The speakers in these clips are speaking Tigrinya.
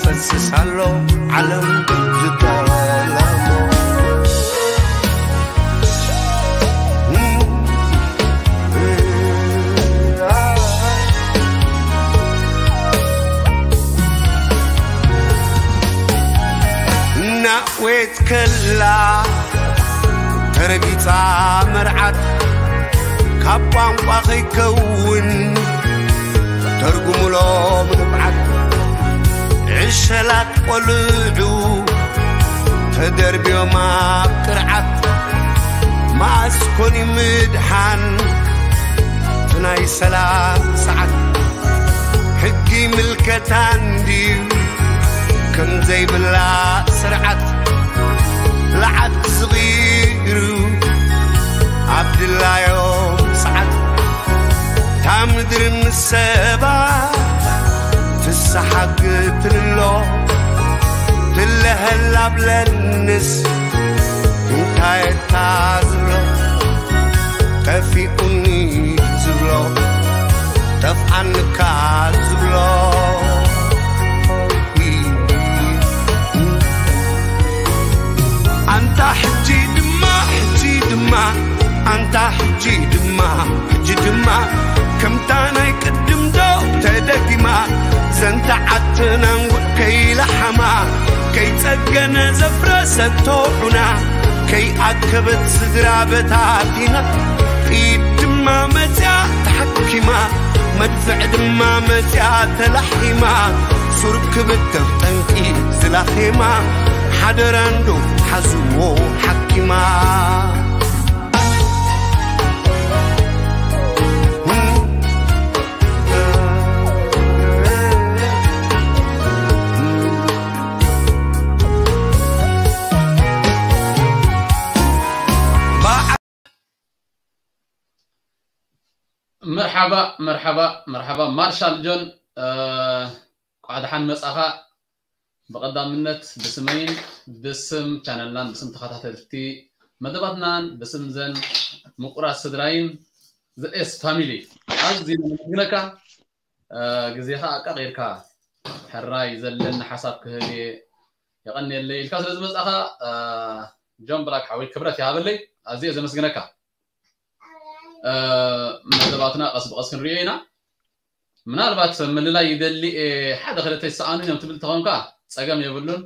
ፈስስ ኣሎ ዓለም ዝጠለሞ። እናእዌት ከላ ተረጊጻ መርዓት፣ ካብ ቋንቋ ከይከውን ተርጉሙሎም ንብዓት። ዕሸላት ቆልዑ ተደርብዮም ኣብ ቅርዓት፣ መኣስ ኮን እዩ ምድሓን እቲ ናይ ሰላም ሰዓት? ሕጊ ምልከታ እንድዩ ከም ዘይብላ ስርዓት፣ ለዓት ዝቕይሩ ኣብ ድላዮም ሰዓት፣ እታ ምድሪ ምስ ሰባ ትሰሓግ ትልሎ፣ ትለሀላ ብለንስ እንታይ እታ ዝብሎ? ጠፊኡኒ ዝብሎ፣ ጠፍኣንካ ዝብሎ። ኣንታ ሕጂ ድማ፣ ሕጂ ድማ፣ ኣንታ ሕጂ ድማ፣ ሕጂ ድማ፣ ከምታ ናይ ቅድም ዶ ተደጊማ? ዘንታ ዓትና እንጉዕ ከይለሓማ፣ ከይጸገነ ዘፍረሰቶ ዑና፣ ከይኣከበት ስድራ በታቲና፣ ጥይት ድማ መጽያ ተሓኪማ፣ መድፍዕ ድማ መጽያ ተላሒማ፣ ሱር ክብተኽ ጠንቂ ዝላኼማ፣ ሓደራ እንዶ ሓዝዎ ሓኪማ። መርሓባ መርሓባ መርሓባ ማርሻል ጆን፣ እንኳዕ ደሓን መጻኻ። ብቐዳምነት ብስመይን ብስም ቻነልናን ብስም ተኸታተልቲ መደባትናን ብስም ዘን ምቁራት ስድራይን ዘኤስ ፋሚሊ ኣዝዩ ነመስግነካ። ግዜኻ ኣቃቒርካ ሕራይ ዘለኒ ሓሳብ ክህብ እየ የቐንየለይ ኢልካ ስለ ዝመጻኻ ጆን ብላክ ሓወይ ክብረት ይሃበለይ። ኣዝየ ዘመስግነካ። መደባትና ቀስ ብቐስ ክንሪኦ ኢና። ምናልባት ምልላይ ይደሊ እየ ሓደ ክልተ ይሰኣኑን እዮም ትብል ተኾንካ ጸገም የብሉን።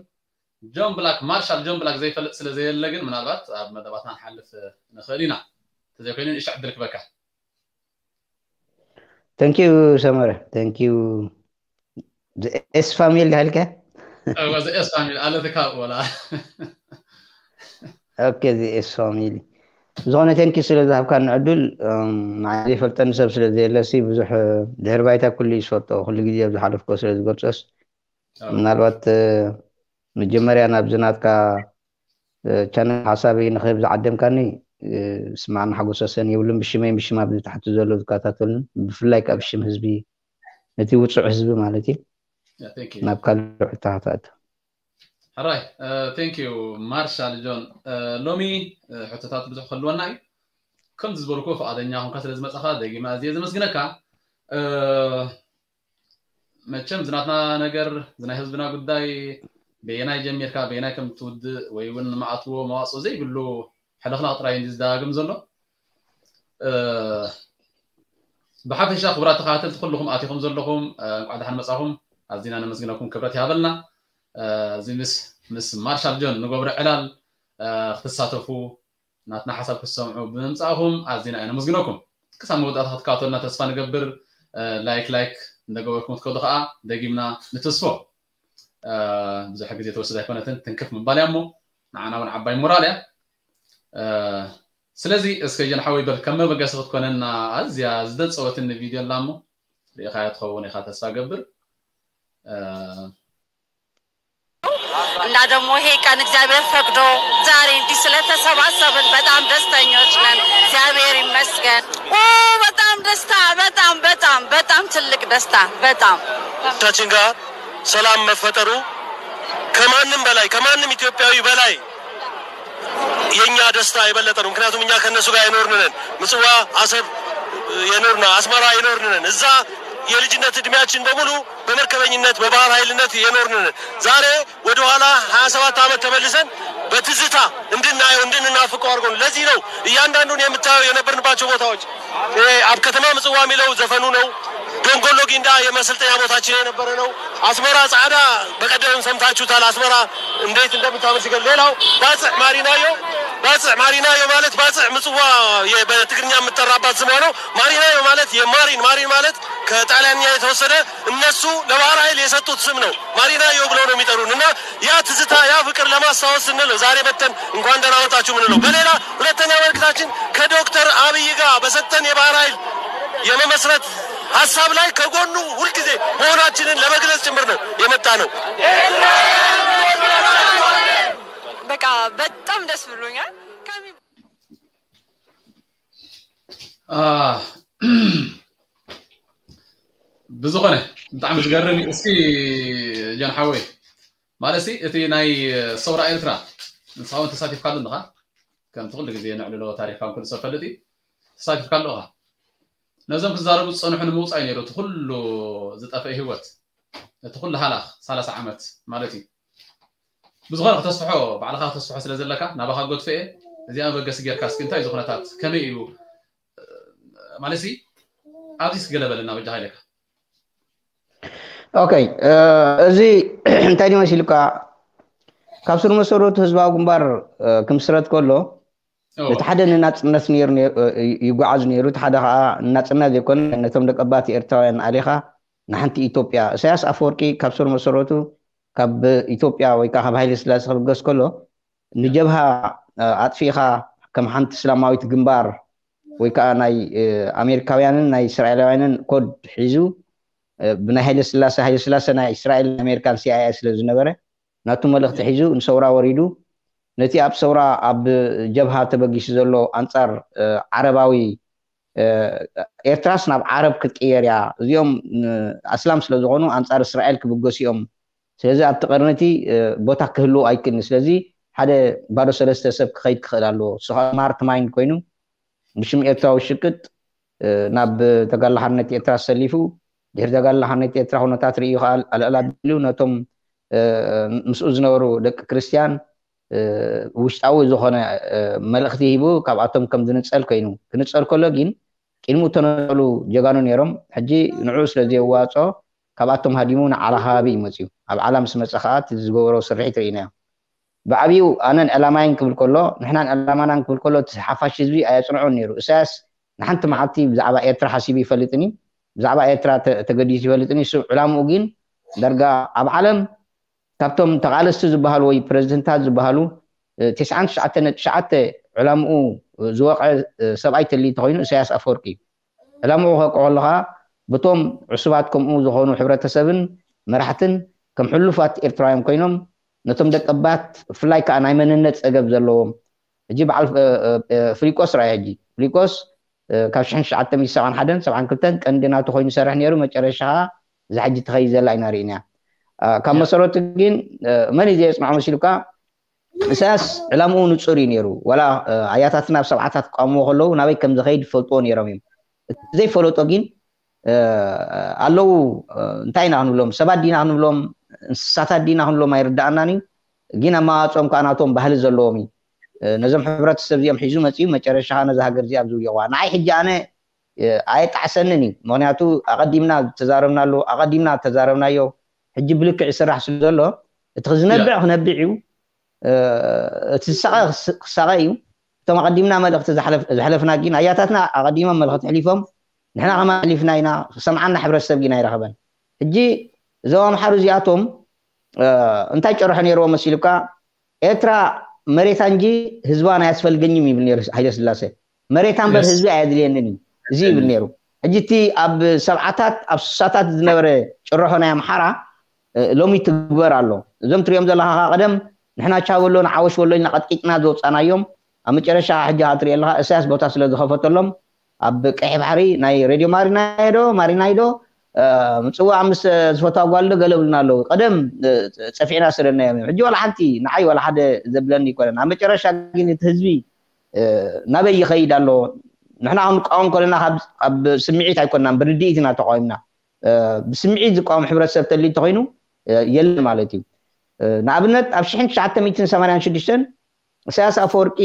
ጆን ብላክ ማርሻል ጆን ብላክ ዘይፈልጥ ስለ ዘየለ ግን ምናልባት ኣብ መደባትና ንሓልፍ ንኽእል ኢና። ተዘይኮይኑ ንእሽቶ ዕድል ክበካ። Thank you ሰመረ። Thank you። The S family ሃልከ? እወ፣ the S family ኣለትካ ወላ። Okay፣ the S family። ዝኾነ thank you ስለ ዝሃብካኒ ዕድል። ንዓይ ዘይፈልጠኒ ሰብ ስለ ዘየለሲ ብዙሕ ድሕሪ ባይታ ኩሉ እዩ ዝፈልጦ፣ ኩሉ ግዜ ኣብ ዝሓለፍኮ ስለ ዝገልጾስ ምናልባት መጀመርያ ናብዚ ናትካ ቻነል ሓሳበይ ንክህብ ዝዓደምካኒ ስማዕን ሓጎስ ወሰን የብሉን። ብሽመይ ብሽም ኣብዚ ታሕቲ ዘሎ ዝከታተሉን ብፍላይ ካብ ሽም ህዝቢ ነቲ ውፁዕ ህዝቢ ማለት እዩ ናብ ካልእ ሕቶ ክትኣቱ። ሕራይ thank you ማርሻል ጆን። ሎሚ ሕቶታት ብዙሕ ክህልወና እዩ። ከምዚ ዝበልኩ ፍቓደኛ ኮንካ ስለ ዝመጻኻ ደጊመ ኣዝየ ዘመስግነካ። መቸም ዝናትና ነገር ዝናይ ህዝብና ጉዳይ በየናይ ጀሚርካ በየናይ ከም ትውድእ ወይ እውን ንመኣትዎ መዋፅኦ ዘይብሉ ሕልኽላኽ ጥራይ እዩ ዝደጋግም ዘሎ። ብሓፈሻ ክቡራት ተኸታተልቲ ኩልኹም ኣቲኹም ዘለኹም እንኳዕ ደሓን መፃኹም። ኣዚና ነመስግነኩም፣ ክብረት ይሃበልና። እዚ ምስ ምስ ማርሻል ጆን ንገብሮ ዕላል ክትሳተፉ ናትና ሓሳብ ክትሰምዑ ብምምፃእኹም ኣዚና ኢና ነመስግነኩም። ክሳብ መወዳእታ ክትከታተሉና ተስፋ ንገብር። ላይክ ላይክ እንደገበርኩም ክትከዱ ከዓ ደጊምና ንትስፎ። ብዙሕ ግዜ ትወስድ ኣይኮነትን፣ ትንክፍ ምባል እያ እሞ ንዓና እውን ዓባይ ሞራል እያ። ስለዚ እስከ ጀን ሓወይ በል ከም መበገሲ ክትኮነና ኣዝያ ዝደፀወትኒ ቪድዮ ኣላ እሞ ርኢኻያ ትኸውን ኢኻ ተስፋ ገብር። እና ደግሞ ይሄ ቀን እግዚአብሔር ፈቅዶ ዛሬ እንዲህ ስለተሰባሰብን በጣም ደስተኞች ነን። እግዚአብሔር ይመስገን። ኦ በጣም ደስታ፣ በጣም በጣም በጣም ትልቅ ደስታ። በጣም ታችን ጋር ሰላም መፈጠሩ ከማንም በላይ ከማንም ኢትዮጵያዊ በላይ የኛ ደስታ የበለጠ ነው። ምክንያቱም እኛ ከነሱ ጋር የኖርን ነን። ምጽዋ፣ አሰብ የኖርና አስመራ የኖርን ነን። እዛ የልጅነት እድሜያችን በሙሉ በመርከበኝነት በባህር ኃይልነት የኖርን ነን። ዛሬ ወደኋላ ሃያ ሰባት ዓመት ተመልሰን በትዝታ እንድናየው እንድንናፍቀው አድርጎን። ለዚህ ነው እያንዳንዱን የምታየው የነበርንባቸው ቦታዎች፣ እ፣ ኣብ ከተማ ምጽዋ የሚለው ዘፈኑ ነው። ዶንጎሎ ጊንዳ የመሰልጠኛ ቦታችን የነበረ ነው። አስመራ ጻዕዳ በቀደም ሰምታችሁታል። አስመራ እንዴት እንደምታምር ሲገል። ሌላው ባጽዕ ማሪናዮ፣ ባጽዕ ማሪናዮ ማለት ባጽዕ ምጽዋ የ-፣ በትግርኛ የምጠራባት ስሟ ነው። ማሪናዮ ማለት የማሪን፣ ማሪን ማለት ከጣሊያንኛ የተወሰደ፣ እነሱ ለባህር ኃይል የሰጡት ስም ነው። ማሪናዮ ብለው ነው የሚጠሩን። እና ያ ትዝታ፣ ያ ፍቅር ለማስታወስ ስንል ነው ዛሬ መተን እንኳን ደህና መጣችሁ የምንለው። በሌላ ሁለተኛ መልእክታችን ከዶክተር አብይ ጋር በሰጠን የባህር ኃይል የመመስረት ሀሳብ ላይ ከጎኑ ሁልጊዜ መሆናችንን ለመግለጽ ጭምር ነው የመጣ ነው። በቃ በጣም ደስ ብሎኛል። ከሚ- አ፣ ብዝኾነ ብጣዕሚ ዝገርም እዩ። እስኪ ጆን ሓወይ፣ ማለት ሲ እቲ ናይ ሰውራ ኤርትራ ንስኻ እውን ተሳቲፍካሉ ኣለኻ፣ ከምቲ ኩሉ ግዜ ንዕልሎ ታሪኽካ እውን ኩሉ ሰብ ፈልጥ እዩ፣ ተሳቲፍካሉ ኢኻ። ነዞም ክዛረቡ ዝጸንሑ ንምውጻእ እዩ ነይሩ እቲ ኩሉ ዝጠፍአ ህይወት፣ እቲ ኩሉ ሃላኽ ሰላሳ ዓመት ማለት እዩ። ብዝኾነ ክተስፍሖ፣ ባዕልኻ ክተስፍሖ ስለ ዘለካ ናባኻ ገድፎ እየ። እዚኣ መበገሲ ጌርካ እስኪ እንታይ እዩ እዚ ኩነታት፣ ከመይ እዩ ማለት ሲ ኣብዚ እስኪ ገለ በለና በጃኻ ኢለካ። ኦኬ፣ እ፣ እዚ እንታይ ድዩ መሲልካ፣ ካብ ስር መሰረቱ ህዝባዊ ግንባር፣ እ፣ ክምስረት ከሎ እወ። እቲ ሓደ ንናጽነት ነይሩ፣ ነ-፣ እ፣ ይጓዓዝ ነይሩ፣ እቲ ሓደ ከዓ ንናጽነት ዘይኮነ ነቶም ደቀባት ኤርትራውያን ኣሊኻ ንሓንቲ ኢትዮጵያ። ኢሳያስ ኣፈወርቂ ካብ ስር መሰረቱ ካብ ኢትዮጵያ ወይ ከዓ ካብ ሃይለ ስላሴ ክብገስ ከሎ ንጀብሃ፣ እ፣ ኣጥፊእኻ ከም ሓንቲ እስላማዊት ግንባር ወይ ከዓ ናይ፣ እ፣ ኣሜሪካውያንን ናይ እስራኤላውያንን ኮድ ሒዙ፣ እ፣ ብናይ ሃይለ ስላሴ፣ ሃይለ ስላሴ ናይ እስራኤልን ኣሜሪካን ሲ ኣይ ኤ ስለ ዝነበረ ናቱ መልእኽቲ ሒዙ ንሰውራ ወሪዱ። ነቲ ኣብ ሰውራ ኣብ ጀብሃ ተበጊሱ ዘሎ ኣንጻር፣ እ፣ ዓረባዊ፣ እ፣ ኤርትራስ ናብ ዓረብ ክትቅየር እያ፣ እዚኦም፣ እ፣ ኣስላም ስለ ዝኾኑ ኣንጻር እስራኤል ክብገሱ እዮም፣ ስለዚ ኣብቲ ቀርኒ እቲ፣ እ፣ ቦታ ክህልዎ ኣይክእልን፣ ስለዚ ሓደ ባዶ ሰለስተ ሰብ ክኸይድ ክኽእል ኣለዎ። ንሱ ከዓ ስማርት ማይንድ ኮይኑ ብሽም ኤርትራዊ ሽቅጥ፣ እ፣ ናብ ተጋድሎ ሓርነት ኤርትራ ሰሊፉ፣ ድሕሪ ተጋድሎ ሓርነት ኤርትራ ኩነታት ርእዩ ከዓ ኣልዕል ኣቢሉ ነቶም፣ እ፣ ምስኡ ዝነበሩ ደቂ ክርስትያን፣ እ፣ ውሽጣዊ ዝኾነ፣ እ፣ መልእኽቲ ሂቡ ካብኣቶም ከም ዝንጸል ኮይኑ። ክንጸል ከሎ ግን ቅድሚኡ እተነጸሉ ጀጋኑ ነይሮም። ሕጂ ንዕኡ ስለ ዘየዋጽኦ ካብኣቶም ሃዲሙ ንዓላ ከባቢ እዩ መጺኡ። ኣብ ዓላ ምስ መጸ ከዓ እቲ ዝገበሮ ስርሒት ርኢናዮ። ብዓብዩ ኣነን ዕላማይን ክብል ከሎ፣ ንሕናን ዕላማናን ክብል ከሎ፣ እቲ ሓፋሽ ህዝቢ ኣየጽንዖን ነይሩ። ኢሳያስ ንሓንቲ መዓልቲ ብዛዕባ ኤርትራ ሓሲቡ ይፈልጥን እዩ። ብዛዕባ ኤርትራ ተ-፣ ተገዲሱ ይፈልጥን እዩ። እሱ ዕላምኡ ግን ዳርጋ ኣብ ዓለም ካብቶም ተቓለስቲ ዝበሃሉ ወይ ፕረዚደንታት ዝበሃሉ፣ እ፣ ተስዓን ትሽዓተ ነጥቢ ትሽዓተ ዕላምኡ ዝወቕዐ፣ እ፣ ሰብኣይ ተልዩ እንተኾይኑ ኢሳያስ ኣፈወርቂ እዩ። ዕላምኡ ከውቅዖ ከለኻ በቶም ዕሱባት ከምኡ ዝኾኑ ሕብረተሰብን መራሕትን ከም ሕሉፋት ኤርትራውያን ኮይኖም ነቶም ደቀባት ብፍላይ ከዓ ናይ መንነት ጸገብ ዘለዎም ሕጂ በዓል፣ እ፣ እ፣ እ፣ ፍሊቆስ ርኣዮ ሕጂ። ፍሊቆስ፣ እ፣ ካብ ሽሕን ትሽዓተ ሚእቲ ሰብዓን ሓደን ሰብዓን ክልተን ቀንዲ ናቱ ኮይኑ ይሰርሕ ነይሩ። መጨረሻ ከዓ እዛ ሕጂ ትኸይድ ዘላ ኢና ርኢና። እ፣ ካብ መሰረቱ ግን፣ እ፣ መን እዩ ዘየጽንዖ መሲሉካ? ኢሳያስ ዕላምኡ ንጹር እዩ ነይሩ። ዋላ፣ እ፣ ኣያታትና ኣብ ሰብዓታት ክቃወምዎ ከለዉ ናበይ ከም ዝኸይድ ይፈልጥዎ ነይሮም እዮም። እቲ ዘይፈለጦ ግን፣ እ፣ ኣለዉ፣ እ፣ እንታይ ኢና ክንብሎም? ሰባት ዲና ክንብሎም? እንስሳታት ዲና ክንብሎም ኣይርድኣናን እዩ። ግን ኣመዋጽኦም ከዓ ናቶም ባህሊ ዘለዎም እዩ። እ፣ ነዞም ሕብረተሰብ እዚኦም ሒዙ መጺኡ መጨረሻ ከዓ ነዛ ሃገር እዚኣ ኣብ ዝውየቑዋ። ንዓይ ሕጂ ኣነ፣ እ፣ ኣየጣዕሰንን እዩ። ምኽንያቱ ኣቐዲምና ዝተዛረብናሉ፣ ኣቐዲምና እተዛረብናዮ ሕጂ ብልክዕ ይስራሕ ስለ ዘሎ፣ እቲ ክዝነብዕ ክነብዕ እዩ፣ እ፣ እቲ ዝሳቐ ክስ-፣ ክሳቐ እዩ። እቶም ኣቐዲምና መልእኽቲ ዝሓለፍ-፣ ዝሓለፍና ግን ኣያታትና ኣቐዲሞም መልእኽቲ ኣሕሊፎም፣ ንሕና ከማን ኣሕሊፍና ኢና፣ ክሰምዓና ሕብረተሰብ ግን ኣይረኸበን። ሕጂ እዞም ኣምሓሩ እዚኣቶም፣ እ፣ እንታይ ጭርሖ ነይርዎም መሲሉካ? ኤርትራ መሬታ እንጂ ህዝባ ናይ ኣስፈልገኝም ይብል ነይሩ ሃይለ ስላሴ። መሬታ እምበር የስ። ህዝቢ ኣየድልየንን እዩ፣ እዚ ይብል ነይሩ። ሕጂ እቲ ኣብ ሰብዓታት ኣብ ስሳታት ዝነበረ ጭርሖ ናይ ኣምሓራ፣ እ፣ ሎሚ ትግበር ኣሎ። እዞም ትሪኦም ዘለኻ ከዓ ቀደም ንሕና ቻበሎ ንዓወሽ በሎ ኢልና ቀጥቂጥና ዘውፃናዮም፣ ኣብ መጨረሻ ሕጂ ከዓ ትሪኦ ኣለኻ እሳያስ ቦታ ስለ ዝኸፈተሎም ኣብ ቀይሕ ባሕሪ ናይ ሬድዮ ማሪናይዶ ማሪናይዶ፣ እ፣ ምጽዋዕ ምስ ዝፈትዋ ጓል ዶ ገለ ብሉና ኣለዉ። ቀደም፣ እ፣ ጸፊዕና ስደናዮም እዮም። ሕጂ ዋላ ሓንቲ ንዓይ ዋላ ሓደ ዘብለኒ ኣይኮነን። ኣብ መጨረሻ ግን እቲ ህዝቢ፣ እ፣ ናበይ ይኸይድ ኣሎ? ንሕና ክንቃወም ከለና ካብ፣ ካብ ስምዒት ኣይኮንናን፣ ብርድኢት ኢና ተቃዊምና። ብስምዒት ዝቃወም ሕብረተሰብ ተልዩ እንተኮይኑ የለን ማለት እዩ። ንኣብነት ኣብ ሽሕን ትሽዓተ ሚእትን ሰማንያን ሽዱሽተን ኢሳያስ ኣፈወርቂ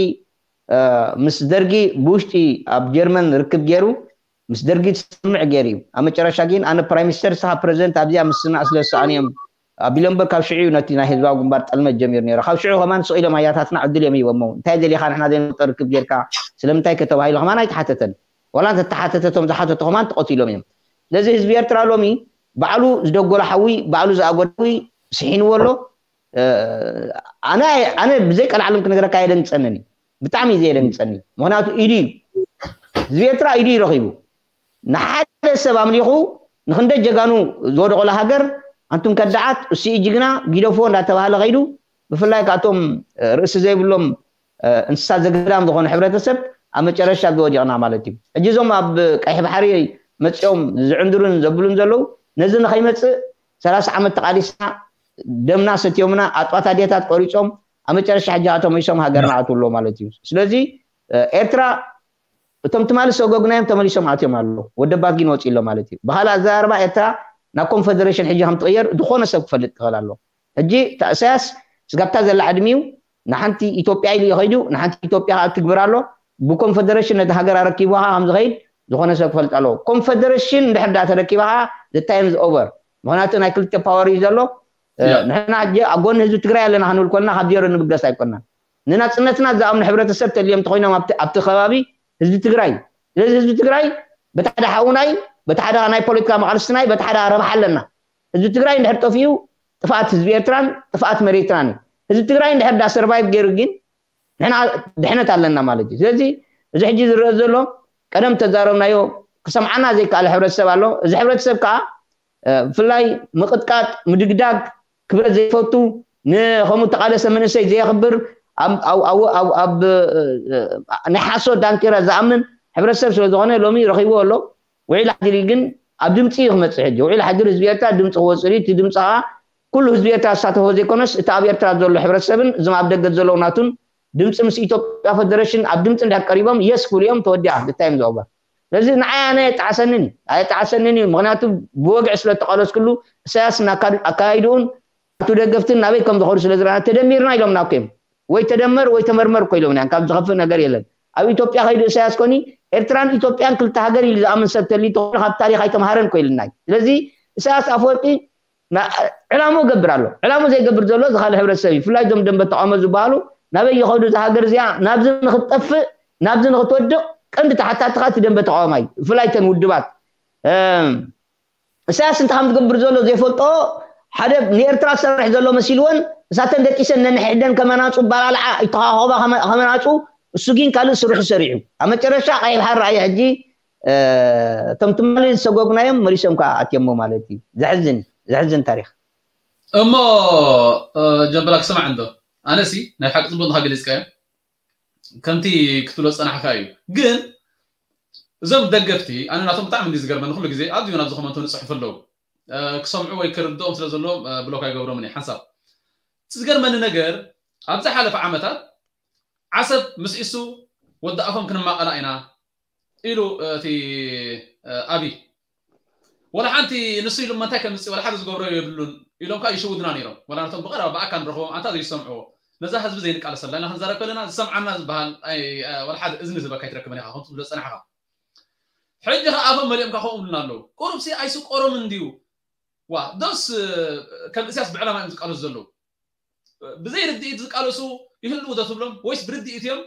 ምስ ደርጊ ብውሽጢ ኣብ ጀርመን ርክብ ገይሩ ምስ ደርጊ ዝስምዕ ገይሩ እዩ። ኣብ መጨረሻ ግን ኣነ ፕራይም ሚኒስተር ንስኻ ፕረዚደንት ኣብዚኣ ምስና ስለ ዝሰኣኑ እዮም ኣቢሎም እምበር ካብ ሽዑ እዩ ነቲ ናይ ህዝባዊ ግንባር ጠልመት ጀሚሩ ነይሩ። ካብ ሽዑ ከማን ስቕ ኢሎም ኣያታትና ዕድል እዮም ሂቦሞ። እንታይ ደሊኻ ንሕና ዘይንፈልጦ ርክብ ጌርካ ስለምንታይ ከተባሂሉ ከማን ኣይተሓተተን። ዋላ እንተተሓተተ እቶም ዝሓተቱ ከማን ተቐቲሎም እዮም። ስለዚ ህዝቢ ኤርትራ ሎሚ ባዕሉ ዝደጎሎ ሓዊ ባዕሉ ዝኣጎዶ ሓዊ ስሒንዎ ኣሎ። ኣነ ኣነ ብዘይ ቀልዓለም ክነግረካ የደንግጸንን እዩ። ብጣዕሚ እዩ ዘየደንግጸኒ። ምክንያቱ ኢዱ እዩ ህዝቢ ኤርትራ ኢዱ እዩ ረኺቡ። ንሓደ ሰብ ኣምሊኹ ንክንደ ጀጋኑ ዝወደቑላ ሃገር ኣንቱም ከዳዓት እሱ እዩ ጅግና ጊደፎ እንዳተባሃለ ከይዱ ብፍላይ ካብቶም ርእሲ ዘይብሎም እንስሳ ዘገዳም ዝኾነ ሕብረተሰብ ኣብ መጨረሻ ዝወዲቕና ማለት እዩ። ሕጂ እዞም ኣብ ቀይሕ ባሕሪ መፂኦም ዝዕንድሩን ዘብሉን ዘለዉ ነዚ ንኸይመፅእ ሰላሳ ዓመት ተቓሊስና ደምና ሰትዮምና ኣጥዋት ኣዴታት ቆሪፆም ኣብ መጨረሻ ሕጂ ተመሊሶም ሃገርና ኣትውሎ ማለት እዩ። ስለዚ ኤርትራ እቶም ትማሊ ሰጎግናዮም ተመሊሶም ኣትዮም ኣለዉ። ወደባት ግን ወፂ ኣሎ ማለት እዩ። ብካልእ ኣዘራርባ ኤርትራ ናብ ኮንፈደሬሽን ሕጂ ከም ትቕየር ዝኾነ ሰብ ክፈልጥ ክኽእል ኣለዎ። ሕጂ እታ እሳያስ ስጋብታ ዘላ ዕድሚኡ ንሓንቲ ኢትዮጵያ ኢሉ ይኸይዱ ንሓንቲ ኢትዮጵያ ከዓ ትግብር ኣሎ። ብኮንፈደሬሽን ነቲ ሃገር ኣረኪቡ ከዓ ከም ዝኸይድ ዝኾነ ሰብ ክፈልጥ ኣለዎ። ኮንፈደሬሽን እንድሕር ዳ ተረኪባ ከዓ the time is over። ምክንያቱ ናይ ክልተ ፓወር እዩ ዘሎ። ንሕና ሕጂ ኣብ ጎኒ ህዝቢ ትግራይ ኣለና ክንብል ኮልና ካብ ዜሮ ንብገስ ኣይኮናን። ንናፅነትና ዝኣምኑ ሕብረተሰብ ተልዮም እንተኮይኖም ኣብቲ ከባቢ ህዝቢ ትግራይ ስለዚ ህዝቢ ትግራይ በቲ ሓደ ሓውናይ በቲ ሓደ ናይ ፖለቲካ መቃልስትናይ በቲ ሓደ ረብሓ ኣለና። ህዝቢ ትግራይ እንድሕር ጠፊኡ ጥፍኣት ህዝቢ ኤርትራን ጥፍኣት መሬትናን እዩ። ህዝቢ ትግራይ እንድሕር ዳ ሰርቫይቭ ገይሩ ግን ንሕና ድሕነት ኣለና ማለት እዩ። ስለዚ እዚ ሕጂ ዝረአ ዘሎ ቀደም ተዛረብናዮ ክሰምዓና ዘይከኣለ ሕብረተሰብ ኣሎ። እዚ ሕብረተሰብ ከዓ ብፍላይ ምቕጥቃጥ ምድግዳግ ክብረት ዘይፈቱ ንከምኡ ተቃለሰ መንእሰይ ዘየኽብር ኣብ ናይ ሓሶት ዳንኬራ ዝኣምን ሕብረተሰብ ስለዝኾነ ሎሚ ረኺብዎ ኣሎ። ውዒል ሓድሪ ግን ኣብ ድምፂ እዩ ክመፅእ ሕጂ ውዒል ሓድሪ ህዝቢ ኤርትራ ድምፂ ክወፅእ እዩ። እቲ ድምፂ ከዓ ኩሉ ህዝቢ ኤርትራ ዝሳተፎ ዘይኮነስ እቲ ኣብ ኤርትራ ዘሎ ሕብረተሰብን እዞም ኣብ ደገ ዘለዉ ናቱን ድምፂ ምስ ኢትዮጵያ ፈደረሽን ኣብ ድምፂ እንድሕር ቀሪቦም የስ ክብሉ እዮም ተወዲኣ። The time is over። ስለዚ ንዓይ ኣነ የጣዕሰንን እዩ ኣየጣዕሰንን እዩ። ምክንያቱ ብወግዒ ስለ ተቃለስክሉ እሳያስ ኣካይድኡን ኣቱ ደገፍትን ናበይ ከም ዝኸዱ ስለ ዝረኣና ተደሚርና ኢሎምና እኮ እዮም። ወይ ተደመር ወይ ተመርመር እኮ ኢሎምና እዮም። ካብ ዝኸፍእ ነገር የለን። ኣብ ኢትዮጵያ ከይዱ እሳያስ ኮኒ ኤርትራን ኢትዮጵያን ክልተ ሃገር ኢሉ ዝኣምን ሰብ ተልዩ ተኾይኑ ካብ ታሪኽ ኣይተምሃረን እኮ ኢልና እዩ። ስለዚ እሳያስ ኣፈወርቂ ዕላሙ ገብር ኣሎ። ዕላሙ ዘይገብር ዘሎ እዚ ካልእ ሕብረተሰብ እዩ። ብፍላይ እዞም ደንበ ተቃውሞ ዝበሃሉ ናበይ ይኸዱ እዛ ሃገር እዚኣ ናብዚ ንክትጠፍእ ናብዚ ንክትወድቕ ቀንዲ ተሓታትኻ እቲ ደንበ ተቃውማይ ብፍላይ ተን ውድባት እሳያስ እንታይ ከም ዝገብር ዘሎ ዘይፈልጦ ሓደ ንኤርትራ ዝሰርሕ ዘሎ መሲልወን እሳተን ደቂሰን ነንሕደን ከመናፁ ባላልዓ ይተኻኸባ ከመናፁ እሱ ግን ካልእ ስርሑ ሰሪሑ ኣብ መጨረሻ ቀይሕ ባሕሪ ረኣየ ሕጂ እቶም ትማሊ ዝሰጎግናዮም መሊሶም ከዓ ኣትየሞ ማለት እዩ። ዘሕዝን ዘሕዝን ታሪክ። እሞ ጀንበላ ክሰማዕ እንዶ ኣነሲ ናይ ሓቂ ፅቡቅ ንካ ገሊፅካዮ ከምቲ ክትብሎ ዝፀናሕካ እዩ። ግን እዞም ደገፍቲ ኣነ ናቶም ብጣዕሚ እንዲ ዝገርመኒ ኩሉ ግዜ ኣብዚኡ ናብ ዝኮመንቶ ንፅሕፉ ኣለዉ ክሰምዑ ወይ ክርድኦም ስለ ዘለዎም ብሎክ ኣይገብሮምን እየ ሓንሳብ። እቲ ዝገርመኒ ነገር ኣብ ዝሓለፈ ዓመታት ዓሰብ ምስ ኢሱ ወዲ ኣፎም ክንማቐላ ኢና ኢሉ እቲ ኣብይ ወላ ሓንቲ ንሱ ኢሉ እንታይ ከምፅእ ወላ ሓደ ዝገብሮ የብሉን ኢሎም ከዓ ይሽውድና ነይሮም። ወላ ነቶም ብቀረባ ብኣካ ንረኽቦም ኣንታ ዘይሰምዕዎ ነዛ ህዝቢ ዘይንቃለሰላ ኢና ክንዛረብ ከለና ዝሰምዓና ዝበሃል ወላ ሓደ እዝኒ ዝበካ ኣይትረክብን ኢኻ ከምቲ ዝብሎ ዝፀናሕኻ። ሕጂ ከዓ ኣፎም መሊኦም ከዓ ከምኡ ብሉና ኣለዉ። ቁሩብሲ ኣይስቆሮምን እንድዩ ዋ ዶስ ከም እስያስ ብዕላማ እዮም ዝቃለሱ ዘለዉ። ብዘይ ርድኢት ዝቃለሱ ይህልዉ ዶ ትብሎም ወይስ ብርድኢት እዮም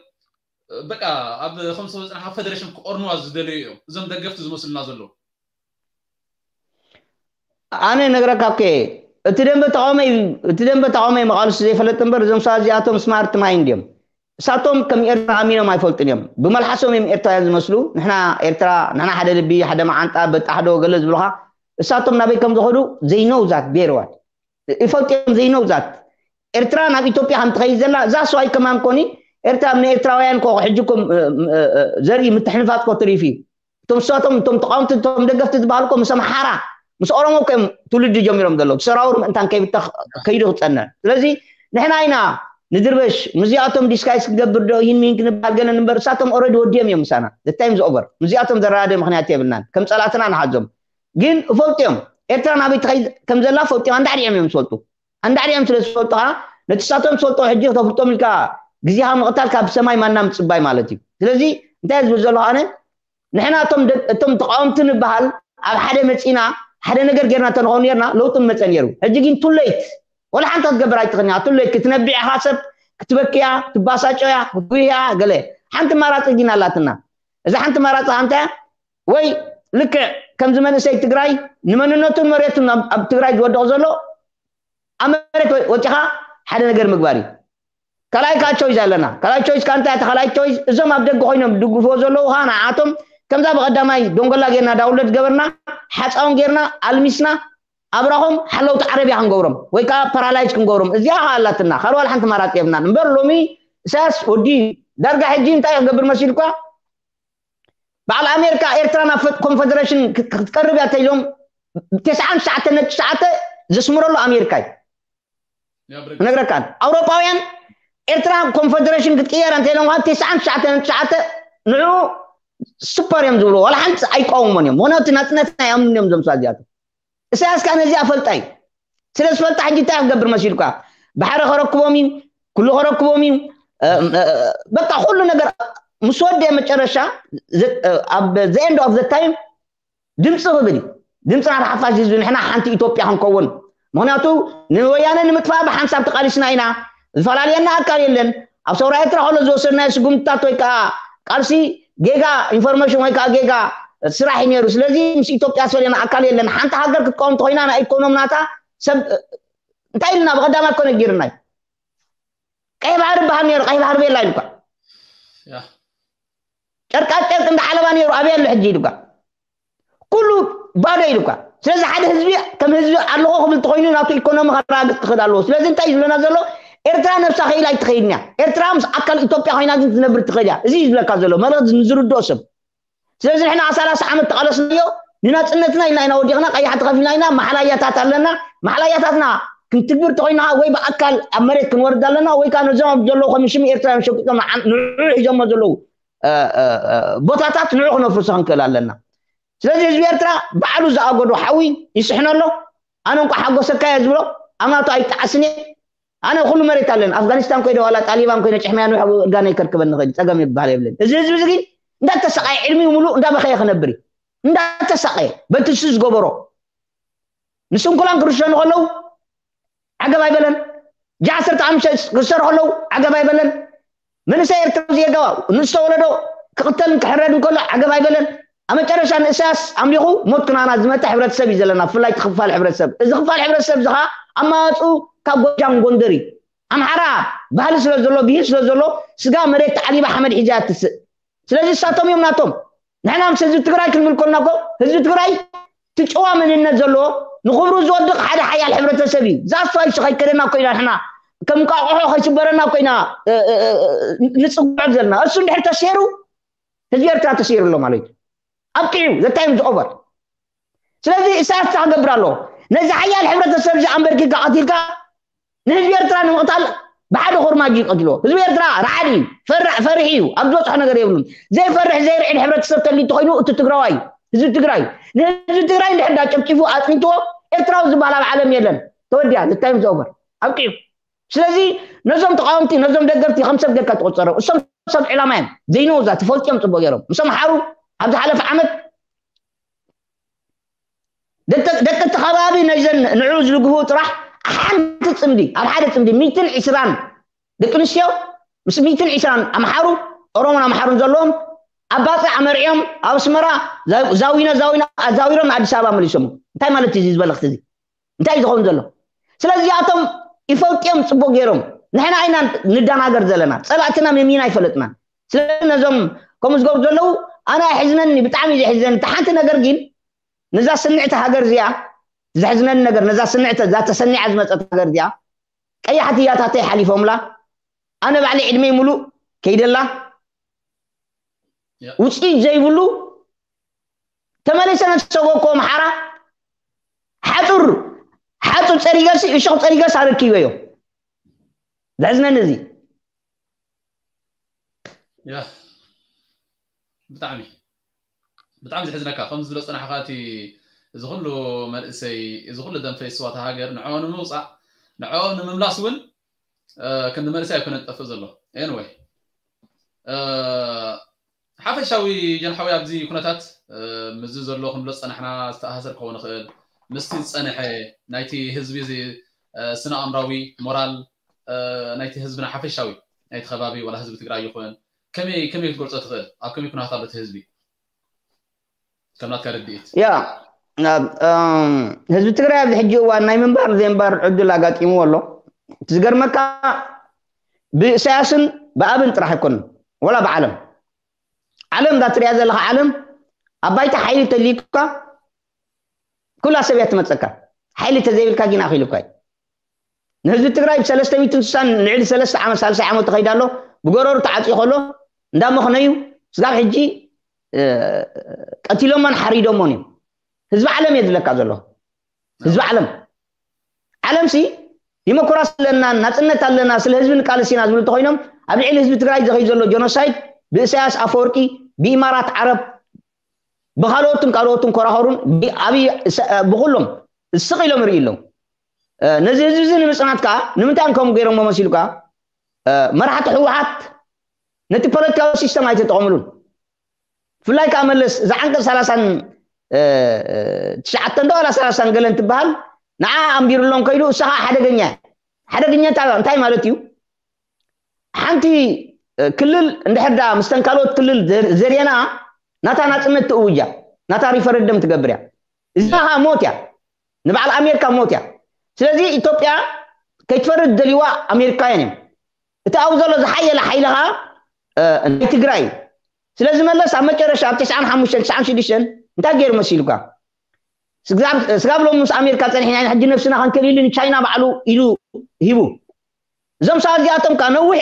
በቃ ኣብ ከምዝተወፅና ካብ ፈደሬሽን ክቆርንዋ ዝደለዩ እዮም እዞም ደገፍቲ ዝመስሉና ዘለዉ። ኣነ ነግረካ እኮ እቲ ደንበ ተቃውሞ እዩ። እቲ ደንበ ተቃውሞ እዩ መቃልሱ ዘይፈለጥ እምበር እዞም ሰባት እዚኣቶም ስማርት ማይንድ እዮም። እሳቶም ከም ኤርትራ ኣሚኖም ኣይፈልጡን እዮም። ብመልሓሶም እዮም ኤርትራውያን ዝመስሉ። ንሕና ኤርትራ ንሕና ሓደ ልቢ ሓደ መዓንጣ በጣሕዶ ገለ ዝብሉካ እሳቶም ናበይ ከም ዝኸዱ they know that very well። ይፈልጡ እዮም they know that ኤርትራ ናብ ኢትዮጵያ ከም ትኸይድ ዘላ that's why ከማን ኮኒ ኤርትራ ኣብ ንኤርትራውያን ኮ ሕጂ ኮም ዘርኢ ምትሕንፋጽ ኮ ትሪፍ እዩ። እቶም እሳቶም እቶም ተቃወምቲ እቶም ደገፍቲ ዝበሃሉ ኮ ምስ ኣምሓራ ምስ ኦሮሞ ኮ እዮም ትውልዲ ጀሚሮም ዘለዉ ሰራውር ምእንታን ከይብተኽ ከይዱ ክጸንዕ። ስለዚ ንሕና ኢና ንድርበሽ ምስዚኣቶም ዲስካይስ ክገብር ዶ ይህን ምሂን ክንበሃል ገለን እምበር እሳቶም ኦረዲ ወዲኦም እዮም ምሳና። The time is over። ምስዚኣቶም ዘረዳድእ ምክንያት የብልናን። ከም ጸላእትና ንሓዞም። ግን እፈልጡ እዮም። ኤርትራ ናበይ ትኸይድ ከም ዘላ ፈልጡ እዮም። ኣንዳዕዲኦም እዮም ዝፈልጡ። ኣንዳዕዲኦም ስለ ዝፈልጡ ከዓ ነቲ ሳቶም ዝፈልጦ ሕጂ ክተፍልጦም ኢልካ ግዜኻ ምቕታል ካብ ሰማይ ማና ምጽባይ ማለት እዩ። ስለዚ እንታይ ዝብል ዘለኹ ኣነ ንሕና እቶም ደ- እቶም ተቃወምቲ ንበሃል ኣብ ሓደ መጺና ሓደ ነገር ጌርና እንተንኸውን ኔርና ለውጢ መጸ ነይሩ። ሕጂ ግን ቱሌት ወላ ሓንቲ ክትገብር ኣይትኽእልን ኢኻ። ቱሌት ክትነብዕ ኢኻ ሰብ ክትበክያ ትባሳጮያ ክትጉህያ ገለ ሓንቲ ማራፂ ግን ኣላትና። እዛ ሓንቲ ማራፂ እንታይ ወይ ልክዕ ከምዚ መንእሰይ ትግራይ ንመንነቱን መሬቱን ኣብ ኣብ ትግራይ ዝወድቕ ዘሎ ኣብ መሬት ወ- ወፂኻ ሓደ ነገር ምግባር እዩ። ካልኣይ ከዓ ቾይዝ ኣለና። ካልኣይ ቾይዝ ከዓ እንታይ እያ? ካልኣይ ቾይዝ እዞም ኣብ ደገ ኮይኖም ድግፍዎ ዘለዉ ከዓ ንዓቶም ከምዛ ብቐዳማይ ዶንጎላ ጌርና ዳውንሎድ ገበርና ሓፃውን ጌርና ኣልሚስና ኣብራኾም ሓለውቲ ዓረብያ ክንገብሮም ወይ ከዓ ፓራላይዝ ክንገብሮም እዚኣ ከዓ ኣላትና ካልእ ዋላ ሓንቲ ማራፂ የብናን እምበር ሎሚ ኢሳያስ ወዲ ዳርጋ ሕጂ እንታይ ክገብር መሲልኳ በዓል ኣሜሪካ ኤርትራ ናብ ኮንፈደሬሽን ክትቀርብ እያ ተኢሎም ተስዓን ትሽዓተ ነጥቢ ትሽዓተ ዘስምረሉ ኣሜሪካ እዩ ክነግረካ ኣውሮፓውያን ኤርትራ ኮንፈደሬሽን ክትቅየር እንተ ኢሎም ከዓ ተስዓን ትሽዓተ ነጥቢ ትሽዓተ ንዑ ሱፐር እዮም ዝብሉ ዋላ ሓንቲ ኣይቃወሞን እዮም ምክንያቱ ናፅነትና ይኣምኑ እዮም ዘምሳ እዚኣቶም ኢሳያስ ከዓ ነዚኣ ፈልጣ እዩ ስለ ዝፈልጣ ሕጂ እንታይ ክገብር መሲልካ ባሕሪ ከረክቦም እዩ ኩሉ ከረክቦም እዩ በቃ ኩሉ ነገር ምስ ወደ መጨረሻ ኣብ the end of the time ድምፂ ክብል እዩ ድምፂ ናት ሓፋሽ ህዝቢ ንሕና ሓንቲ ኢትዮጵያ ክንከውን ምክንያቱ ንወያነ ንምጥፋእ ብሓንሳብ ተቃሊስና ኢና ዝፈላለየና ኣካል የለን ኣብ ሰውራ ኤርትራ ከሎ ዝወሰድናዮ ስጉምትታት ወይ ከዓ ቃልሲ ጌጋ ኢንፎርሜሽን ወይ ከዓ ጌጋ ስራሕ እዩ ነይሩ ስለዚ ምስ ኢትዮጵያ ዝፈለየና ኣካል የለን ሓንቲ ሃገር ክትቀውም ተኮይና ናይ ኢኮኖሚ ናታ ሰብ እንታይ ኢልና ብቀዳማ እኮ ነጊርና እዩ ቀይ ባህሪ በሃል ነይሩ ቀይ ባህሪ ቤላ ኢሉካ ጨርቃ ጨርቅ እንዳ ዓለባ ነይሩ ኣበይ ኣሎ ሕጂ ኢሉካ ኩሉ ባዶ ኢሉካ ስለዚ ሓደ ህዝቢ ከም ህዝቢ ኣለኹ ክብል ተኮይኑ ናቱ ኢኮኖሚ ከረጋግፅ ክኽእል ኣለዎ ስለዚ እንታይ እዩ ዝብለና ዘሎ ኤርትራ ነብሳ ክኢላ ኣይትኸይድን እያ ኤርትራ ምስ ኣካል ኢትዮጵያ ኮይና ግን ትነብር ትኽእል እያ እዚ እዩ ዝብለካ ዘሎ መልእክቲ ንዝርድኦ ሰብ ስለዚ ንሕና ሰላሳ ዓመት ተቓለስናዮ ንናፅነትና ኢና ኢና ወዲቕና ቀያሕቲ ከፊልና ኢና ማሓላያታት ኣለና ማሓላያታትና ክንትግብር ተኮይና ወይ ብኣካል ኣብ መሬት ክንወርድ ኣለና ወይ ከዓ ነዞም ኣብ ዘለዉ ከም ሽም ኤርትራ እዮም ሸቂጦም ንዑ ሒዞሞ ዘለዉ ቦታታት ንዑ ክነፍርሶ ክንክእል ኣለና ስለዚ ህዝቢ ኤርትራ ባዕሉ ዝኣገዶ ሓዊ ይስሕኖ ኣሎ ኣነ እንኳ ሓጎሰካ እየ ዝብሎ ኣብ ናቱ ኣይጣዓስን እየ ኣነ ኩሉ መሬት ኣለኒ ኣፍጋኒስታን ኮይነ ዋላ ጣሊባን ኮይነ ጭሕመያ ንውሕ እርጋነ ይከርክበኒ ኸይድ ፀገም ይበሃል የብለኒ እዚ ህዝቢ እዚ ግን እንዳተሰቃየ ዕድሚኡ ሙሉእ እንዳበኸየ ክነብር እዩ እንዳተሰቃየ በቲ እሱ ዝገበሮ ንስንኩላን ክርሸኑ ከለዉ ዓገብ ኣይበለን ጃ ዓሰርተ ሓሙሽተ ክሰርሑ ከለዉ ዓገብ ኣይበለን መንእሰይ ኤርትራ ዝየጋባ ንዝተወለዶ ክቕተልን ክሕረድን ከሎ ዓገብ ኣይበለን ኣብ መጨረሻ ንእሳያስ ኣምሊኹ ሞት ክናና ዝመፀ ሕብረተሰብ እዩ ዘለና ብፍላይ ክፋል ሕብረተሰብ እዚ ክፋል ሕብረተሰብ እዚ ከዓ ኣማዋፅኡ ካብ ጎጃም ጎንደር እዩ ኣምሓራ ባህሊ ስለ ዘሎ ብሂል ስለ ዘሎ ስጋ መሬት ተዓሊባ ሓመድ ሒዛ ትስእ ስለዚ እሳቶም እዮም ናቶም ንሕና ምስ ህዝቢ ትግራይ ክንብል ከልና ኮ ህዝቢ ትግራይ ትጭዋ መንነት ዘለዎ ንክብሩ ዝወድቕ ሓደ ሓያል ሕብረተሰብ እዩ ዛስፋ ይሱ ከይከደና ኮይና ንሕና ከም ቃቑሖ ከይስበረና ኮይና ንፅጉዖ ዘለና እሱ እንድሕር ተሰይሩ ህዝቢ ኤርትራ ተሰይሩ ኣሎ ማለት እዩ ኣብቂዑ ዘታይም ዝኦቨር ስለዚ ኢሳያስ ክገብር ኣለዎ ነዚ ሓያል ሕብረተሰብ እዚ ኣንበርኪካ ቀቲልካ ንህዝቢ ኤርትራ ንምቕታል ብሓደ ኮርማጅ ይቀትልዎ ህዝቢ ኤርትራ ረዓድ እዩ ፈርሕ ፈሪሒ እዩ ኣብ ዝበፅሖ ነገር የብሉን ዘይፈርሕ ዘይርዕድ ሕብረተሰብ ተልዩ ተኮይኑ እቲ ትግራዋይ ህዝቢ ትግራይ ንህዝቢ ትግራይ እንድሕር ዳጨፍጭፉ ኣፅኒትዎ ኤርትራዊ ዝበሃል ኣብ ዓለም የለን ተወዲያ the time is over ኣብቂዑ ስለዚ ነዞም ተቃወምቲ ነዞም ደገፍቲ ከም ሰብ ጌርካ ትቆፀሮም እሶም ሰብ ዕላማ እዮም ዘይነውዛ ትፈልጥዮም ፅቡቅ ገይሮም ምስ ኣምሓሩ ኣብ ዝሓለፈ ዓመት ደቂ እቲ ከባቢ ነዘን ንዕኡ ዝድግፉ ጥራሕ ሓንቲ ፅምዲ ኣብ ሓደ ፅምዲ ሚትን ዕስራን ደቂ ኣንስትዮ ምስ ሚትን ዕስራን ኣምሓሩ ኦሮሞን ኣምሓሩን ዘለዎም ኣብ ባፅዕ ኣመርዕዮም ኣብ ኣስመራ ዛዊኖ ዛዊኖ ኣዛዊሮም ንኣዲስ ኣበባ መሊሶም እንታይ ማለት እዩ እዚ ዝበለክቲ እዚ እንታይ እዩ ዝኸውን ዘሎ ስለዚ እዚኣቶም ይፈልጥዮም ፅቡቅ ገይሮም ንሕና ኢና ንዳናገር ዘለና ፀላእትና መሚና ኣይፈለጥና ስለዚ ነዞም ከምኡ ዝገብሩ ዘለዉ ኣነ ኣይሕዝነኒ ብጣዕሚ እዩ ዘሕዝነኒ እቲ ሓንቲ ነገር ግን ነዛ ስንዕቲ ሃገር እዚኣ ዘሕዝነኒ ነገር ነዛ ስንዕቲ እዛ ተሰኒዓ ዝመፀት ሃገር እዚኣ ቀያሕቲ እያታተይ ሓሊፎምላ ኣነ ባዕለይ ዕድመይ ሙሉእ ከይደላ ውፅኢት ዘይብሉ ተመሊሰ ነተሰጎኮ ኣምሓራ ሓፁር ሓፁር ፀሪገሲ እሾክ ፀሪገስ ኣረኪበዮ ዘሕዝነኒ እዚ ብጣዕሚ ብጣዕሚ ዘሕዝነካ ከም ዝብሎ ፀናሕካ እቲ እዚ ኩሉ መንእሰይ፣ እዚ ኩሉ ደም ፈይስዋ እታ ሃገር ንዕኦም ንምውፃእ፣ ንዕኦም ንምምላስ እውን ክንዲ መንእሰይ ኣይኮነን ዝጠፍእ ዘሎ። Anyway፣ ሓፈሻዊ ጀንሓዊ ኣብዚ ኩነታት፣ ምስዚ ዘሎ ክንብሎ ዝፀናሕና ዝተኣሳሰር ክኸውን ይኽእል፣ ምስቲ ዝፀንሐ ናይቲ ህዝቢ እዚ ስነ ኣእምራዊ ሞራል ናይቲ ህዝብና ሓፈሻዊ ናይቲ ከባቢ ዋላ ህዝቢ ትግራይ ይኹን ከመይ ከመይ ክትገልፆ ትኽእል? ኣብ ከመይ ኩነታት ኣሎ እቲ ህዝቢ? ከምናትካ ርድኢት። ያ ህዝቢ ትግራይ ኣብዚ ሕጂ እዋን ናይ ምንባር ዘይምንባር ዕድል ኣጋጢምዎ ኣሎ። እቲ ዝገርመካ ብእሳያስን ብኣብን ጥራሕ ኣይኮንን፣ ወላ ብዓለም ዓለም እዛ ትሪያ ዘለካ ዓለም ኣብ ባይታ ሓይሊ ተልዩካ ኩላ ሰብ እያ ትመፀካ። ሓይሊ ተዘይብልካ ግን ኣኺሉካ እዩ። ንህዝቢ ትግራይ ብሰለስተ ሚእትን ስሳን ልዕሊ ሰለስተ ዓመት ሳልሳይ ዓመት ተኸይዳ ኣሎ። ብጎረሩ ተዓፅዩ ከሎ እንዳመኽነዩ ስጋብ ሕጂ ቀቲሎሞን ሓሪዶሞን እዮም። ህዝቢ ዓለም እየ ዝብለካ ዘሎ። ህዝቢ ዓለም ዓለም ሲ ዲሞክራሲ ኣለና፣ ናፅነት ኣለና፣ ስለ ህዝቢ ንቃለስ ኢና ዝብሉ እንተኮይኖም ኣብ ልዕሊ ህዝቢ ትግራይ ዝኸይ ዘሎ ጀኖሳይድ ብእሳያስ ኣፈወርቂ ብኢማራት ዓረብ ብካልኦትን ካልኦትን ኮራኸሩን ብኩሎም ስቕ ኢሎም ርኢ ኣለዉ። ነዚ ህዝቢ እዚ ንምፅናት ከዓ ንምንታይ ከምኡ ገይሮሞ መሲሉ ከዓ መራሕቲ ህወሓት ነቲ ፖለቲካዊ ሲስተም ኣይተጠቐምሉን። ብፍላይ ከዓ መለስ እዛ ዓንቀፅ ሰላሳን ትሽዓተን ዶ ዋላ ሰላሳን ገለን ትበሃል ንዓ ኣንቢሩሎም ከይዱ እሳ ከዓ ሓደገኛ ሓደገኛ እንታይ ማለት እዩ? ሓንቲ ክልል እንድሕር ዳ ምስተን ካልኦት ክልል ዘርየና ናታ ናፅነት ትእውጃ ናታ ሪፈረንደም ትገብር እያ። እዚኣ ከዓ ሞት እያ፣ ንበዓል ኣሜሪካ ሞት እያ። ስለዚ ኢትዮጵያ ከይትፈርድ ደልይዋ ኣሜሪካውያን እዮም። እቲ ኣብኡ ዘሎ ዝሓየለ ሓይሊ ከዓ ናይ ትግራይ እዩ። ስለዚ መለስ ኣብ መጨረሻ ኣብ ትስዓን ሓሙሽተን ትስዓን ሽዱሽተን እንታይ ገይሩ መሲሉካ? ስጋብ ሎሚ ምስ ኣሜሪካ ፀኒሕና ኢና ሕጂ ነብስና ከንክእል ኢሉ ንቻይና ባዕሉ ኢሉ ሂቡ። እዞም ሰባት እዚኣቶም ከዓ ነዊሕ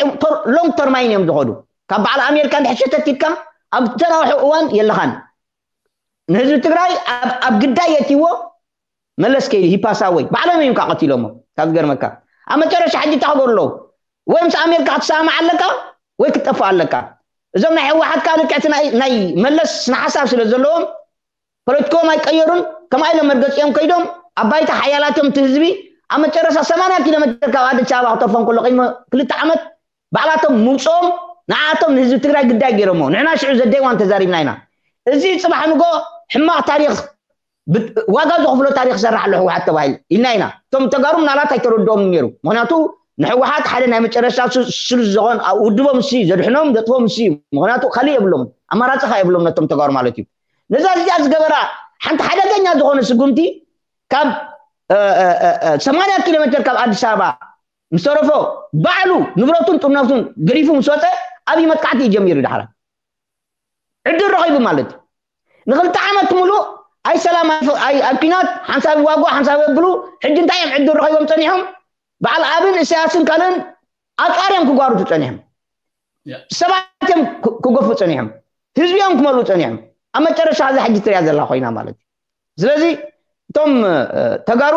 ሎንግ ተርማይን እዮም ዝኸዱ። ካብ በዓል ኣሜሪካ እንድሕር ሸተት ኢልካ ኣብ ተናውሑ እዋን የለኻን። ንህዝቢ ትግራይ ኣብ ግዳይ የትይዎ መለስ ከይዱ ሂፓሳ ወይ ባዕሎም እዮም ከዓ ቀቲሎሞ። ካብ ዝገርመካ ኣብ መጨረሻ ሕጂ እንታይ ክገብሩ ኣለዉ? ወይ ምስ ኣሜሪካ ክትሰማማዕ ኣለካ ወይ ክትጠፍእ ኣለካ። እዞም ናይ ህወሓት ከዓ ልክዕቲ ናይ መለስ ስነ ሓሳብ ስለ ዘለዎም ፖለቲካኦም ኣይቀየሩን። ከምኣ ኢሎም መርገፂኦም ከይዶም ኣብ ባይታ ሓያላት እዮም። እቲ ህዝቢ ኣብ መጨረሻ ሰማንያ ኪሎ ሜትር ካብ ኣዲስ ኣበባ ክተርፎም ከሎ ቅድሚ ክልተ ዓመት ባዕላቶም ምውፅኦም ንዓኣቶም ንህዝቢ ትግራይ ግዳይ ገይሮሞ። ንሕና ሽዑ ዘደይዋን ተዛሪብና ኢና። እዚ ፅባሕ ንጎ ሕማቕ ታሪክ ዋጋ ዝኽፍሎ ታሪክ ይሰርሕ ኣሎ ህወሓት ተባሂሉ ኢልና ኢና። እቶም ተጋሩ ምናልባት ኣይተረድኦም ነይሩ። ምክንያቱ ንህወሓት ሓደ ናይ መጨረሻ ስሉስ ዝኾን ውድቦም እሱ ዘድሕኖም ዘጥፎም እሱ እዩ። ምክንያቱ ካሊእ የብሎም፣ ኣማራፂ ካ የብሎም ነቶም ተጋሩ ማለት እዩ። ነዛ እዚኣ ዝገበራ ሓንቲ ሓደገኛ ዝኾነ ስጉምቲ ካብ ሰማንያ ኪሎ ሜትር ካብ ኣዲስ ኣበባ ምስ ተረፎ ባዕሉ ንብረቱን ጥርነቱን ገዲፉ ምስ ወፀ ኣብይ መጥቃዕቲ እዩ ጀሚሩ። ዳሕራ ዕድል ረኺቡ ማለት እዩ። ንክልተ ዓመት ሙሉእ ኣይ ሰላም ኣይ ኩናት ሓንሳብ ይዋግኡ ሓንሳብ የብሉ። ሕጂ እንታይ እዮም ዕድል ረኺቦም ፀኒሖም? በዓል ኣብን እሳያስን ካልእን ኣፅዋር እዮም ክጓርቱ ፀኒሖም። ሰባት እዮም ክገፉ ፀኒሖም። ህዝቢ እዮም ክመልኡ ፀኒሖም። ኣብ መጨረሻ እዛ ሕጂ ትሪኣ ዘላ ኮይና ማለት እዩ። ስለዚ እቶም ተጋሩ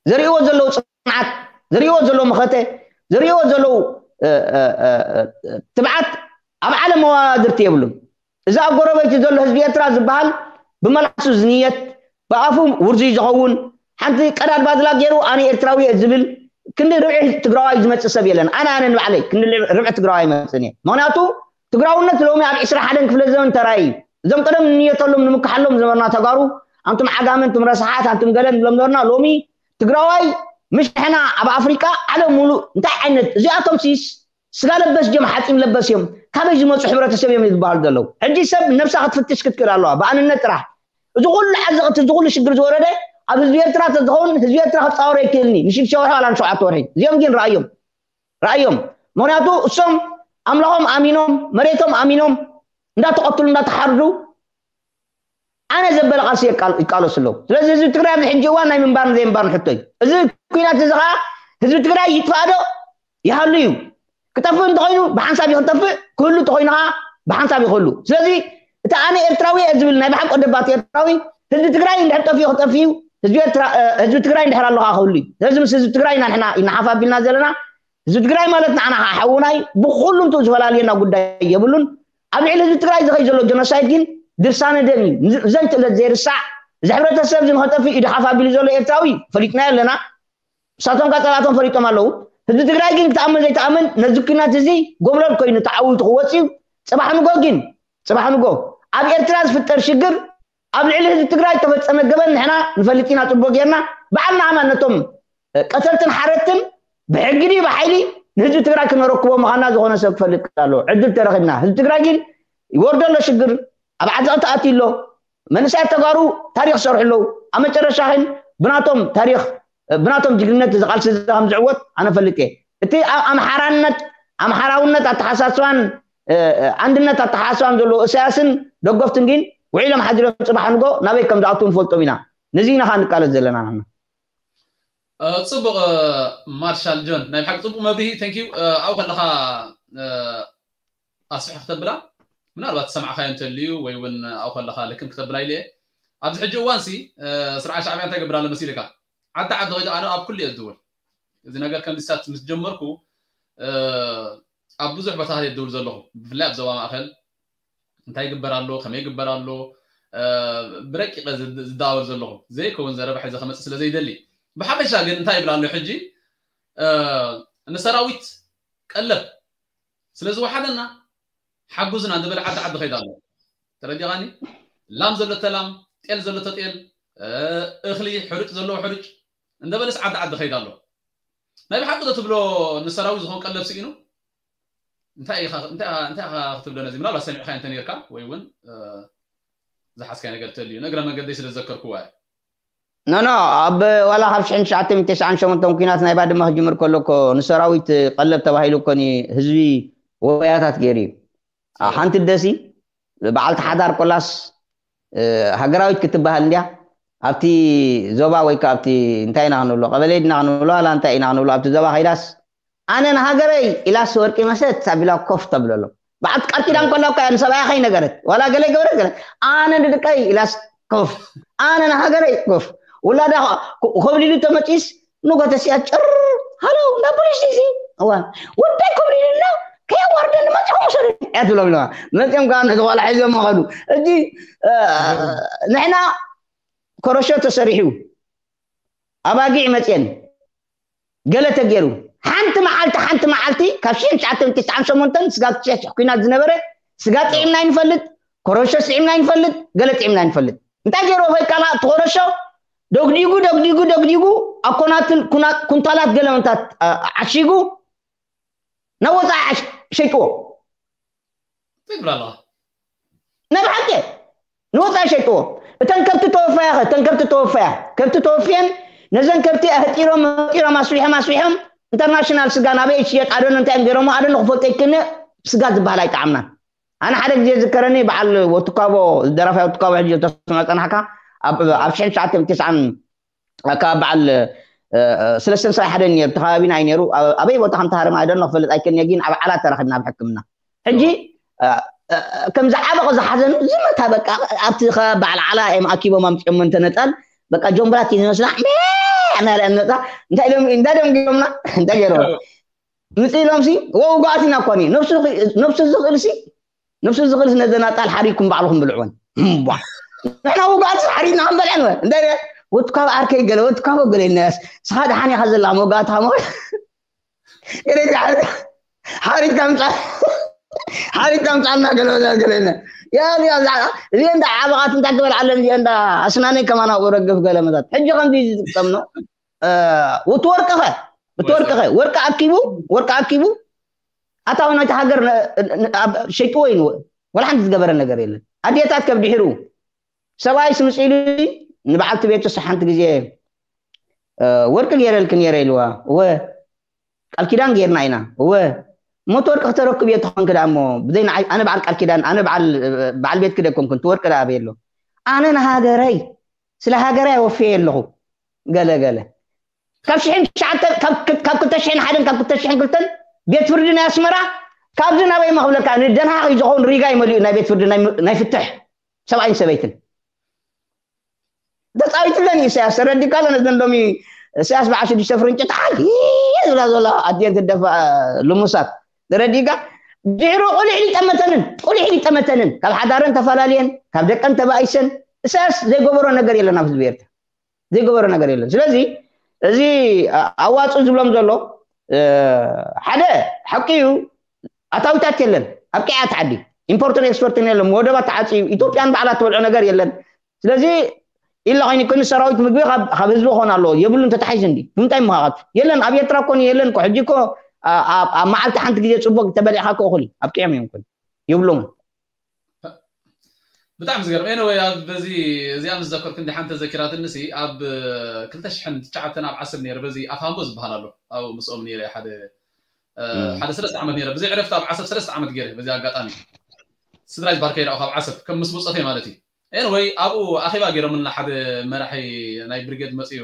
ዘርእዎ ዘለዉ ፅንዓት፣ ዘርእዎ ዘለዉ መኸተ፣ ዘርእዎ ዘለዉ ትብዓት ኣብ ዓለም መዋድርቲ የብሉን። እዚ ኣብ ጎረበይቲ ዘሎ ህዝቢ ኤርትራ ዝበሃል ብመልሓሱ ዝንየት ብኣፉ ውርዙይ ዝኸውን ሓንቲ ቀዳድ ባድላ ገይሩ ኣነ ኤርትራዊ እየ ዝብል ክንዲ ርብዒ ትግራዋይ ዝመፅእ ሰብ የለን። ኣነ ኣነ ንባዕለይ ክንዲ ርብዒ ትግራዋይ ይመፅእን እየ። ምክንያቱ ትግራውነት ሎሚ ኣብ ዕስራ ሓደን ክፍለ ዘመን ተራእዩ እዩ። እዞም ቀደም ንንየተሎም ንምክሓሎም ዝነበርና ተጋሩ ኣንቱም ዓጋመ፣ ኣንቱም ረሳሓት፣ ኣንቱም ገለ ንብሎም ነበርና። ሎሚ ትግራዋይ ምሽ ንሕና ኣብ ኣፍሪቃ ዓለም ሙሉእ እንታይ ዓይነት እዚኣቶም ሲስ ስጋ ለበስ ድዮም ሓፂን ለበስ እዮም። ካበይ ዝመፁ ሕብረተሰብ እዮም ዝበሃሉ ዘለዉ። ሕጂ ሰብ ነብሳ ክትፍትሽ ክትክእል ኣለዋ ብኣንነት ጥራሕ። እዚ ኩሉ ዓዘቕቲ እዚ ኩሉ ሽግር ዝወረደ ኣብ ህዝቢ ኤርትራ ተዝኸውን ህዝቢ ኤርትራ ክፃወሮ ይክእልኒ ንሽዱሽተ ወርሒ ዋላ ንሸውዓተ ወርሒ። እዚኦም ግን ረኣዮም ረኣዮም። ምክንያቱ እሶም ኣምላኾም ኣሚኖም መሬቶም ኣሚኖም እንዳተቐትሉ እንዳተሓርዱ ኣነ ዘበለ ቃልሲ ይቃለሱ ኣለዉ። ስለዚ ህዝቢ ትግራይ ኣብዚ ሕጂ እዋን ናይ ምንባርን ዘይምንባርን ሕቶ እዩ። እዚ ኩናት እዚ ከዓ ህዝቢ ትግራይ ይጥፋእ ዶ ይሃሉ እዩ። ክጠፍእ እንተኮይኑ ብሓንሳብ እዩ ክጠፍእ፣ ክህሉ እንተኮይኑ ከዓ ብሓንሳብ እዩ ክህሉ። ስለዚ እቲ ኣነ ኤርትራዊ እየ ዝብል ናይ ብሓቂ ወደባት ኤርትራዊ ህዝቢ ትግራይ እንድሕር ጠፊኡ ክጠፍእ እዩ። ህዝቢ ትግራይ እንድሕር ኣለካ ክህሉ እዩ። ስለዚ ምስ ህዝቢ ትግራይ ኢና ንሕና ይናሓፍ ኣቢልና ዘለና። ህዝቢ ትግራይ ማለት ንዓና ከዓ ሓውናይ ብኩሉ እንትኡ ዝፈላልየና ጉዳይ የብሉን። ኣብ ልዕሊ ህዝቢ ትግራይ ዝኸይ ዘሎ ጀኖሳይድ ግን ድርሳነ ደም እዩ። ዘንትእለት ዘይርሳዕ እዚ ሕብረተሰብ እዚ ንኸጠፍእ ኢዱ ሓፍ ኣቢሉ ዘሎ ኤርትራዊ ፈሊጥናዮ ኣለና። ንሳቶም ካ ጸላእቶም ፈሊጦም ኣለዉ። ህዝቢ ትግራይ ግን ክተኣምን ዘይተኣምን ነዚ ኲናት እዚ ጎብለል ኮይኑ ተዓዊቱ ክወፅእ እዩ። ጽባሕ ንጎ ግን ጽባሕ ንጎ ኣብ ኤርትራ ዝፍጠር ሽግር ኣብ ልዕሊ ህዝቢ ትግራይ ተፈጸመ ገበን ንሕና ንፈልጥ ኢና ጽቡቅ ጌርና። ባዕልና ኣማን ነቶም ቀተልትን ሓረድትን ብሕጊ ድዩ ብሓይሊ ንህዝቢ ትግራይ ክነረክቦ ምዃንና ዝኾነ ሰብ ክፈልጥ ኣለዎ። ዕድል ተረኺብና። ህዝቢ ትግራይ ግን ይወርዶ ኣሎ ሽግር፣ ኣብ ዓዘቕቲ ኣትዩ ኣሎ። መንእሰያት ተጋሩ ታሪኽ ይሰርሑ ኣለዉ። ኣብ መጨረሻ ግን ብናቶም ታሪኽ ብናቶም ጅግንነት እዚ ቃልሲ እዚ ከም ዝዕወት ኣነ ፈልጥ እየ። እቲ ኣምሓራነት ኣምሓራውነት ኣተሓሳስባን ኣንድነት ኣተሓሳስባን ዘለዎ እሳያስን ደገፍቱን ግን ውዒሎም ሓዲሮም ጽባሕ ንጎ ናበይ ከም ዝኣትዉ ንፈልጦም ኢና። ነዚ ኢና ኸዓ ንቃለስ ዘለና ንሕና። ጽቡቕ ማርሻል ጆን፣ ናይ ብሓቂ ጽቡቕ መብርሂ። ተንኪዩ። ኣብኡ ከለኻ ኣስፍሕ ክተብላ ምናልባት ሰማዕካዮ እንተልዩ ወይ እውን ኣብኡ ከለኻ ልክም ክተብላ ኢለ እየ። ኣብዚ ሕጂ እዋን ሲ ስርዓት ሻዕብያ እንታይ ገብር ኣሎ መሲልካ? ዓዲ ዓዲ ከይዱ ኣነ ኣብ ኩሉ እየ ዝድውል። እዚ ነገር ከም ዝሳት ምስ ጀመርኩ ኣብ ብዙሕ ቦታ እየ ዝድውል ዘለኹ፣ ብፍላይ ኣብ ዞባ ማእኸል እንታይ ይግበር ኣሎ፣ ከመይ ይግበር ኣሎ ብረቂቐ ዝደዋወል ዘለኹ፣ ዘይከውን ዘረባ ሒዘ ከመፅእ ስለ ዘይደሊ። ብሓፈሻ ግን እንታይ ይብል ኣሎ ሕጂ ንሰራዊት ቀለብ ስለ ዝወሓደና ሓጉዝና እንዳበለ ዓዲ ዓዲ ከይዳ ኣሎ። ተረዲኻኒ? ላም ዘሎ ተላም፣ ጤል ዘሎ ተጤል፣ እኽሊ ሕሩጭ ዘለዎ ሕሩጭ እንዳበለስ ዓዲ ዓዲ ከይዳ ኣሎ። ናይ ብሓቂ ዶ ትብሎ ንሰራዊት ዝኾን ቀለብ ስኢኑ? እንታይ ኢኻ እንታይ ኢኻ ክትብሎ ነዚ? ምናልባት ሰሚዕካ እንተ ነርካ ወይ እውን ዝሓዝካይ ነገር ተልዩ ንእግረ መንገደይ ስለ ዝዘከርኩዋ እየ። ኖ ኖ ኣብ ዋላ ካብ ሽሕን ትሽዓተ ሚእትን ተስዓን ሸሞንተን ኩናት ናይ ባድመ ክጅምር ከሎ እኮ ንሰራዊት ቀለብ ተባሂሉ እኮ ህዝቢ ወያታት ገይሩ እዩ። ሓንቲ ደሲ በዓልቲ ሓዳር ቆላስ ሃገራዊት ክትበሃል እንድያ ኣብቲ ዞባ ወይ ከዓ ኣብቲ እንታይ ኢና ክንብሎ ቀበሌ ድና ክንብሎ ኣላ እንታይ ኢና ክንብሎ ኣብቲ ዞባ ከይዳስ ኣነ ንሃገረይ ኢላስ ወርቂ መሰት ኣቢላ ኮፍ ተብለሎም። በዓልቲ ቃል ኪዳን ከላ እኮ እያ ንሰብኣያ ከይነገረት ዋላ ገለ ገበረት ገለ ኣነ ንደቀይ ኢላስ ኮፍ ኣነ ንሃገረይ ኮፍ ውላዳ ኮብሊሉ ተመፂስ ንጎተስያ ጭር ሃሎ እንዳ ፖሊስ ዲሲ እዋ ወዳይ ኮብሊሉ ኣሎ ከየዋርደኒ መፅኹም ውሰዱ እያ ትብሎም ኢለዋ። መፅኦም ከዓ ነቲ ቆልዓ ሒዞም ከዱ። ሕጂ ንሕና ኮረሾ ተሰሪሑ ኣባጊዕ መፅየን ገለ ተገይሩ ሓንቲ መዓልቲ ሓንቲ መዓልቲ ካብ ሽሕን ትሽዓተ ሚእትን ተስዓን ሸሞንተን ስጋብ ትሽሕ ኩናት ዝነበረ ስጋ ጥዒምና ይንፈልጥ፣ ኮረሾ ጥዒምና ይንፈልጥ፣ ገለ ጥዒምና ይንፈልጥ። እንታይ ገይርዎ ፈይቃና እቲ ኮረሾ ደግዲጉ ደግዲጉ ደግዲጉ ኣብ ኮናትን ኩንታላት ገለ ምንታት ዓሺጉ ናብ ወፃኢ ሸይጥዎ። ትብላ ኣለዋ። ናይ ብሓቂ ንወፃኢ ሸይጥዎ። እተን ከብቲ ተወፈያ ኸ እተን ከብቲ ተወፈያ ከብቲ ተወፍየን ነዘን ከብቲ ኣህጢሮም ኣህጢሮም ኣስቢሖም ኣስቢሖም ኢንተርናሽናል ስጋ ናበይ ይሽየጥ ኣደን እንታይ እዮም ገይሮሞ ኣደን ክፈልጦ ይክነ ስጋ ዝበሃል ኣይጠዓምናን። ኣነ ሓደ ግዜ ዝከረኒ በዓል ወትካቦ ደራፋይ ወትካቦ ሕጂ ተስማ ፀናሕካ ኣብ ሽሕን ትሽዓተ ሚእትን ተስዓን ካብ በዓል ስለስተን ሰብዓ ሓደን ነይሩ ተኸባቢና እዩ ነይሩ። ኣበይ ቦታ ከም ተሃረመ ኣይደኖ ክፈልጥ ኣይክእልን እየ፣ ግን ኣብ ዓላ ተረኺብና ኣብ ሕክምና። ሕጂ ከምዚ ዓበቕ ዝሓዘኑ ዝመታ በቃ ኣብቲ ከባቢ በዓል ዓላ እዮም ኣኪቦም ኣምፅኦም እንተነጣል በቃ ጆምብራት እዩ ዝመስላ እናለ መፃ እንታይ ኢሎም እንታይ ደም ገይሮምና እንታይ ገይሮም ምፅ ኢሎም ሲ ወውጋእት ኢና እኮ ነብሱ ዝኽእል ሲ ነብሱ ዝኽእል ነዘን ኣጣል ሓሪድኩም ባዕልኹም ብልዕወን። እምቧ ንሕና ውግኣት ሓሪድና ክንበልዐን ወ እንታይ ወትካብ ዓርከይ ገለ ወትካቦ ገለ ኢልናያስ ስኻ ደሓን ኢኻ ዘላ መውጋእት ሃሞ ሓሪድካ ምፃ ሓሪድካ ምፃልና ገለ ወዛ ገለ ኢልና ያ ያ እዚኣ እንዳ ዓበቓት እንታይ ክበልዓለን እዚኣ እንዳ ኣስናነይ ከማን ኣብኡ ረግፍ ገለ መዛት ሕጂ ከምዚ ዝጥቀምኖ እቲ ወርቅኸ እቲ ወርቅኸ ወርቂ ኣኪቡ ወርቂ ኣኪቡ ኣታዊ ናይቲ ሃገር ሸይጥዎ እዩ ወላ ሓንቲ ዝገበረ ነገር የለን። ኣዴታት ከብድሕሩ ሰብኣይ ስምፅኢሉ ንበዓልቲ ቤቱ ሓንቲ ግዜ ወርቂ ገይረልክ ነይረ ኢልዋ እወ ቃል ኪዳን ጌርና ኢና እወ ሞት ወርቂ ክተረክብ እየ ተኾንክ ዳ እሞ ብዘይ ንዓይ ኣነ በዓል ቃል ኪዳን ኣነ በዓል ቤትክ ደ ኮንኩ እቲ ወርቂ ዳ ኣበይ ኣሎ ኣነ ንሃገረይ ስለ ሃገረይ ኣወፍየ ኣለኹ ገለ ገለ ካብ ሽሕን ትሽዓተ ካብ ክልተ ሽሕን ሓደን ካብ ክልተ ሽሕን ክልተን ቤት ፍርዲ ናይ ኣስመራ ካብዚ ናበይ መኽብለካ ንደንሃኽ እዩ ዝኸውን ሪጋ ይመሊኡ ናይ ቤት ፍርዲ ናይ ፍትሕ ሰብኣይን ሰበይትን ተፃዊትለን እዩ ኢሳያስ ተረዲካ ኣሎ ነዘን ሎሚ ኢሳያስ በዓል ሽዱሽተ ፍርንጭ ተዓል ዝብላ ዘሎ ኣድየን ትደፋ ልሙሳት ተረዲካ ድሕሩ ቁሊሕ ሊጠመተንን ቁሊሕ ሊጠመተንን ካብ ሓዳረን ተፈላለየን ካብ ደቀን ተባኢሰን እሳያስ ዘይገበሮ ነገር የለን ኣብ ህዝቢ ኤርትራ፣ ዘይገበሮ ነገር የለን። ስለዚ እዚ ኣዋፅእ ዝብሎም ዘሎ ሓደ ሓቂ እዩ። ኣታዊታት የለን ኣብ ቅዓት ዓዲ፣ ኢምፖርትን ኤክስፖርትን የለን፣ ወደባት ተዓፅዩ፣ ኢትዮጵያን ባዕላ ትበልዖ ነገር የለን። ስለዚ ኢላ ኮይኑ ኮይኑ ሰራዊት ምግቢ ካብ ህዝቢ ክኾን ኣለዎ የብሉን። ተታሒዙ እንዲ ብምንታይ ምኻኻት የለን ኣብ ኤርትራ ኮን የለን ኮ ሕጂ ኮ ኣብ መዓልቲ ሓንቲ ግዜ ፅቡቅ ተበሊዕካ ኮ እኹል ኣብ ቅዮም እዮም ኮን የብሎም። ብጣዕሚ ዝገርም። ኤኒወይ ኣብ በዚ እዚኣ ምስ ዘከርኩ እንዲ ሓንቲ ዘኪራትኒ ሲ ኣብ ክልተ ሽሕን ትሽዓተን ኣብ ዓስር ነይረ በዚ ኣፋምቦ ዝበሃል ኣሎ ኣብ ምስኦም ነይረ ሓደ ሓደ ሰለስተ ዓመት ነይረ ብዘይ ዕረፍቲ ኣብ ዓሰብ ሰለስተ ዓመት ገይረ በዚ ኣጋጣሚ ስድራይ ባርከ ይረኣኹ ኣብ ዓሰብ ከም ምስ ብፆተይ ማለት እዩ። ኤኒወይ ኣብኡ ኣኼባ ገይሮምልና ሓደ መራሒ ናይ ብሪጌድ መፅኡ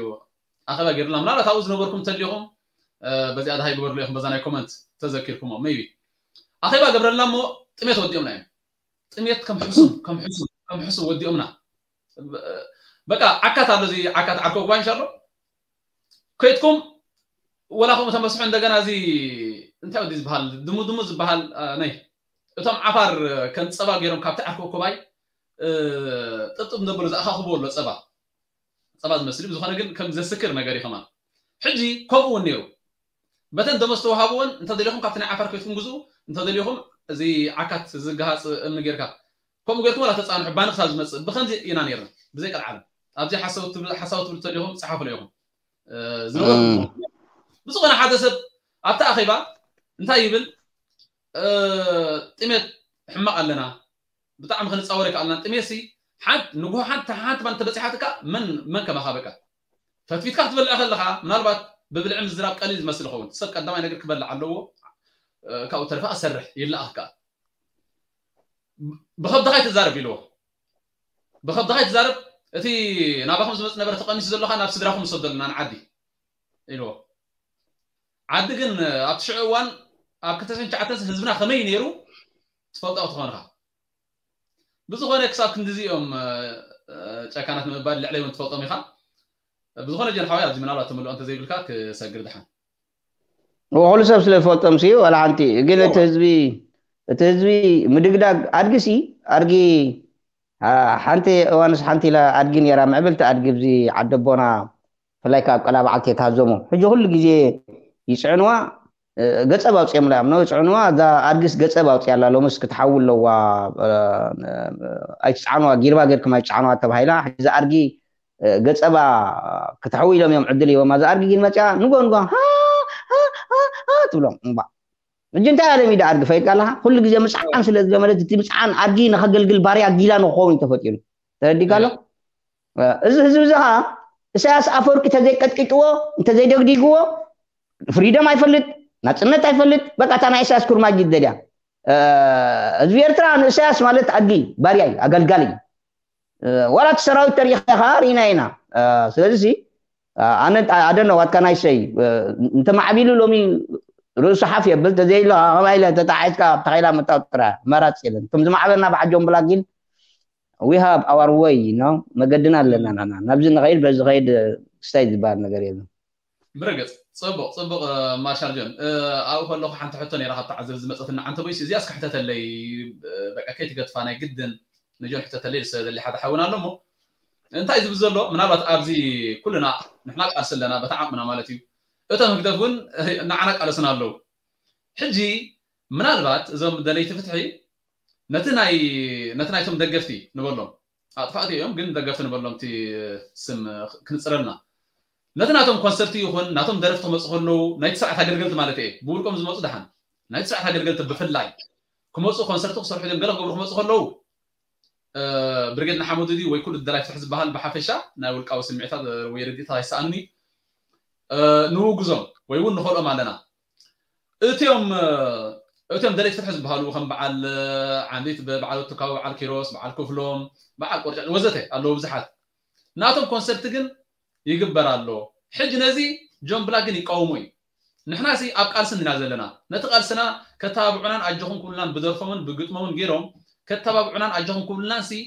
ኣኼባ ገይሩና ምናልባት ኣብኡ ዝነበርኩም እንተሊኹም በዚኣ ድሃይ ግበርሉ ኢኹም በዛ ናይ ኮመንት ተዘኪርኩሞ ሜይቢ ኣኼባ ገብረልና እሞ ጥሜት ወዲኦምና እዮም። ጥሜት ከም ሕሱም ከም ሕሱም ከም ሕሱም ወዲኦምና። በቃ ዓካት ኣሎ እዚ ዓካት ዓርኮ ጉባኤ እንሻሎ ከይድኩም ወላ ከምኡ ተመስሑ እንደገና እዚ እንታይ ወዲ ዝበሃል ድሙ ድሙ ዝበሃል ናይ እቶም ዓፋር ከም ፀባ ገይሮም ካብቲ ዓርኮ ኮባይ ጥብጥብ እንደበሉ ዝኣኻኽቦ ኣሎ ፀባ ፀባ ዝመስል ብዝኾነ ግን ከም ዘስክር ነገር እዩ ከማን ሕጂ ከምኡ እውን ነይሩ በተን ደሞዝ ተዋሃብዎን እንተደሊኹም ካብቲ ናይ ዓፋር ከይትኩም ግዝኡ እንተደሊኹም እዚ ዓካት ዝገሃፅ እምኒ ጌርካ ከምኡ ጌርኩም ወላ ተፃንሑ ባኒ ክሳብ ዝመፅእ ብከምዚ ኢና ነይርና ብዘይ ቀልዓለም ኣብዚ ሓሳዊ ትብሉ ተሊኹም ፀሓፉ ኢኹም ዝነበርኩም ብዝኾነ ሓደ ሰብ ኣብቲ ኣኼባ እንታይ ይብል ጥሜት ሕማቕ ኣለና ብጣዕሚ ክንፃወር ይከኣልና ጥሜት ሲ ሓንቲ ንጉሆ ሓንቲ ሓንቲ ባን ተበፂሓትካ መን መን ከማኻ በቃ ፈትፊትካ ክትበልዕ ከለኻ ምናልባት ብብልዒ ምዝራብ ቀሊል ዝመስል ይኸውን ሰብ ቀዳማይ ነገር ክበልዕ ኣለዎ ካብኡ ተሪፋ ክሰርሕ ይለኣኽ ከኣ ብኸብድኻ ይትዛረብ ኢልዎ ብኸብድኻ ይትዛረብ እቲ ናባኹም ዝመፅ ነበረ ተቐኒሱ ዘለኻ ናብ ስድራኹም ሰደሉና ንዓዲ ኢልዎ ዓዲ ግን ኣብቲ ሽዑ እዋን ኣብ ክልተ ሽሕን ትሽዓተን ህዝብና ከመይ ነይሩ ትፈልጦ ክትኾንኻ ብዝኾነ ክሳብ ክንድዚ እዮም ጨካናት ንምባል ልዕለይ እውን ትፈልጦም ኢኻ ብዝኾነ ጀን ሓዋይ ኣብዚ ምናልባት ተመልኦ እንተዘይብልካ ክሰግር ድሓን ኩሉ ሰብ ስለ ዝፈልጦም ሲ ዋላ ሓንቲ ግን እቲ ህዝቢ እቲ ህዝቢ ምድግዳግ ኣድጊ ሲ ኣድጊ ሓንቲ እዋንስ ሓንቲ ኢላ ኣድጊ ነይራ ምዕብልቲ ኣድጊ ብዚ ዓደቦና ብፍላይ ካብ ቀላ በዓልቲ የትሃዘሙ ሕጂ ኩሉ ግዜ ይፅዕንዋ ገፀብ ኣውፅኦምላ እዮም ነው ይፅዕንዋ እዛ ኣድጊስ ገፀብ ኣውፅያ ኣላ ሎምስ ክትሓዊ ኣለዋ ኣይትፅዓንዋ ጊርባ ጌርኩም ኣይትፅዓንዋ ተባሂላ ሕጂ እዛ ኣድጊ ገፀባ ክትሕዊ ኢሎም እዮም ዕድል ሂቦማ እዛ ኣድጊ ግን መፅያ ንጎ ንጎ ትብሎም እምባ ሕጂ እንታይ ኣለሚዳ ኣድጊ ፈይድካ ኣለካ ኩሉ ግዜ ምፅዓን ስለ ዝለመደት እቲ ምፅዓን ኣድጊ ንከገልግል ባርያ ጊላ ንክኸውን እዩ ተፈጢሩ ተረዲካ ኣሎ እዚ ህዝቢ እዚ ከዓ ኢሳያስ ኣፈወርቂ እንተዘይቀጥቂጥዎ እንተዘይደግዲግዎ ፍሪደም ኣይፈልጥ ናፅነት ኣይፈልጥ በቃ እታ ናይ ኢሳያስ ኩርማጅ ይደልያ ህዝቢ ኤርትራ ንኢሳያስ ማለት ኣድጊ ባርያ እዩ ኣገልጋሊ እዩ ዋላ እቲ ሰራዊት ተሪኢኻ ርኢና ኢና ስለዚ ኣነ ኣደነ ዋትካ ናይ ሰይ እንተማዕቢሉ ሎሚ ርእሱ ሓፍ የብል ተዘይሎ ከማይ ኢለ ተጣሒስካ ኣብታ ከይላ ምእታው ጥራይ ኣማራፂ የለን እቶም ዝማዕበልና ብዓጆም ብላ ግን we have our way you know መገድና ኣለና ናና ናብዚ ንኸይድ በዚ ኸይድ ክስታይ ዝበሃል ነገር የለን ብርግፅ ፅቡቅ ፅቡቅ ማሻል ጆን ኣብኡ ከለኩ ሓንቲ ሕቶ ነይራ ካብ ተዓዘብ ዝመፀትና ዓንተ ቦይስ እዚኣ እስከ ሕተተለይ በቃ ከይትገትፋ ናይ ግድን ንጆን ሕተተለይ ዝሰደሊ ሓደ ሓውን ኣሎ እሞ እንታይ ዝብል ዘሎ ምናልባት ኣብዚ ኩልና ንሕና ቃልሲ ኣለና በታ ዓቕምና ማለት እዩ እቶም ህግደፍ እውን ንዓና ቃለሱና ኣለዉ ሕጂ ምናልባት እዞም ደለይቲ ፍትሒ ነቲ ናይ ነቲ ናይቶም ደገፍቲ ንበሎም ኣጥፋእቲ እዮም ግን ደገፍቲ ንበሎም እቲ ስም ክንፅረልና ነቲ ናቶም ኮንሰርት ይኹን ናቶም ደረፍቲ ክመፁ ከለዉ ናይቲ ስርዓት ኣገልገልቲ ማለት እየ ብውልቆም ዝመፁ ደሓን ናይቲ ስርዓት ኣገልገልቲ ብፍላይ ክመፁ ኮንሰርት ክሰርሑ እዮም ገለ ክገብሩ ክመፁ ከለዉ ብርጌድ ንሓመዱ ድዩ ወይ ኩሉ ደላይ ፍትሒ ዝበሃል ብሓፈሻ ናይ ውልቃዊ ስምዒታት ወይ ርድኢታት ኣይሰኣኑን እዩ ንውግዞም ወይ እውን ንኸልኦም ኣለና እቲኦም እቲኦም ደለይቲ ፍትሒ ዝበሃሉ ከም በዓል ዓንዲት በዓል ወትካዊ በዓል ኪሮስ በዓል ክፍሎም በዓል ቆርጫጭ ወዘተ ኣለዉ ብዙሓት ናቶም ኮንሰርት ግን ይግበር ኣሎ ሕጂ ነዚ ጆን ብላክ ግን ይቃወሞ እዩ ንሕና ሲ ኣብ ቃልሲ እንዲና ዘለና ነቲ ቃልስና ከተባብዑናን ኣጆኹም ክብሉናን ብደርፎምን ብግጥሞምን ገይሮም ከተባብዑናን ኣጆኹም ክብሉናን ሲ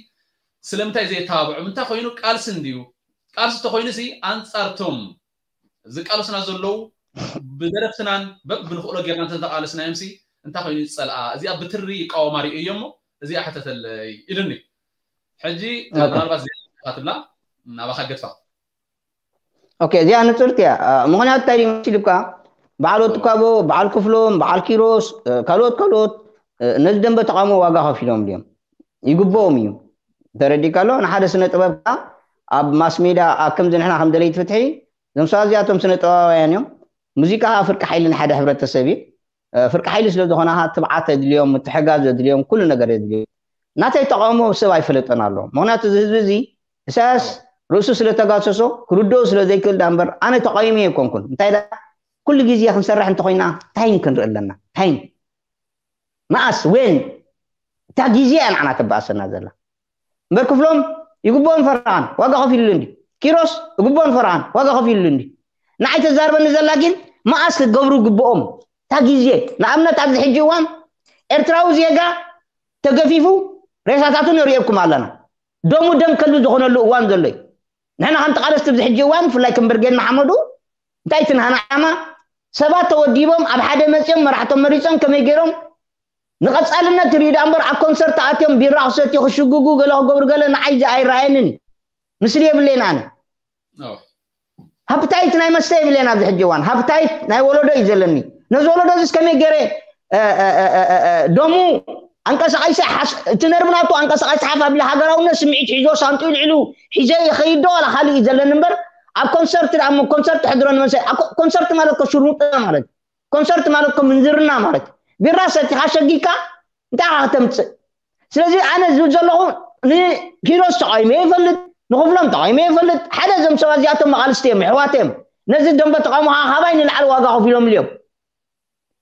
ስለምንታይ ዘየተባብዖም እንታይ ኮይኑ ቃልሲ እንድዩ ቃልሲ ተኮይኑ ሲ ኣንጻርቶም ዝቃለሱና ዘለዉ ብደረፍትናን በብንኽእሎ ጌርና እንተተቃለስናዮም ሲ እንታይ ኮይኑ ዝፀልኣ እዚኣ ብትሪ ይቃወማ ሪኦ እዮ እሞ እዚኣ ሕተተለይ ኢሉኒ ሕጂ ምናልባት ትብላ ናባኻ ገድፋ። ኦኬ፣ እዚኣ ንፅርቲ እያ። ምክንያቱ እንታይ ድዩ መሲልካ? በዓል ወትካቦ፣ በዓል ክፍሎም፣ በዓል ኪሮስ፣ ካልኦት ካልኦት ነዚ ደንበ ተቃውሞ ዋጋ ከፊሎም ድዮም? ይግብኦም እዩ። ተረዲካ ኣሎ? ንሓደ ስነ ጥበብ ኣብ ማስ ሜዳ ኣብ ከምዚ ንሕና ከም ደለይቲ ፍትሒ፣ እዞም ሰባት እዚኣቶም ስነ ጥበባውያን እዮም። ሙዚቃ ከዓ ፍርቂ ሓይሊ ንሓደ ሕብረተሰብ እዩ። ፍርቂ ሓይሊ ስለ ዝኾነ ትብዓት የድልዮም፣ ምትሕጋዝ የድልዮም፣ ኩሉ ነገር የድልዮም። ናተይ ተቃውሞ ሰብ ኣይፈለጠን ኣሎ። ምክንያቱ እዚ ህዝቢ እዚ ኢሳያስ ርእሱ ስለ ተጋሰሶ ክርድኦ ስለ ዘይክእል ዳ እምበር ኣነ ተቃዊሞ ኣይኮንኩን። እንታይ ዳ ኩሉ ግዜ ክንሰርሕ እንተኮይና ታይም ክንርኢ ኣለና። ታይም መኣስ ወን እታ ግዜ እያ ንዓና ተበኣሰና ዘላ። እምበር ክፍሎም ይግብኦን ፈርቓን ዋጋ ከፊሉሉ እንዲ ኪሮስ ይግብኦን ፈርቓን ዋጋ ከፊሉሉ እንዲ ንዓይ ተዛርበኒ ዘላ ግን መኣስ ክገብሩ ግብኦም እታ ግዜ ንኣብነት ኣብዚ ሕጂ እዋን ኤርትራዊ ዜጋ ተገፊፉ ሬሳታቱ ንርእየኩም ኣለና። ደሙ ደም ከልቢ ዝኾነሉ እዋን ዘሎ እዩ። ንሕና ከም ተቓለስቲ ኣብዚ ሕጂ እዋን ብፍላይ ከም ብርጌድ ንሓመዱ እንታይ እቲ ናህና ዓላማ ሰባት ተወዲቦም ኣብ ሓደ መፂኦም መራሕቶም መሪፆም ከመይ ገይሮም ንቐፃልነት ይሪኡ ዳ እምበር ኣብ ኮንሰርት ኣትዮም ቢራ ክሰትዩ ክሽጉጉ ገለ ክገብሩ ገለ ንዓይ እዚ ኣይረኣየንን። ምስሊ የብለይን ኣነ። ሃብታይት ናይ መስተ የብለይን ኣብዚ ሕጂ እዋን። ሃብታይት ናይ ወለዶ እዩ ዘለኒ። ነዚ ወለዶ እዚ ከመይ ገይረ ደሙ ኣንቀሳቃሲ እቲ ነርቭ ናቱ ኣንቀሳቃሲ ሓፍ ኣቢሉ ሃገራውነት ስምዒት ሒዞ ሳንጡ ልዕሉ ሒዘ ይኸይድ ዶ ዋላ ካልእ እዩ ዘለኒ እምበር ኣብ ኮንሰርት ደኣ እሞ ኮንሰርት ሕድሮ ንመንሰ ኮንሰርት ማለት ኮ ሽርሙጥና ማለት ኮንሰርት ማለት ኮ ምንዝርና ማለት ቢራ ሰቲኻ ሸጊካ እንታይ ኢኻ ከተምፅእ ስለዚ ኣነ ዝብል ዘለኹ ንኪሮስ ተቃዊመ ይፈልጥ ንክፍሎም ተቃዊመ ይፈልጥ ሓደ እዞም ሰባት እዚኣቶም መቃልስቲ እዮም ኣሕዋት እዮም ነዚ ደንበ ተቃውሞ ከዓ ካባይ ንላዕሊ ዋጋ ከፊሎም እዮም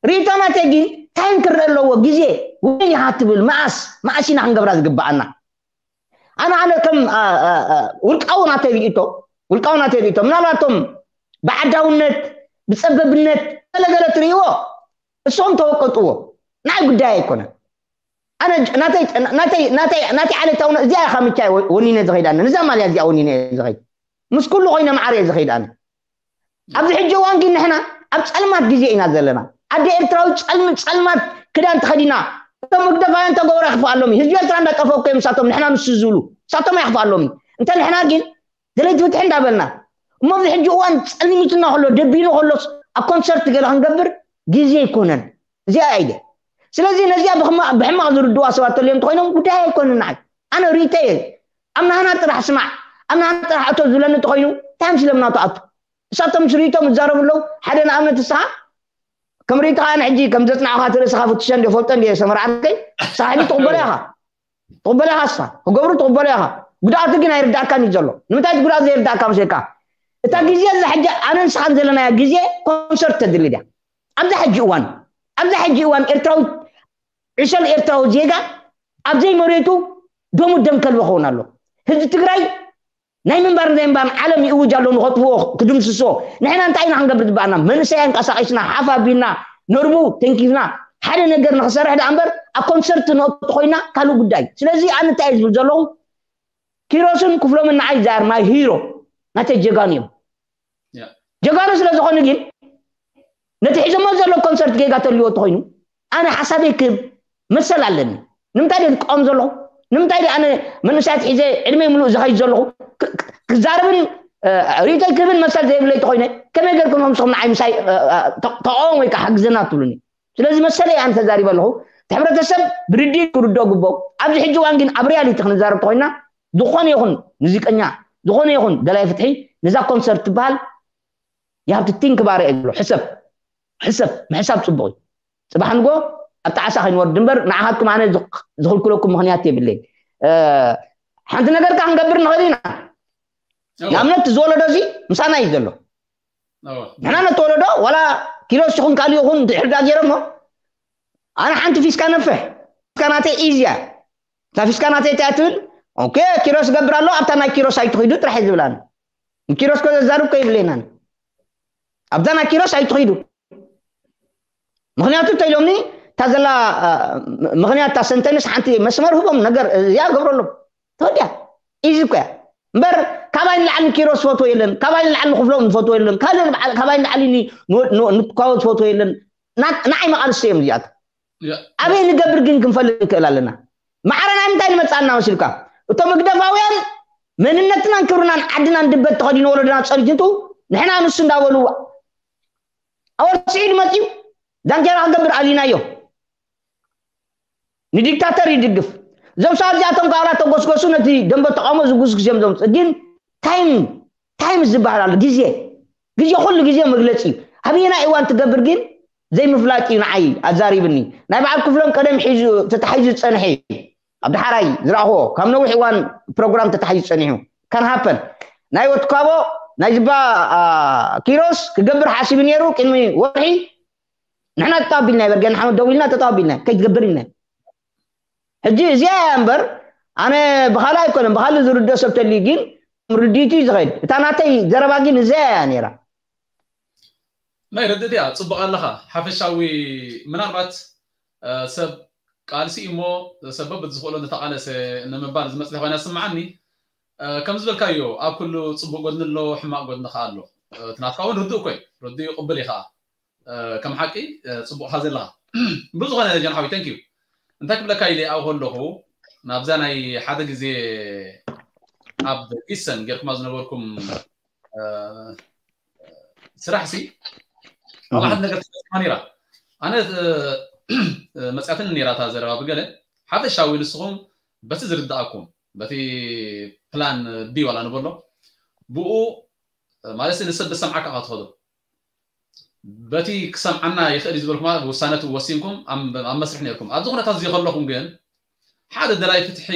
ርኢቶ ናተይ ግን ታይም ክረአ ኣለዎ ግዜ ወይን ኢኻ ትብል መኣስ መኣስ ኢና ክንገብራ ዝግበኣና ኣነ ኣነ ከም ውልቃዊ ናተይ ርኢቶ ውልቃዊ ናተይ ርኢቶ ምናልባቶም ብዓዳውነት ብፀበብነት ገለገለ ትርእይዎ እሶም ተወቀጥዎ ናይ ጉዳይ ኣይኮነን ኣነ ናተይ ናተይ ናተይ ናተይ ዓሌታውነት እዚኣ ኢኻ ምቻ ወኒነ ዝኸይድ ኣነ ንዛ ማልያ እዚኣ ወኒነ ዝኸይድ ምስ ኩሉ ኮይነ ማዓር እየ ዝኸይድ ኣነ ኣብዚ ሕጂ እዋን ግን ንሕና ኣብ ፀልማት ግዜ ኢና ዘለና ኣደ ኤርትራዊ ፀልሚ ፀልማት ክዳን ተኸዲና እቶም ህግደፋውያን ተገብሮ ይኽፍኣሎም ህዝቢ ኤርትራ እንዳጠፈኩ እዮም ንሳቶም ንሕና ንሱ ዝብሉ ንሳቶም ኣይኽፍኣሎም እንተ ንሕና ግን ደለይቲ ፍትሒ እንዳበልና እሞ ኣብዚ ሕጂ እዋን ፀልሚትና ከሎ ደቢኑ ከሎስ ኣብ ኮንሰርት ገለ ክንገብር ግዜ ኣይኮነን እዚኣ ኣይደ ስለዚ ነዚኣ ብሕማቕ ዝርድዋ ሰባት ተልዮም እንተኮይኖም ጉዳይ ኣይኮነን ንዓይ ኣነ ርእይተ እየ ኣብ ናህና ጥራሕ ስማዕ ኣብ ናህና ጥራሕ እቶ ዝብለኒ እንተኮይኑ እንታይ ምስሎም ናቱ ኣቱ እሳቶም ስርኢቶም ይዛረቡ ኣለዉ ሓደ ንኣብነት ንስኻ ከም ርእይትኻ ኣነ ሕጂ ከም ዘፅናዕኻ እቲ ርእስኻ ፍትሸ እንዲ ፈልጦ እንዲ ሰመርዓተይ ንስኻ ሕጂ ትቕበሎ ኢኻ ትቕበሎ ኢኻ ንስኻ ክገብሩ ትቕበሎ ኢኻ ጉድኣቱ ግን ኣይርዳእካን እዩ ዘሎ ንምንታይ እቲ ጉድኣት ዘይርዳእካ መስለካ እታ ግዜ እዛ ሕጂ ኣነ ንስኻን ዘለናያ ግዜ ኮንሰርት ተድሊ ድያ ኣብዛ ሕጂ እዋን ኣብዛ ሕጂ እዋን ኤርትራዊ ዕሸል ኤርትራዊ ዜጋ ኣብ ዘይመሬቱ ደሙ ደም ከልቢ ክኸውን ኣሎ ህዝቢ ትግራይ ናይ ምንባር ዘይምባር ዓለም ይእውጅ ኣሎ ንኸጥፍዎ ክድምስሶ ንሕና እንታይ ኢና ክንገብር ዝበኣና መንእሰይ ኣንቀሳቂስና ሓፍ ኣቢልና ነርቡ ተንኪፍና ሓደ ነገር ንክሰርሕ ደኣ እምበር ኣብ ኮንሰርት ንእቱ ኮይና ካልእ ጉዳይ ስለዚ ኣነ እንታይ ዝብል ዘለኹ ኪሮስን ክፍሎምን ንዓይ ዛር ማይ ሂሮ ናተይ ጀጋኑ እዮም ጀጋኑ ስለ ዝኾኑ ግን ነቲ ሒዞሞ ዘሎ ኮንሰርት ጌጋ ተልዎ ተኮይኑ ኣነ ሓሳበይ ክብ መሰል ኣለኒ ንምንታይ ድየ ዝቃወም ዘለኹ ንምንታይ ድየ ኣነ መንእሰያት ሒዘ ዕድመይ ምሉእ ዝኸይድ ዘለኹ ክዛረብን ርእይቶይ ክህብን መሰል ዘይብለይ ተኮይነ ከመይ ገርኩም ምስኹም ንዓይ ምሳይ ተቃወም ወይ ከዓ ሓግዘና ትብሉኒ ስለዚ መሰለይ ኣነ ተዛሪበ ኣለኹ እቲ ሕብረተሰብ ብርድኢት ክርድኦ ግቦ ኣብዚ ሕጂ እዋን ግን ኣብ ሪያሊቲ ክንዛረብ ተኮይና ዝኾነ ይኹን ሙዚቀኛ ዝኾነ ይኹን ደላይ ፍትሒ ነዛ ኮንሰርት ትበሃል you have to think about it ሕሰብ ሕሰብ ምሕሳብ ፅቡቅ እዩ ፅባሕ ንጎ ኣብ ጣዕሳ ከይንወርድ እምበር ንዓኻትኩም ኣነ ዝኽልክለኩም ምክንያት የብለይ ሓንቲ ነገር ካ ክንገብር ንኽእል ኢና ንኣብነት ዝወለዶ እዚ ምሳና እዩ ዘሎ ንሕና ነተወለዶ ዋላ ኪሎስ ይኹን ካልእ ይኹን ድሕር ዳ ገይሮሞ ኣነ ሓንቲ ፊስካ ነፍሕ ፊስካ ናተይ ኢዝያ እታ ፊስካ ናተይ እንታይ ትብል ኦኬ ኪሮስ ገብር ኣሎ ኣብታ ናይ ኪሮስ ኣይትኺዱ ጥራሕ ዝብላኒ ንኪሮስ ኮ ዘዛርብ ኮ ይብለናን ኣብዛ ናይ ኪሮስ ኣይትኺዱ ምክንያቱ እንተ ኢሎምኒ እታ ዘላ ምክንያት እታ ሰንተንስ ሓንቲ መስመር ህቦም ነገር እዚኣ ገብረሎም ተወዲያ ኢዚ እኮ እያ እምበር ካባይ ንላዕሊ ንኪሮስ ዝፈትዎ የለን ካባይ ንላዕሊ ንክፍሎም ዝፈትዎ የለን ካልእ ካባይ ንላዕሊ ንትኳቦ ዝፈትዎ የለን ንዓይ መቃልስቲ እዮም እዚኣት ኣበይ ንገብር ግን ክንፈልጥ ንክእል ኣለና ማዕረ ናይ ምንታይ ንመፅኣና መሲልካ እቶም ህግደፋውያን መንነትናን ክብርናን ዓድናን ድበት ተኸዲኑ ወለዶና ጸኒቱ ንሕና ንሱ እንዳበሉ ኣወር ስዒድ መጺኡ ዳንኬራ ክገብር ኣሊናዮ። ንዲክታተር ይድግፍ። እዞም ሰባት እዚኣቶም ከዓ ተጎስጎሱ ነቲ ደንበ ተቃውሞ ዝጉስጉስ እዮም ዘምፅእ። ግን ታይም ታይም ዝበሃል ኣሎ። ግዜ ግዜ ኩሉ ግዜ መግለፂ እዩ። ኣበየና እዋን ትገብር ግን ዘይምፍላጥ እዩ ንዓይ ኣዛሪብኒ። ናይ በዓል ክፍሎም ቀደም ሒዙ ተታሒዙ ዝፀንሐ እዩ። ኣብ ዳሕራይ ዝረኣኽዎ ካብ ነዊሕ እዋን ፕሮግራም ተታሒዙ ፀኒሑ ካን ሃፐን ናይ ወትካቦ ናይ ዝባ ኪሮስ ክገብር ሓሲቡ ነይሩ ቅድሚ ወርሒ ንሕና ተጣቢልና ይበር ገና ሓመድ ደው ኢልና ተጣቢልና ከይትገብር ኢልና ሕጂ እዚኣ እያ እምበር ኣነ ብኻልእ ኣይኮነን ብኻልእ ዝርድኦ ሰብ ተልዩ ግን ርድኢቱ እዩ ዝኸይድ እታ ናተይ ዘረባ ግን እዚኣ እያ ነይራ ናይ ርድእት እያ ጽቡቕ ኣለኻ ሓፈሻዊ ምናልባት ሰብ ቃልሲ እሞ ሰብ በብዝኽእሎ ዝተቓለሰ ንምባል ዝመፅእ ኮይና ስምዓኒ ከም ዝበልካዮ ኣብ ኩሉ ፅቡቅ ጎድኒ ኣሎ ሕማቅ ጎድኒ ከዓ ኣሎ እቲ ናትካ እውን ርዱእ ኮይ ርዱእ ይቅብል እዩ ከዓ ከም ሓቂ ፅቡቅ ካ ዘለካ ብዝኮነ ጀንሓዊ ተንኪዩ እንታይ ክብለካ ኢለ ኣብኡ ከለኹ ናብዛ ናይ ሓደ ግዜ ኣብ ጊሰን ጌርኩማ ዝነበርኩም ስራሕ ሲ ኣብ ሓደ ነገር ተፈፂማ ነይራ ኣነ መፅያትን ነይራ እታ ዘረባ ብገለ ሓፈሻዊ ንስኹም በቲ ዝርድኣኩም በቲ ፕላን ቢ ዋላ ንበሎ ብኡ ማለት ንሰብ ብሰምዓካ ኢኻ ትኸዶ በቲ ክሰምዓና ይኽእል እዩ ዝበልኩም ውሳነ ወሲንኩም ኣብ መስርሕ ነርኩም ኣብዚ ኩነታት እዚ ከለኹም ግን ሓደ ደላይ ፍትሒ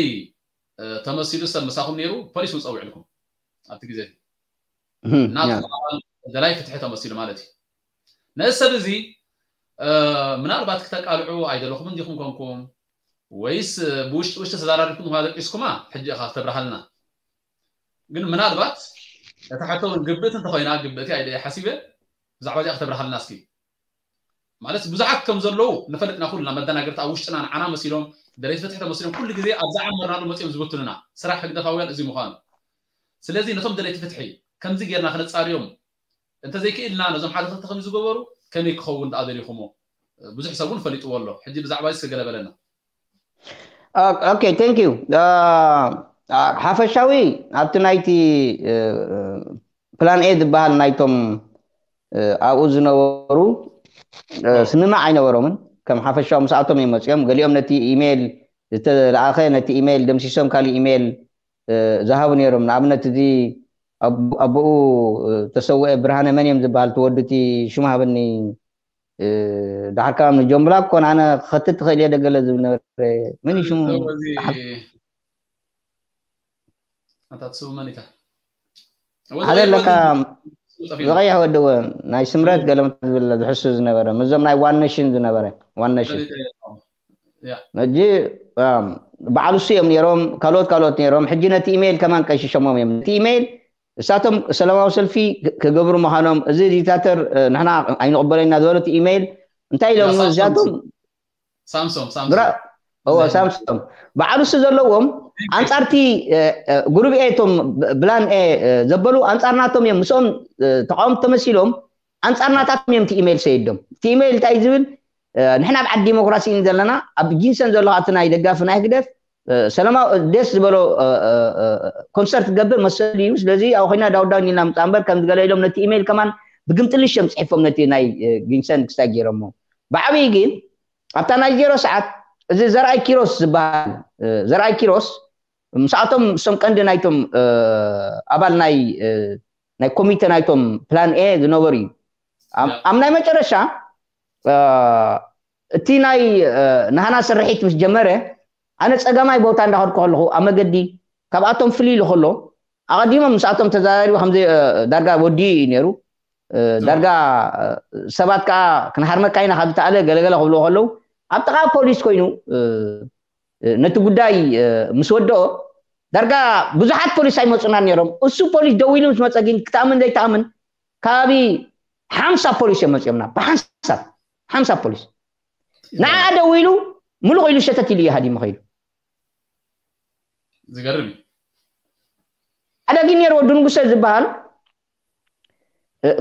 ተመሲሉ ሰብ ምሳኹም ነይሩ ፖሊስ እውን ፀዊዕልኩም ኣብቲ ግዜ ናቱ ኣባል ደላይ ፍትሒ ተመሲሉ ማለት እዩ ነዚ ሰብ እዚ ምናልባት ክተቃልዑ ኣይደለኹም እንዲኹም ኮንኩም ወይስ ብውሽጢ ውሽጢ ተዘራሪብኩም ኳ ደቂስኩማ ሕጂ ኢኻ ክተብርሃልና ግን ምናልባት እታ ሕቶ እውን ግብእቲ እንተኮይና ግብእቲ ኣይደ ሓሲበ ብዛዕባ እዚኣ ክተብርሃልና እስኪ ማለት ብዙሓት ከም ዘለዉ ንፈልጥና ኩልና መደናገርቲ ኣብ ውሽጥና ንዓና መሲሎም ደለይቲ ፍትሒ ተመሲሎም ኩሉ ግዜ ኣብ ዝዓመርናሉ መፂኦም ዝብትኑና ስራሕ ህግደፋውያን እዚ ምዃኑ ስለዚ ነቶም ደለይቲ ፍትሒ ከምዚ ጌርና ክነፃርዮም እንተዘይክእልና ነዞም ሓደ ክልተ ከም ዝገበሩ ከመይ ክኸውን ደኣ ደሊኹሞ ብዙሕ ሰብ እውን ፈሊጥዎ ኣሎ ሕጂ ብዛዕባ እዚ ስገለበለና okay thank you ሓፈሻዊ ኣብቲ ናይቲ ፕላን ኤ ዝበሃል ናይቶም ኣብኡ ዝነበሩ ስምማዕ ኣይነበሮምን ከም ሓፈሻዊ ምስኣቶም እዮም መፅኦም ገሊኦም ነቲ ኢሜይል ዝተለኣኸ ነቲ ኢሜይል ደምሲሶም ካሊእ ኢሜይል ዝሃቡ ነይሮም ንኣብነት እዚ ኣቦኡ ተሰውአ ብርሃነ መን እዮም ዝበሃል ትወዱቲ ሽሙ ሃበኒ ዳሕር ካብ ንጆምብላ ኮን ኣነ ክኸትት ትኽእል እየ ደገለ ዝብል ነበረ መን እዩ ሽሙ ኣታ ትስቡ መን ኢታ ሓደ ኣለካ ዝቐይሕ ወድወ ናይ ስምረት ገለመ ዝብል ዝሕሱ ዝነበረ ምዞም ናይ ዋን ነሽን ዝነበረ ዋን ነሽን ሕጂ በዓል እሱ እዮም ነይሮም ካልኦት ካልኦት ነይሮም ሕጂ ነቲ ኢሜይል ከማን ቀይሽሸሞም እዮም ነቲ ኢሜይል እሳቶም ሰላማዊ ሰልፊ ክገብሩ ምዃኖም እዚ ዲክታተር ንሕና ኣይንቕበሎ ኢና ዝበሉ እቲ ኢሜይል እንታይ ኢሎም እዚኣቶም ሳምሶም ሳምሶም በዓል እሱ ዘለዎም ኣንጻርቲ ጉሩብ ኤ እቶም ብላን ኤ ዘበሉ ኣንጻር ናቶም እዮም ምስኦም ተቃወምቲ ተመሲሎም ኣንጻር ናታቶም እዮም እቲ ኢሜይል ሰይዶም እቲ ኢሜይል እንታይ ዝብል ንሕና ኣብ ዓዲ ዲሞክራሲ ኢና ዘለና ኣብ ጊንሰን ዘሎ እቲ ናይ ደጋፊ ናይ ህግደፍ ሰላማዊ ደስ ዝበሎ ኮንሰርት ትገብር መሰል እዩ ስለዚ ኣብ ኮይና ዳውዳው ኒና ምፃ እምበር ከም ዝገለ ኢሎም ነቲ ኢሜይል ከማን ብግምጥልሽ እዮም ፅሒፎም ነቲ ናይ ጊንሰን ክስታይ ገይሮሞ ብዓብዪ ግን ኣብታ ናይ ዜሮ ሰዓት እዚ ዘርኣይ ኪሮስ ዝበሃል ዘርኣይ ኪሮስ ምስኣቶም እሶም ቀንዲ ናይቶም ኣባል ናይ ናይ ኮሚተ ናይቶም ፕላን ኤ ዝነበሩ እዩ ኣብ ናይ መጨረሻ እቲ ናይ ናህና ስርሒት ምስ ጀመረ ኣነ ፀገማይ ቦታ እንዳኸድኩ ከለኹ ኣብ መገዲ ካብኣቶም ፍልይ ኢሉ ከሎ ኣቐዲሞም ምስኣቶም ተዛራሪቡ ከምዚ ዳርጋ ወዲኡ እዩ ነይሩ ዳርጋ ሰባት ከዓ ክንሃርመካ ኢና ካብ ዝተኣለ ገለገለ ክብልዎ ከለዉ ኣብ ጥቓ ፖሊስ ኮይኑ ነቲ ጉዳይ ምስ ወደኦ ዳርጋ ብዙሓት ፖሊስ ኣይመፁና ነይሮም እሱ ፖሊስ ደው ኢሉ ምስ መፀ ግን ክትኣምን ዘይትኣምን ከባቢ ሓምሳ ፖሊስ እዮም መፂኦምና ብሓንሳብ ሓምሳ ፖሊስ ንዓ ደው ኢሉ ምሉቕ ኢሉ ሸተት ኢሉ እዩ ሃዲሙ ከይዱ ዝገርም እዩ ሓደ ግን ነይሩ ወዲ ንጉሰ ዝበሃል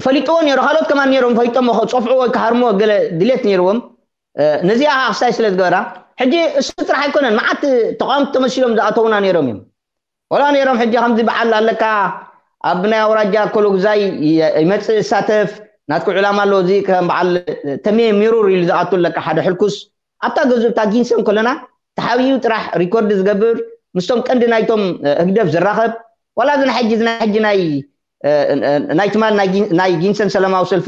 ፈሊጥዎ ነይሩ ካልኦት ከማን ነይሮም ፈሊጦም ከፀፍዑ ወይ ክሃርምዎ ገለ ድሌት ነይርዎም ነዚኣ ከዓ ክስታይ ስለ ዝገበራ ሕጂ እሱ ጥራሕ ኣይኮነን መዓት ተቃወምቲ ተመሲሎም ዝኣተውና ነይሮም እዮም ወላ ነይሮም። ሕጂ ከምዚ በዓል ኣለካ ኣብ ናይ ኣውራጃ ኮሎግዛይ ይመፅእ ይሳተፍ ናትኩ ዕላማ ኣሎ። እዚ ከም በዓል ተሜ ሚሩር ኢሉ ዝኣቱ ኣለካ ሓደ ሕልኩስ ኣብታ ገዝኡ እታ ጊንሰን ከለና ተሓቢኡ ጥራሕ ሪኮርድ ዝገብር ምስቶም ቀንዲ ናይቶም ህግደፍ ዝራኸብ ዋላ እዚ ናይ ሕጂ ናይ ሕጂ ናይ ናይ ትማል ናይ ጊንሰን ሰላማዊ ሰልፊ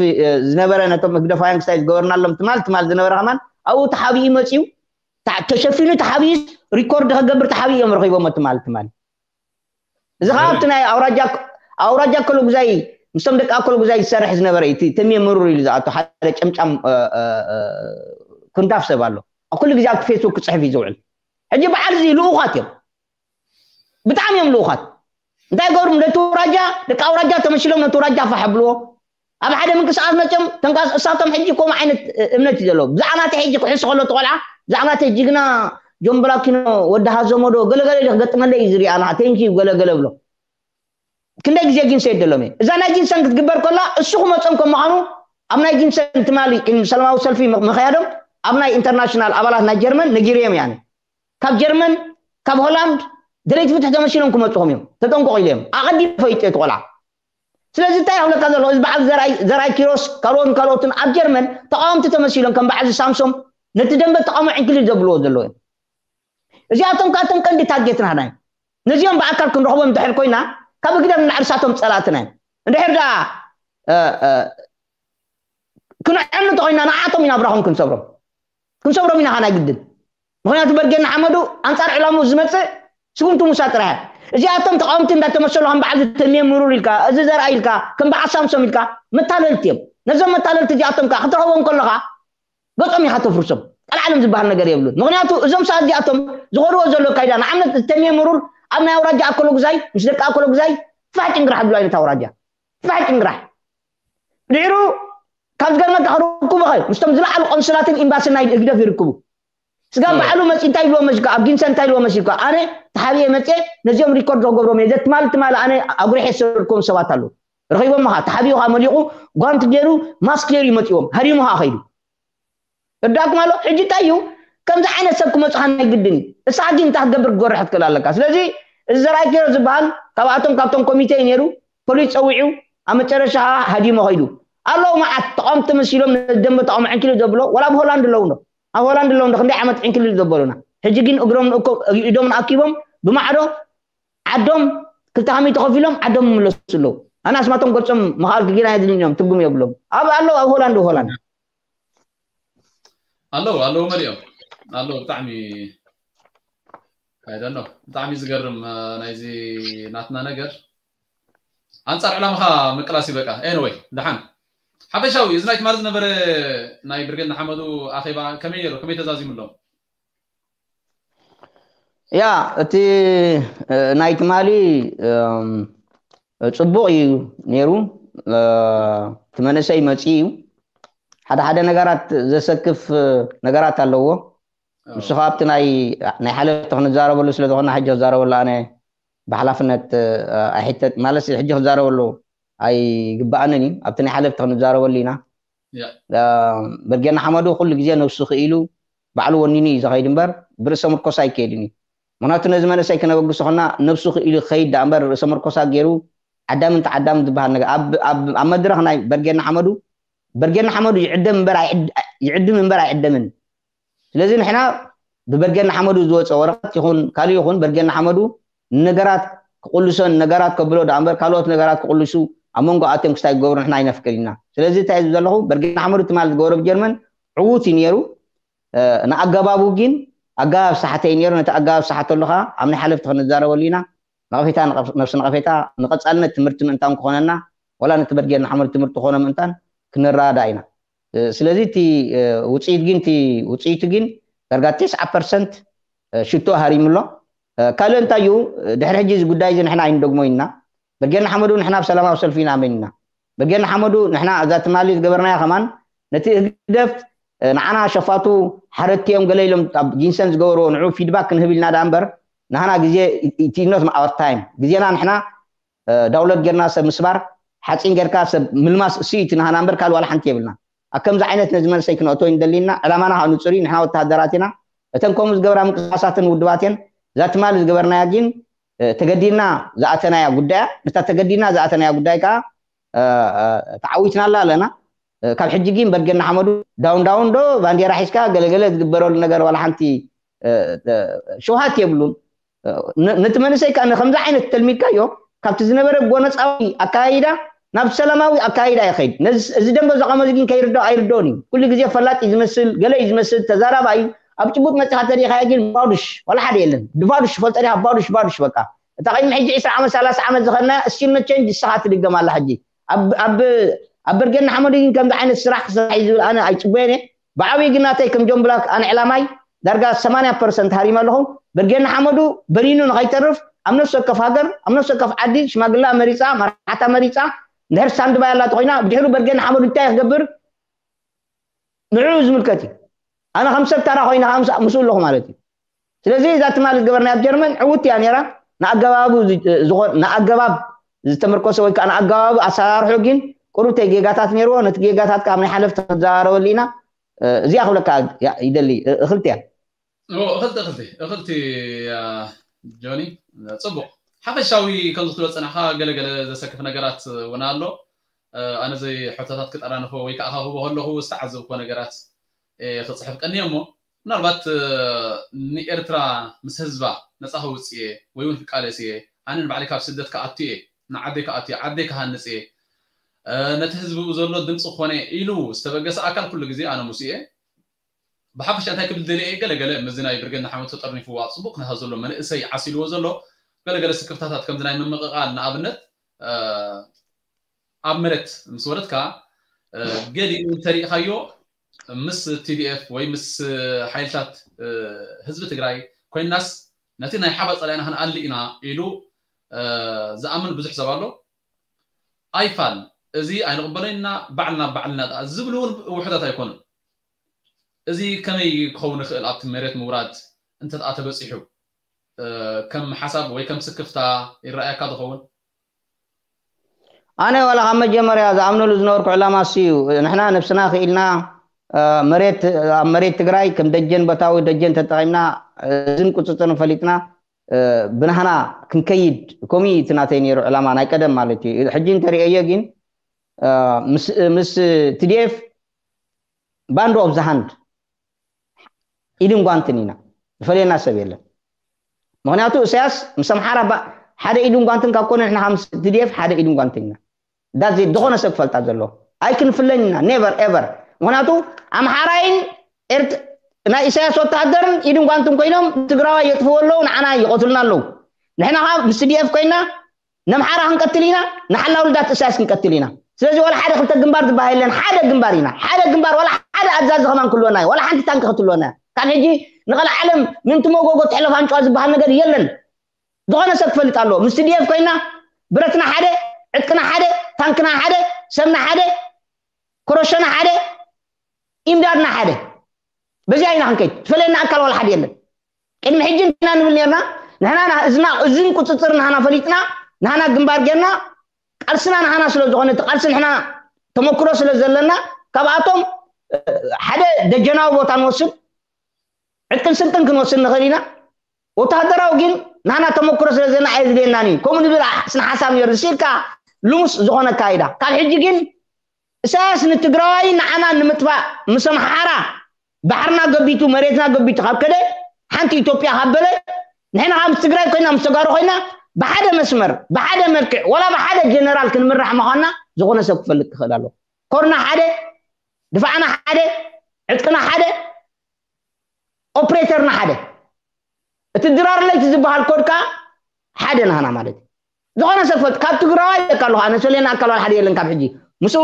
ዝነበረ ነቶም ህግደፋውያን ክስታይ ዝገበርናሎም ትማል ትማል ዝነበረ ከማን ኣብኡ ተሓቢኡ መፅዩ ተሸፊኑ ተሓቢኡስ ሪኮርድ ከገብር ተሓቢኡ እዮም ረኺቦሞ ትማል ትማል እዚ ከዓ ኣብቲ ናይ ኣውራጃ ኣውራጃ ኮሎጉዛይ ምስቶም ደቂ ኮሎጉዛይ ዝሰርሕ ዝነበረ እዩ። እቲ ተምየ ምሩር ኢሉ ዝኣቶ ሓደ ጨምጫም ክንዳፍ ሰብ ኣሎ። ኣብ ኩሉ ግዜ ኣብቲ ፌስቡክ ክፅሕፍ እዩ ዝውዕል። ሕጂ በዓል እዚ ልኡኻት እዮም፣ ብጣዕሚ እዮም ልኡኻት። እንታይ ገብሩ ነቲ ውራጃ ደቂ ኣውራጃ ተመሲሎም ነቲ ውራጃ ፋሕ ብልዎ። ኣብ ሓደ ምንቅስቃስ መፅኦም ተንቃስ እሳቶም ሕጂ ከምኡ ዓይነት እምነት እዩ ዘለዎ። ብዛዕባ ናተይ ሕጂ ክሕሱ ከሎ እቲ ቆልዓ ብዛዕባ ናተይ ጅግና ጆን ብላኪኖ ወዲ ሃዘሞዶ ገለገለ ኢሉ ክገጥመለይ እዩ ዝሪኣና ቴንኪዩ ገለገለ ብሎ ክንደይ ግዜ ጊንሰ የደሎም እየ እዛ ናይ ጊንሰን ክትግበር ከላ እሱ ክመፆም ከም ምዃኑ ኣብ ናይ ጊንሰን ትማሊ ሰላማዊ ሰልፊ ምክያዶም ኣብ ናይ ኢንተርናሽናል ኣባላት ናይ ጀርመን ነጊርዮም እያ ካብ ጀርመን ካብ ሆላንድ ደለይቲ ፍትሒ ተመሲሎም ክመፅኹም እዮም ተጠንቀቑ ኢለ እዮም ኣቐዲም ፈይጡ እቲ ቆልዓ ስለዚ እንታይ ኣብለካ ዘሎ እዚ በዓል ዘርኣይ ኪሮስ ካልኦትን ካልኦትን ኣብ ጀርመን ተቃወምቲ ተመሲሎም ከም በዓል ሳምሶም ነቲ ደንበ ተቃውሞ ዕንክሊል ዘብልዎ ዘለዉ እዮም እዚኣቶም ካቶም ቀንዲ ታርጌት ናህና እዮም ነዚኦም ብኣካል ክንረኽቦም እንድሕር ኮይና ካብ እግደም ንላዕሊ ሳቶም ፀላእትና እዮም እንድሕር ደኣ ክንዕኑ እንተኮይና ንዓቶም ኢና ብራኹም ክንሰብሮም ክንሰብሮም ኢና ካናይ ግድን ምክንያቱ በርጌ ንሓመዱ ኣንፃር ዕላሙ ዝመፅእ ስጉምቲ ሙሳ ጥራሕ እዚኣቶም ተቃወምቲ እንዳተመሰሉ ከም በዓል ዝተምየ ምሩር ኢልካ እዚ ዘርኣ ኢልካ ከም በዓል ሳምሶም ኢልካ መታለልቲ እዮም ነዞም መታለልቲ እዚኣቶም ከዓ ክትረኽቦም ከለካ ገጾም ኢኻ ተፍርሶም ቀልዓለም ዝበሃል ነገር የብሉን ምክንያቱ እዞም ሰዓት እዚኣቶም ዝኸድዎ ዘሎ ካይዳ ንኣብነት ዝተምየ ምሩር ኣብ ናይ ኣውራጃ ኣኮሎ ግዛይ ምስ ደቂ ኣኮሎ ግዛይ ፋሕ ጭንግራሕ ዝብሉ ዓይነት ኣውራጃ ፋሕ ጭንግራሕ ድሕሩ ካብ ዝገርመካ ክርክቡ ኸ ምስቶም ዝለዓሉ ቆንስላትን ኤምባስን ናይ ህግደፍ ይርክቡ ስጋብ ባዕሉ መፂ እንታይ ኢልዎ መሲልካ ኣብ ጊንሰ እንታይ ኢልዎ መሲልካ ኣነ ተሓቢኤ መፅየ ነዚኦም ሪኮርድ ክገብሮም እየ ዘትማል ትማል ኣነ ኣጉሪሐ ዝሰርኩም ሰባት ኣለዉ ረኺቦም ኻ ተሓቢኡ ኻ መሊቑ ጓንቲ ገይሩ ማስክ ገይሩ ይመፅዎም ሃዲሙ ኻ ኸይዱ እዳኩም ኣሎ ሕጂ እንታይ እዩ ከምዚ ዓይነት ሰብ ክመፁኻ ናይ ግድን እዩ እሳ ሕጂ እንታይ ክትገብር ክጎርሕ ትክእል ኣለካ ስለዚ እዚ ዘርኣይ ገይሮ ዝበሃል ካብኣቶም ካብቶም ኮሚቴ እዩ ነይሩ ፖሊስ ፀዊዑ ኣብ መጨረሻ ሃዲሞ ኸይዱ ኣለዉ መዓት ተቃወምቲ መሲሎም ደንበ ተቃውሞ ዕንኪሉ ዘብሎ ወላ ኣብ ሆላንድ ኣለዉ ዶ ኣብ ሆላንድ ኣለዉ ዶ ክንደይ ዓመት ዕንኪሉ ዘበሉና ሕጂ ግን እግሮም ኢዶም ኣኪቦም ብማዕዶ ዓዶም ክልተ ከመይ ተኸፊሎም ዓዶም ይምለሱ ኣለዉ ኣነ ኣስማቶም ገልጾም ምኽኣል ግጊና የድልዮም ትርጉም የብሎም ኣብ ኣለዉ ኣብ ሆላንድ ሆላንድ ኣለዉ ኣለዉ መሊኦም ኣለዉ ብጣዕሚ ኣይደኖ ብጣዕሚ ዝገርም ናይዚ ናትና ነገር ኣንፃር ዕላምኻ ምቅላስ ይበቃ ኤንወይ ደሓን ሓፈሻዊ እዚ ናይ ትማሊ ዝነበረ ናይ ብርጌድ ንሓመዱ ኣኼባ ከመይ ነይሩ ከመይ ተዛዚሙ ኣሎ ያ እቲ ናይ ትማሊ ፅቡቕ እዩ ነይሩ እቲ መንእሰይ መፂኡ እዩ ሓደ ሓደ ነገራት ዘሰክፍ ነገራት ኣለዎ ንሱ ከዓ ኣብቲ ናይ ሓለፍቲ ክንዛረበሉ ስለዝኾና ሕጂ ክዛረበሉ ኣነ ብሓላፍነት ኣይሕተት ማለት ሕጂ ክዛረበሉ ኣይግባኣንን እዩ ኣብቲ ናይ ሓለፍቲ ክንዛረበሉ ኢና በርጌና ሓመዱ ኩሉ ግዜ ነብሱ ክኢሉ ባዕሉ ወኒኑ እዩ ዝኸይድ እምበር ብርእሰ ምርኮሳ ኣይከይድን እዩ ምክንያቱ ነዚ መንእሰይ ክነበግሶ ከና ነብሱ ክኢሉ ክኸይድ ዳ እምበር ርእሰ ምርኮሳ ገይሩ ዓዳምን ተዓዳምን ዝበሃል ነገር ኣብ መድረኽ ናይ በርጌና ሓመዱ በርጌና ሓመዱ ይዕደም እምበር ይዕድም እምበር ኣይዕደምን ስለዚ ንሕና ብበርጌና ሓመዱ ዝወፀ ወረቐት ይኹን ካልእ ይኹን በርጌና ሓመዱ ንነገራት ክቕልሶን ነገራት ከብሎ ዳ እምበር ካልኦት ነገራት ክቕልሱ ኣብ መንጎ ኣትዮም ክስታይ ክገብሩ ንሕና ኣይነፍቅድ ኢና ስለዚ እንታይ ዝብ ዘለኹ በርጌና ሓመዱ ትማል ዝገበሮ ብጀርመን ዕዉት እዩ ነይሩ ንኣገባቡ ግን ኣገባብ ሰሓተ እዩ ነይሩ ነቲ ኣገባብ ሰሓተሉ ከዓ ኣብ ናይ ሓለፍቲ ክንዛረበሉ ኢና ነቐፌታ ነብሲ ነቐፌታ ንቐፃልነት ትምህርቲ ምእንታን ክኾነና ወላ ነቲ በርጌና ሓመዱ ትምህርቲ ክኾኖ ምእንታን ክንረዳዳ ኢና ስለዚ እቲ ውፅኢት ግን እቲ ውፅኢቱ ግን ዳርጋ ተስዓ ፐርሰንት ሽቶ ሃሪሙ ኣሎ ካልእ እንታይ እዩ ድሕሪ ሕጂ እዚ ጉዳይ እዚ ንሕና ኣይንደግሞ ኢና ብርጌድ ንሓመዱ ንሕና ኣብ ሰላማዊ ሰልፊ ኢና ኣመን ኢና ብርጌድ ንሓመዱ ንሕና እዛ ትማሊ ዝገበርናያ ከማን ነቲ ህግደፍ ንዓና ሸፋቱ ሓረቲ እዮም ገለ ኢሎም ኣብ ጊንሰን ዝገበርዎ ንዑ ፊድባክ ክንህብ ኢልና ዳ እምበር ንሃና ግዜ ኢትኖት ማወር ታይም ግዜና ንሕና ዳውንሎድ ጌርና ሰብ ምስባር ሓፂን ጌርካ ሰብ ምልማስ እሱ እዩ እቲ ናህና እምበር ካልእ ዋላ ሓንቲ የብልና ኣብ ከምዚ ዓይነት ነዚ መንሰይ ክነእቶ ይንደሊና ዕላማና ከዓ ንፁር እዩ ንሕና ወተሃደራት ኢና እተን ከምኡ ዝገብራ ምንቅስቃሳትን ውድባትን እዛ ትማሊ ዝገበርናያ ግን ተገዲድና ዝኣተናያ ጉዳያ፣ ነታ ተገዲድና ዝኣተናያ ጉዳይ ከዓ ተዓዊትናላ ኣለና። ካብ ሕጂ ግን በርጌድ ንሓመዱ ዳውን ዳውን ዶ ባንዴራ ሒዝካ ገለገለ ዝግበረሉ ነገር ዋላ ሓንቲ ሸውሃት የብሉን። ነቲ መንእሰይ ከዓ ንከምዚ ዓይነት ተልሚድካዮ ካብቲ ዝነበረ ጎነፃዊ ኣካይዳ ናብ ሰላማዊ ኣካይዳ ይኸይድ። እዚ ደንበ ዘቐመዚ ግን ከይርዶ ኣይርዶን እዩ። ኩሉ ግዜ ፈላጥ እዩ ዝመስል፣ ገለ እዩ ዝመስል፣ ተዛራባ እዩ። ኣብ ጭቡጥ መፅኻ ተሪኻዮ ግን ባዱሽ ዋላ ሓደ የለን። ብባዱሽ ፈልጠ ዲኻ? ባዱሽ ባዱሽ በቃ። እታ ቅድሚ ሕጂ ዕስራ ዓመት ሰላሳ ዓመት ዝኸድና እስቲል መቸንጅ ንስኻ ትድገም ኣላ ሕጂ። ኣብ በርጌድ ንሓመዱ ግን ከምዚ ዓይነት ስራሕ ክስራሕ እዩ ዝብል ኣነ ኣይፅበየን እየ። ብዓብዪ ግን ናተይ ከም ጆን ብላክ ኣነ ዕላማይ ዳርጋ ሰማንያ ፐርሰንት ሃሪመ ኣለኹ። በርጌድ ንሓመዱ በኒኑ ንኸይተርፍ ኣብ ነፍሲ ወከፍ ሃገር ኣብ ነፍሲ ወከፍ ዓዲ ሽማግላ መሪፃ መራሕታ መሪፃ እንድሕር ስታንድ ባይ ኣላ ተኾይና ብድሕሩ በርጌድ ንሓመዱ እንታይ ክገብር ንዕኡ ዝምልከት እዩ። ኣነ ከም ሰብ ታራ ኮይነ ከዓ ምስኡ ኣለኹ ማለት እዩ። ስለዚ እዛ ትማሊ ዝገበርናያ ኣብ ጀርመን ዕውት እያ ነይራ። ንኣገባቡ ንኣገባብ ዝተመርኮሰ ወይ ከዓ ንኣገባቡ ኣሰራርሑ ግን ቁሩብተይ ጌጋታት ነይርዎ። ነቲ ጌጋታት ካብ ናይ ሓለፍቲ ክንዘራረበሉ ኢና። እዚኣ ክብለካ ይደሊ። እኽልቲ እያ። እኽልቲ እኽልቲ እኽልቲ ጆኒ፣ ፅቡቕ ሓፈሻዊ ከምዚ ክትብሎ ፀናሕካ ገለገለ ዘሰክፍ ነገራት እውን ኣሎ። ኣነ ዘይ ሕቶታት ክጠራንፎ ወይ ከዓ ክህቦ ከለኹ ዝተዓዘብኮ ነገራት ክፅሕፍ ቀኒየ እሞ ምናልባት ንኤርትራ ምስ ህዝባ ነፃ ከውፅእ ወይ እውን ክቃለስ እየ፣ ኣነ ንባዕለይ ካብ ስደት ክኣቱ እየ፣ ንዓደይ ክኣቱ እየ፣ ዓደይ ክሃንፅ እየ፣ ነቲ ህዝቢ ብኡ ዘሎ ድምፂ ክኾነ ኢሉ ዝተበገሰ ኣካል ኩሉ ግዜ ኣነ ምስ እየ። ብሓፈሻ እንታይ ክብል ደልየ እየ፣ ገለገለ ምስዚ ናይ ብርጌድ ንሓመዱ ተጠርኒፍዋ ፅቡቕ ኩነታት ዘሎ መንእሰይ ዓሲልዎ ዘሎ ገለገለ ስክፍታታት ከምዚ ናይ ምምቕቓል ንኣብነት ኣብ መሬት ምስ ወረድካ ገሊኡ እንተሪእኻዮ ምስ ቲዲኤፍ ወይ ምስ ሓይልታት ህዝቢ ትግራይ ኮይናስ ነቲ ናይ ሓባር ፀላኢና ክንኣሊ ኢና ኢሉ ዝኣምን ብዙሕ ሰብ ኣሎ። ኣይፋል እዚ ኣይንቕበሎን ኢና ባዕልና ባዕልና ዝብሉ እውን ውሑዳት ኣይኮኑን። እዚ ከመይ ክኸውን ይኽእል ኣብቲ መሬት ምውራድ እንተ ተበፂሑ ከም ሓሳብ ወይ ከም ስክፍታ ይረኣየካ ዝኸውን? ኣነ ዋላ ካብ መጀመርያ ዝኣምነሉ ዝነበርኩ ዕላማ እሱ እዩ። ንሕና ነብስና ክኢልና መሬት ኣብ መሬት ትግራይ ከም ደጀን ቦታዊ ደጀን ተጠቒምና እዝን ቁፅፅርን ፈሊጥና ብናህና ክንከይድ ከምኡ እዩ እቲ ናተይ ነይሩ ዕላማ ናይ ቀደም ማለት እዩ። ሕጂ እንተሪኦዮ ግን ምስ ቲዲኤፍ ባንድ ኦፍ ዘሃንድ ኢድን ጓንትን ኢና፣ ዝፈልየና ሰብ የለን። ምክንያቱ እሳያስ ምስ ኣምሓራ ሓደ ኢድን ጓንትን ካብ ኮነ ንሕና ምስ ቲዲኤፍ ሓደ ኢድን ጓንትን ኢና። ዳዚ ዝኾነ ሰብ ክፈልጣ ዘለዎ ኣይክንፍለን ኢና፣ ኔቨር ኤቨር። ምክንያቱ ኣምሓራይን ናይ ኢሳያስ ወታሃደርን ኢድን ጓንትን ኮይኖም ትግራዋይ የጥፍዎ ኣለዉ፣ ንዓና ይቐትሉና ኣለዉ። ንሕና ከዓ ምስ ቲዲኤፍ ኮይና ነምሓራ ክንቀትል ኢና፣ ንሓላው ልዳት እሳያስ ክንቀትል ኢና። ስለዚ ዋላ ሓደ ክልተ ግንባር ዝበሃል የለን፣ ሓደ ግንባር ኢና። ሓደ ግንባር ዋላ ሓደ ኣዛዚ ከማን ክህልወና እዩ፣ ዋላ ሓንቲ ታንኪ ክትህልወና እያ። ካብ ሕጂ ንቐልዓለም ምእንቲ መጎጎ ትሕለፍ ኣንጭዋ ዝበሃል ነገር የለን። ዝኾነ ሰብ ክፈልጥ ኣለዎ። ምስ ቲዲኤፍ ኮይና ብረትና ሓደ፣ ዕጥቅና ሓደ፣ ታንክና ሓደ፣ ሰብና ሓደ፣ ኮረሾና ሓደ፣ ኢምዳድና ሓደ። በዚኣ ኢና ክንከይድ። ዝፈለየና ኣካል ዋላ ሓደ የለን። ቅድሚ ሕጂ እንትና ንብል ነርና ንሕና እዝን ቁፅፅር ናህና ፈሊጥና ናህና ግንባር ጌርና ቃልስና ናህና ስለ ዝኾነ እቲ ቃልሲ ንሕና ተመክሮ ስለ ዘለና ካብኣቶም ሓደ ደጀናዊ ቦታ ንወስድ፣ ዕጥቅን ስንቅን ክንወስድ ንኽእል ኢና። ወታደራዊ ግን ናህና ተመክሮ ስለ ዘለና ኣየድልየናን እዩ። ከምኡ ንብል ስነ ሓሳብ ነይሩ። ንስኢልካ ልሙስ ዝኾነ ኣካይዳ። ካብ ሕጂ ግን እሳያስ ንትግራዋይ ንዓና ንምጥፋእ ምስ ኣምሓራ ባሕርና ገቢቱ መሬትና ገቢቱ ካብ ከደ ሓንቲ ኢትዮጵያ ካብ በለ ንሕና ካብ ትግራይ ኮይና ምስ ተጋሩ ኮይና ብሓደ መስመር ብሓደ መልክዕ ወላ ብሓደ ጀነራል ክንምራሕ ምዃንና ዝኾነ ሰብ ክፈልጥ ክኽእል ኣለዎ። ኮርና ሓደ፣ ድፋዕና ሓደ፣ ዕጥቅና ሓደ፣ ኦፕሬተርና ሓደ። እቲ ድራር ለይቲ ዝበሃል ኮድ ከዓ ሓደ ናህና ማለት እዩ። ዝኾነ ሰብ ፈልጥ ካብ ትግራዋይ ይለካ ኣለኹ ኣነ ሰሌና ኣካል ሓደ የለን ካብ ሕጂ ምስኡ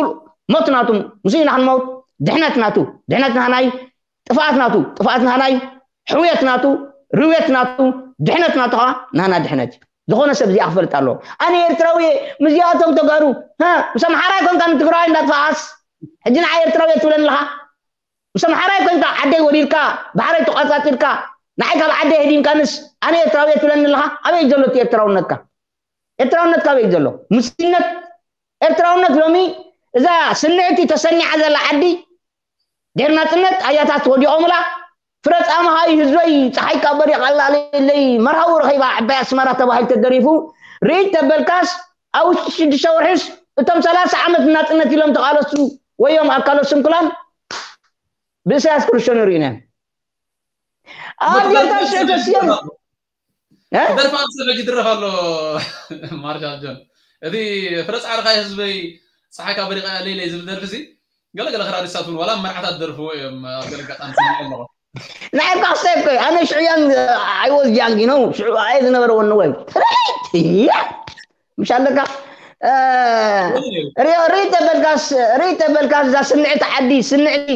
ሞት ናቱ ምስኡ ኢና ክንመውት ድሕነት ናቱ ድሕነት ናህናይ ጥፍኣት ናቱ ጥፍኣት ናህናይ ሕውየት ናቱ ርውየት ናቱ ድሕነት ናቱ ከዓ ናህና ድሕነት እዩ። ዝኾነ ሰብ እዚኣ ክፈልጥ ኣለዎ። ኣነ ኤርትራዊ እየ ምስዚኣቶም ተጋሩ ሀ ምስ ኣምሓራይ ኮንካ ንትግራዋይ እንዳጥፋኣስ ሕጂ ንዓ ኤርትራዊ እየ ትብለኒ ኣለኻ። ምስ ኣምሓራይ ኮንካ ዓደይ ወሪርካ ባሕረይ ተቋጻጺርካ ንዓይ ካብ ዓደይ ህዲምካንስ ኣነ ኤርትራዊ እየ ትብለኒ ኣለኻ። ኣበይ እዩ ዘሎ እቲ ኤርትራውነትካ? ኤርትራውነትካ ኣበይ እዩ ዘሎ? ምስነት ኤርትራውነት ሎሚ እዛ ስንዕቲ ተሰኒዓ ዘላ ዓዲ ድሕሪ ናጽነት ኣያታት ወዲቖምላ ፍረ ጻማኻ እዩ ህዝበይ፣ ጸሓይ ካብ በሪቕ ኣላ ለይለይ፣ መርሃዊ ረኺባ ዓባይ ኣስመራ ተባሂሉ ተደሪፉ፣ ርኢት ተበልካስ፣ ኣብ ውሽጢ ሽዱሽተ ወርሒስ እቶም ሰላሳ ዓመት ናጽነት ኢሎም ተቓለሱ ወዮም ኣካለ ስንኩላን ብእሳያስ ክርሸኑ ርኢና። ኣዴታት ሽዑ ተስየን ደርፋ ሰበጅ ድረፍ ኣሎ። ማርሻል ጆን፣ እቲ ፍረ ጻዕርኻ ህዝበይ፣ ጸሓይ ካብ በሪቕ ለይለይ ዝብል ደርፊ ሲ ገለገለ ክራዲሳት እውን ዋላ መርዓታት ደርፍዎ እዮም። ኣብ ገለ ኣጋጣሚ ስምዒ ኣለኹ። ንዓይ እኳ ክሳይ እኮ ኣነ ሽዑ ያን I was young, you know, ሽዑ ኣየ ዝነበረ ወኒ ወይ ትርኢት እያ። ምሽ ኣለካ እ፣ ሪኦ ሪተ በልካስ ሪተ በልካስ እዛ ስምዕቲ ዓዲ ስምዕቲ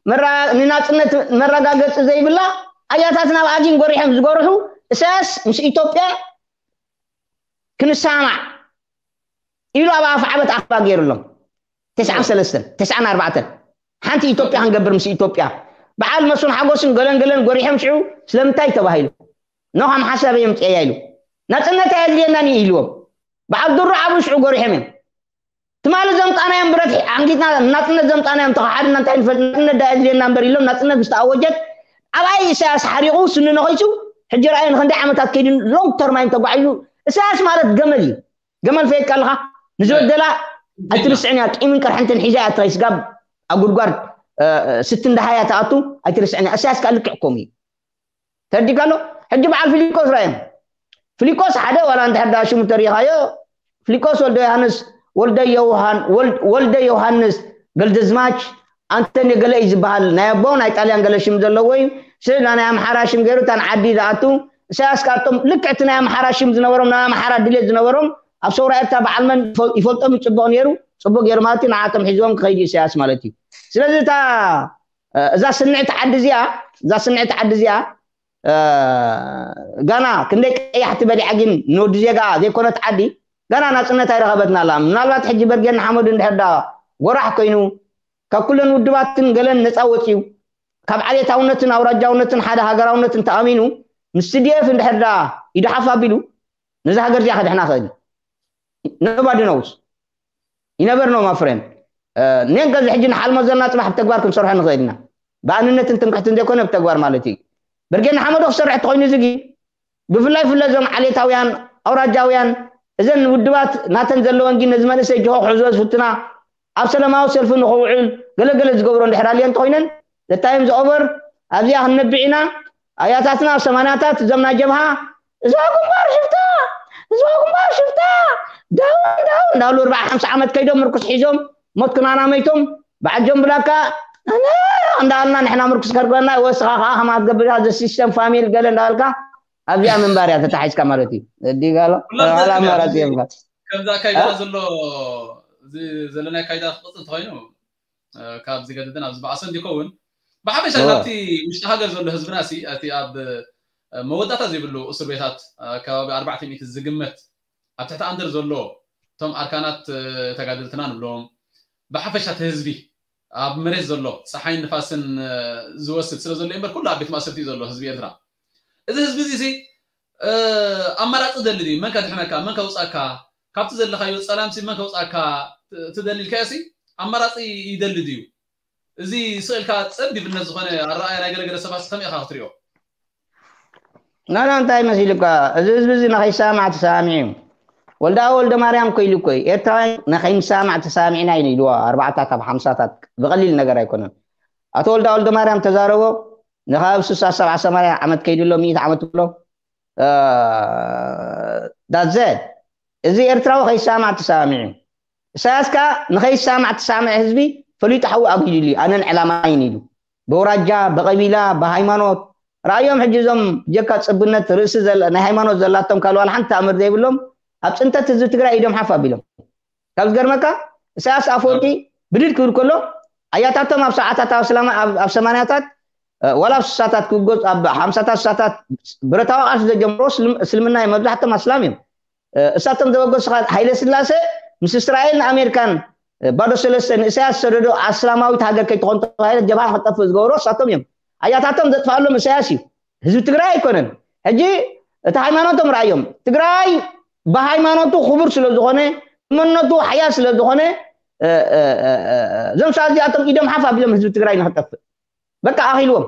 መራ- ንናጽነት መረጋገጺ ዘይብላ ኣያታትና ብኣጊን ጎሪሖም ዝጎርሑ እሳያስ ምስ ኢትዮጵያ ክንሰማማዕ ኢሉ ኣብ ኣፍ ዓበት ኣኽባ ገይሩሎም። ተስዓን ሰለስተን ተስዓን ኣርባዕተን ሓንቲ ኢትዮጵያ ክንገብር ምስ ኢትዮጵያ በዓል መስፍን ሓጎስን ገለን ገለን ጎሪሖም ሽዑ ስለምንታይ ተባሂሉ ኖ ከም ሓሳብ እዮም ፅእያ ኢሉ ናፅነት ኣየድልየናን እዩ ኢልዎም። በዓል ድሩ ዓብዩ ሽዑ ጎሪሖም እዮም። ትማሊ ዘምፃናዮም ብረት ሓንጊጥና ናፅነት ዘምፃናዮም ተኸሓድና እንታይ ንፈልጥ ናፅነት ዳ ኣየድልየና እምበር ኢሎም ናፅነት ምስ ተኣወጀት ዓባይ ኢሳያስ ሓሪቑ ስኒ ነኺሱ ሕጂ ረኣዮ ንክንደይ ዓመታት ከይዱ long term ኣዮም ተጓዒዙ። ኢሳያስ ማለት ገመል እዩ። ገመል ፈየድካ ኣለኻ ንዝበደላ ኣይትርስዕን እያ። ቂምን ቅርሕንትን ሒዛ እያ ትኸይስ ጋብ ኣብ ጉድጓድ ስቲ እንዳሃያ ትኣቱ ኣይትርስዕን እያ። ኢሳያስ ከዓ ልክዕ ከምኡ እዩ። ተረዲእካ ኣሎ። ሕጂ በዓል ፊሊቆስ ራእዮም ፊሊቆስ ሓደ ዋላ እንድሕር ዳ ሽሙ ተሪኻዮ ፊሊቆስ ወልደ ዮሃንስ ወልደ ዮሃን ወልድ- ወልደ ዮሃንስ ገልደዝማች ኣንተን ገለ እዩ ዝበሃል ናይ ኣቦ ናይ ጣልያን ገለ ሽም ዘለዎ እዩ። ስለ ናይ ኣምሓራ ሽም ገይሩ እታን ዓዲ ዝኣቱ ኢሳያስ ካርቶም ልክዕ እቲ ናይ ኣምሓራ ሽም ዝነበሮም ናይ ኣምሓራ ድሌት ዝነበሮም ኣብ ሰውራ ኤርትራ በዓል መን ይፈ- ይፈልጦም እዩ ጽቡቕ ነይሩ ጽቡቕ ገይሩ ማለት እዩ ንዓቶም ሒዝዎም ክኸይዱ ኢሳያስ ማለት እዩ። ስለዚ እታ እ፣ እዛ ስንዕቲ ዓዲ እዚኣ እዛ ስንዕቲ ዓዲ እዚኣ እ፣ ጋና ክንደይ ቀያሕቲ በሊዓ ግን ንወዲ ዜጋ ዘይኮነት ዓዲ ጋና ናፅነት ኣይረኸበትና ኣላ። ምናልባት ሕጂ በርጌድ ንሓመዱ እንድሕር ዳ ጎራሕ ኮይኑ ካብ ኩለን ውድባትን ገለን ነፃ ወፅዩ ካብ ዓሌታውነትን ኣውራጃውነትን ሓደ ሃገራውነትን ተኣሚኑ ምስ ቲ ዲ ኤፍ እንድሕር ዳ ኢዱ ሓፍ ኣቢሉ ነዚ ሃገር እዚኣ ከድሕና ክእል እዩ። Nobody knows. You never know, my friend. ኔን ከዚ ሕጂ ንሓልሞ ዘለና ፅባሕ ብተግባር ክንሰርሖ ንኽእል ኢና። ብኣንነትን ትምክሕትን ዘይኮነ ብተግባር ማለት እዩ። ብርጌድ ንሓመዱ ክሰርሕ ተኮይኑ እዚ ግን ብፍላይ ፍለ እዞም ዓሌታውያን ኣውራጃውያን እዘን ውድባት ናተን ዘለወን ግን ነዚ መንእሰይ ጅሆ ክሕዞ ዝፍትና ኣብ ሰላማዊ ሰልፊ ንኽውዕል ገለገለ ዝገብሮ እንድሕር ኣልዮ እንተኮይነን ዘታይም ዝኦቨር ኣብዚኣ ክንነብዕ ኢና። ኣያታትና ኣብ ሰማንያታት እዞም ናይ ጀብሃ እዛ ግንባር ሽፍታ እዛ ግንባር ሽፍታ ዳውን ዳውን እንዳሉ ኣርባዓ ሓምሳ ዓመት ከይዶም ምርኩስ ሒዞም ሞት ክናና መይቶም ብዓጆም ብላካ እንዳልና ንሕና ምርኩስ ከርገና ወስኻ ከዓ ከማ ትገብር ዘ ሲስተም ፋሚል ገለ እንዳበልካ ኣብዚኣ ምንባር እያ ተታሒዝካ ማለት እዩ። እዲጋሎ ኣላ ኣማራፂ የብልካ። ከምዚ ኣካይዳና ዘሎ እዚ ዘለና ኣካይዳ ክቕፅል እንተኮይኑ ካብ ዝገድድን ኣብ ዝበኣሰ እንዲከውን ብሓፈሻ ካብቲ ውሽጢ ሃገር ዘሎ ህዝብና ሲ እቲ ኣብ መወዳእታ ዘይብሉ እስር ቤታት ከባቢ ኣርባዕተ ሚእቲ ዝግመት ኣብ ትሕቲ ኣንደር ዘሎ እቶም ኣርካናት ተጋደልትና ንብሎም ብሓፈሻ እቲ ህዝቢ ኣብ መሬት ዘሎ ፀሓይን ንፋስን ዝወስድ ስለ ዘሎ እምበር ኩሉ ኣብ ቤት ማእሰርቲ እዩ ዘሎ ህዝቢ ኤርትራ። እዚ ህዝቢ እዚ ሲ ኣማራፂ ደሊ ድዩ? መን ከድሕነካ? መን ከውፃካ? ካብቲ ዘለካዮ ፀላምሲ መን ከውፃካ ትደሊ ኢልካዮ ሲ ኣማራፂ ይደሊ ድዩ? እዚ ስእልካ ፀቢብነት ዝኾነ ኣረኣያ ናይ ገለገለ ሰባት ከመይ ኢኻ ክትሪኦ? ናና እንታይ መሲልካ እዚ ህዝቢ እዚ ንኸይሰማማዕ ተሰማሚዑ እዩ። ወልዳ ወልደ ማርያም እኮ ኢሉ እኮ እዩ ኤርትራውያን ንኸይንሰማማዕ ተሰማሚዕና ኢና ኢልዎ ኣርባዕታት ኣብ ሓምሳታት ብቐሊል ነገር ኣይኮነን። ኣቶ ወልዳ ወልደ ማርያም ተዛረቦ ንኻብ ስሳ ሰብዓ ሰማንያ ዓመት ከይዱ ኣሎ ሚእቲ ዓመት ብሎ that's it። እዚ ኤርትራዊ ከይሰማማዕ ተሰማሚዑ እዩ። ኢሳያስ ከኣ ንኸይሰማማዕ ተሰማምዐ ህዝቢ ፈሊጡ ሓዊ ኣጒድሉ እዩ ኣነን ዕላማይን ኢሉ ብውራጃ ብቐቢላ ብሃይማኖት ረኣዮም ሕጂ እዞም ጀካ ጽብነት ርእሲ ናይ ሃይማኖት ዘላቶም ካልእ ዋላ ሓንቲ ተኣምር ዘይብሎም ኣብ ጽንተት ህዝቢ ትግራይ ኢዶም ሓፍ ኣቢሎም ካብ ዝገርመካ ኢሳያስ ኣፈወርቂ ብድድ ክብል ከሎ ኣያታቶም ኣብ ሰዓታት ኣብ ሰማንያታት ዋላ ኣብ ስሳታት ክጎዝ ኣብ ሓምሳታት ስሳታት ብረታዊ ቃልሲ ዘጀምሮ እስልምና እዮም መብዛሕቶም ኣስላም እዮም እሳቶም ዘበገሱ ሃይለ ስላሴ ምስ እስራኤል ንኣሜሪካን ባዶ ሰለስተ ንእሳያስ ዝሰደዶ ኣስላማዊት ሃገር ከይትኾን ተባሂለት ጀብሃ ክጠፍእ ዝገብሮ እሳቶም እዮም ኣያታቶም ዘጥፋሎም እሳያስ እዩ ህዝቢ ትግራይ ኣይኮነን ሕጂ እቲ ሃይማኖቶም ረኣዮም ትግራይ ብሃይማኖቱ ክቡር ስለ ዝኾነ መንነቱ ሓያል ስለ ዝኾነ እዞም ሰባት እዚኣቶም ኢዶም ሓፍ ኣቢሎም ህዝቢ ትግራይ ንክጠፍእ በቃ ኣኺልዎም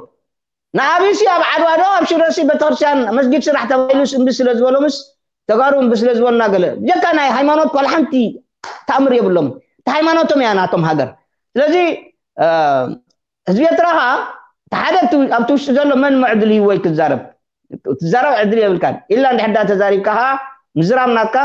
ንኣብሲ ኣብ ዓድዋ ዶ ኣብ ሽረሲ ቤተክርስትያን መስጊድ ስራሕ ተባሂሉ እምቢ ስለ ዝበሎምስ፣ ተጋሩ እምቢ ስለ ዝበሉና ገለ፣ ብጀካ ናይ ሃይማኖት ዋላ ሓንቲ ተኣምር የብሎም። እቲ ሃይማኖቶም እያ ናቶም ሃገር። ስለዚ ህዝቢ ኤርትራ ከዓ እቲ ሓደ ኣብቲ ውሽጢ ዘሎ መን ምዕድል እዩ ወይ ክዛረብ፣ ትዛረብ ዕድል የብልካን ኢላ እንድሕር ዳ ተዛሪብካ ከዓ ምዝራብ ናትካ፣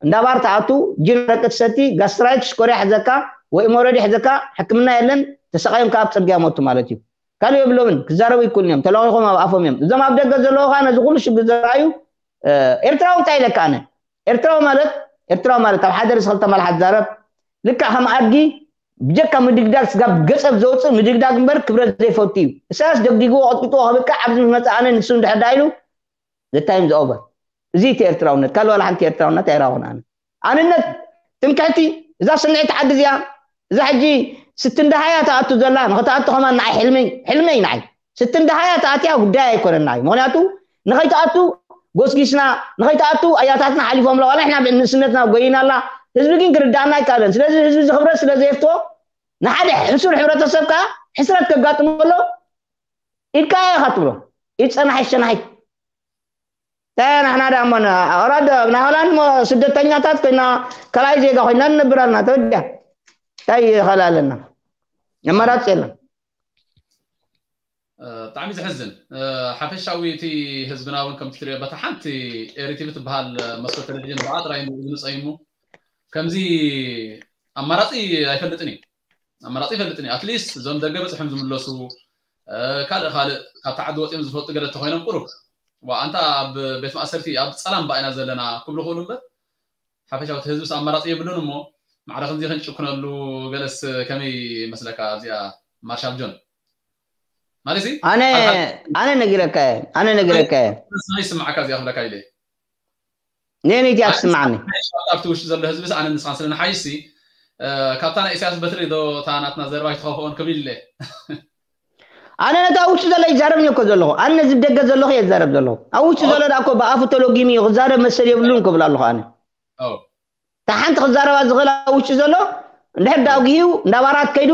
እንዳ ባር ትኣቱ፣ ጅን ረቂ ትሰቲ፣ ጋስትራይት ሽኮርያ ሕዘካ ወይ ሞረዲ ሕዘካ፣ ሕክምና የለን፣ ተሰቃዮም ከዓ ኣብ ፅርግያ ሞቱ ማለት እዩ። ካልእ የብሎምን፣ ክዛረቡ ይክእሉን እዮም፣ ተለቂኾም ኣብ ኣፎም እዮም። እዞም ኣብ ደገ ዘለዉ ከዓ ነዚ ኩሉ ሽግር ዘረኣዩ ኤርትራዊ እንታይ ኢለካ ኣነ? ኤርትራዊ ማለት ኤርትራዊ ማለት ኣብ ሓደ ርእሲ ክልተ መልሓስ ዛረብ ልክዕ ከም ኣድጊ ብጀካ ምድግዳግ ስጋብ ገጸብ ዘውፅእ ምድግዳግ እምበር ክብረት ዘይፈቱ እዩ። እሳያስ ደግዲግዎ ቀጥቂጥዎ ከብቅዕ ኣብዚ ምስ መፀ ኣነ ንሱ እንድሕር ዳ ኢሉ the time is over። እዚ እቲ ኤርትራውነት ካልእ ዋላ ሓንቲ ኤርትራውነት ኣይራኹን ኣነ። ኣንነት ትምክሕቲ እዛ ስምዒት ዓዲ እዚኣ እዛ ሕጂ ስትንደሃያ ትኣቱ ዘላ ንኽትኣቱ ከማን ንዓይ ሕልመይ ሕልመይ ንዓይ ስትንደሃያ ትኣትያ ጉዳይ ኣይኮነና እዩ። ምክንያቱ ንኸይትኣቱ ጎስጊስና ንኸይትኣቱ ኣያታትና ሓሊፎም ኣለዋ ንሕና ንእስነትና ጎይና ኣላ። ህዝቢ ግን ክርዳእና ኣይካለን። ስለዚ ህዝቢ ዝኽብረት ስለ ዘየፍትዎ ንሓደ ሕሱር ሕብረተሰብ ከዓ ሕስረት ከጋጥሞ ኣሎ ኢድካ ኢኻ ትብሎ። ኢድ ጸናሒት ሸናሒት እንታይ ናሕና ዳ እሞ ኦራዶ ናይ ሆላንድ ሞ ስደተኛታት ኮይና ካልኣይ ዜጋ ኮይና ንነብር ኣለና። ተወዲያ እንታይ ይኸላለና? ኣማራፂ የለን። ብጣዕሚ ዘሕዝን። ሓፈሻዊ እቲ ህዝብና እውን ከምቲ ትሪኦ በታ ሓንቲ ኤሪቲቪ ትበሃል መስኮት ቴሌቪዥን ብኣ ጥራይ ዝንፀይሙ ከምዚ ኣማራፂ ኣይፈልጥን እዩ። ኣማራፂ ይፈልጥን እዩ። ኣትሊስት እዞም ደገ በፅሖም ዝምለሱ ካልእ ካልእ ካብቲ ዓዲ ወፂኦም ዝፈልጡ ገለ ተኮይኖም ቁሩብ ዋ ኣንታ ኣብ ቤት ማእሰርቲ ኣብ ፀላም ባኢና ዘለና ክብሉ ክእሉ እምበር ሓፈሻዊ እቲ ህዝብስ ኣማራፂ የብሉን እሞ ማዕረ ከምዚ ክንጭክነሉ ገለስ ከመይ መስለካ እዚኣ ማርሻል ጆን ማለት ኣነ ኣነ ነጊረካ ኣነ ነጊረካ ይስማዓካ እዚኣ ክብለካ ኢለ ነነይቲ ኣትስማዓኒ ኣብቲ ውሽጢ ዘሎ ህዝብስ ኣነ ንስኻን ስለ ንሓይሲ ካብታ ናይ ኢሳያስ በትሪ ዶ እታ ናትና ዘረባ ይትኸፍኦን ክብል ኢለ ኣነ ነቲ ኣብ ውሽጢ ዘሎ ይዛረብ እኮ ዘለኹ ኣነ ነዚ ደገ ዘለኹ የዛረብ ዘለኹ ኣብ ውሽጢ ዘሎ ዳ እኮ ብኣፉ ተሎጊሙ እዩ ክዛረብ መሰል የብሉን ክብል ኣለኹ ኣነ እታ ሓንቲ ክዛረባ ዝኽእል ኣብ ውሽጢ ዘሎ እንድሕር ዳ ኣጉሂዩ እንዳ ባራት ከይዱ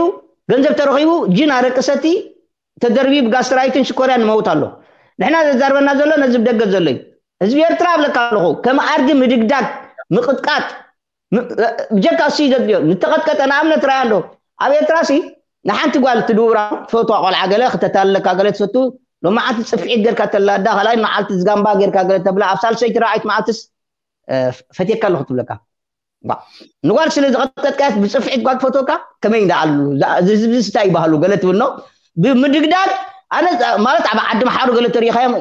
ገንዘብ ተረኺቡ ጅን ኣረቂ ሰቲ ተደርቢ ብጋስትራይትን ሽኮርያን ይመውት ኣሎ ንሕና ዘዛርበና ዘሎ ነዚ ብደገ ዘሎ እዩ ህዝቢ ኤርትራ እብለካ ኣለኹ ከም ኣድጊ ምድግዳግ ምቕጥቃጥ ብጀካ እሱ እዩ ዘድልዮ ንተቐጥቀጠ ንኣብነት ራያ እንዶ ኣብ ኤርትራ ሲ ንሓንቲ ጓል ትድውራ ትፈትዋ ቆልዓ ገለ ክተታልለካ ገለ ትፈቱ ሎማዓንቲ ፅፍዒት ጌርካ ተላዳ ካልኣይ መዓልቲ ዝጋምባ ጌርካ ገለ ተብላ ኣብ ሳልሰይቲ ረብዓይቲ መዓልትስ ፈትየካ ኣለኹ ትብለካ ንጓል ስለ ዝቐጥቀጥካያስ ብፅፍዒት ጓል ትፈትወካ ከመይ እንዳኣሉ ህዝቢ ስታይ ይባህሉ ገለ ትብል ነው ብምድግዳግ ኣነ ማለት ኣብ ዓዲ መሓሩ ገለ ተሪኻዮም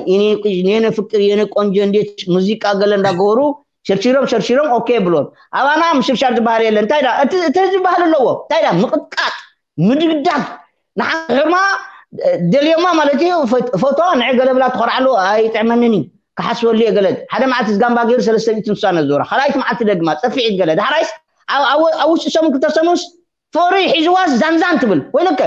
የኔ ፍቅር የኔ ቆንጆ እንዴት ሙዚቃ ገለ እንዳገበሩ ሸርሺሮም ሸርሺሮም ኦኬ ብሎም ኣባና ምሽርሻር ዝበሃል የለ እንታይ ዳ እቲ ህዝቢ ባህል ኣለዎ እንታይ ዳ ምቕጥቃጥ ምድግዳግ ንሓሕርማ ደልዮማ ማለት እዩ ፎቶ ንዕ ገለ ብላ ትኾርዓሉ ኣይጥዕመንን እዩ ክሓስበሉ እየ ገለ ሓደ መዓልቲ ዝጋምባ ገይሩ ሰለስተ ሚእቲ ንሷ ነዞራ ካልኣይቲ መዓልቲ ደግማ ፀፊዒት ገለ ዳሕራይስ ኣብ ውሽጢ ሰሙን ክልተ ሰሙንስ ፍቕሪ ሒዝዋስ ዛንዛን ትብል ወይለከ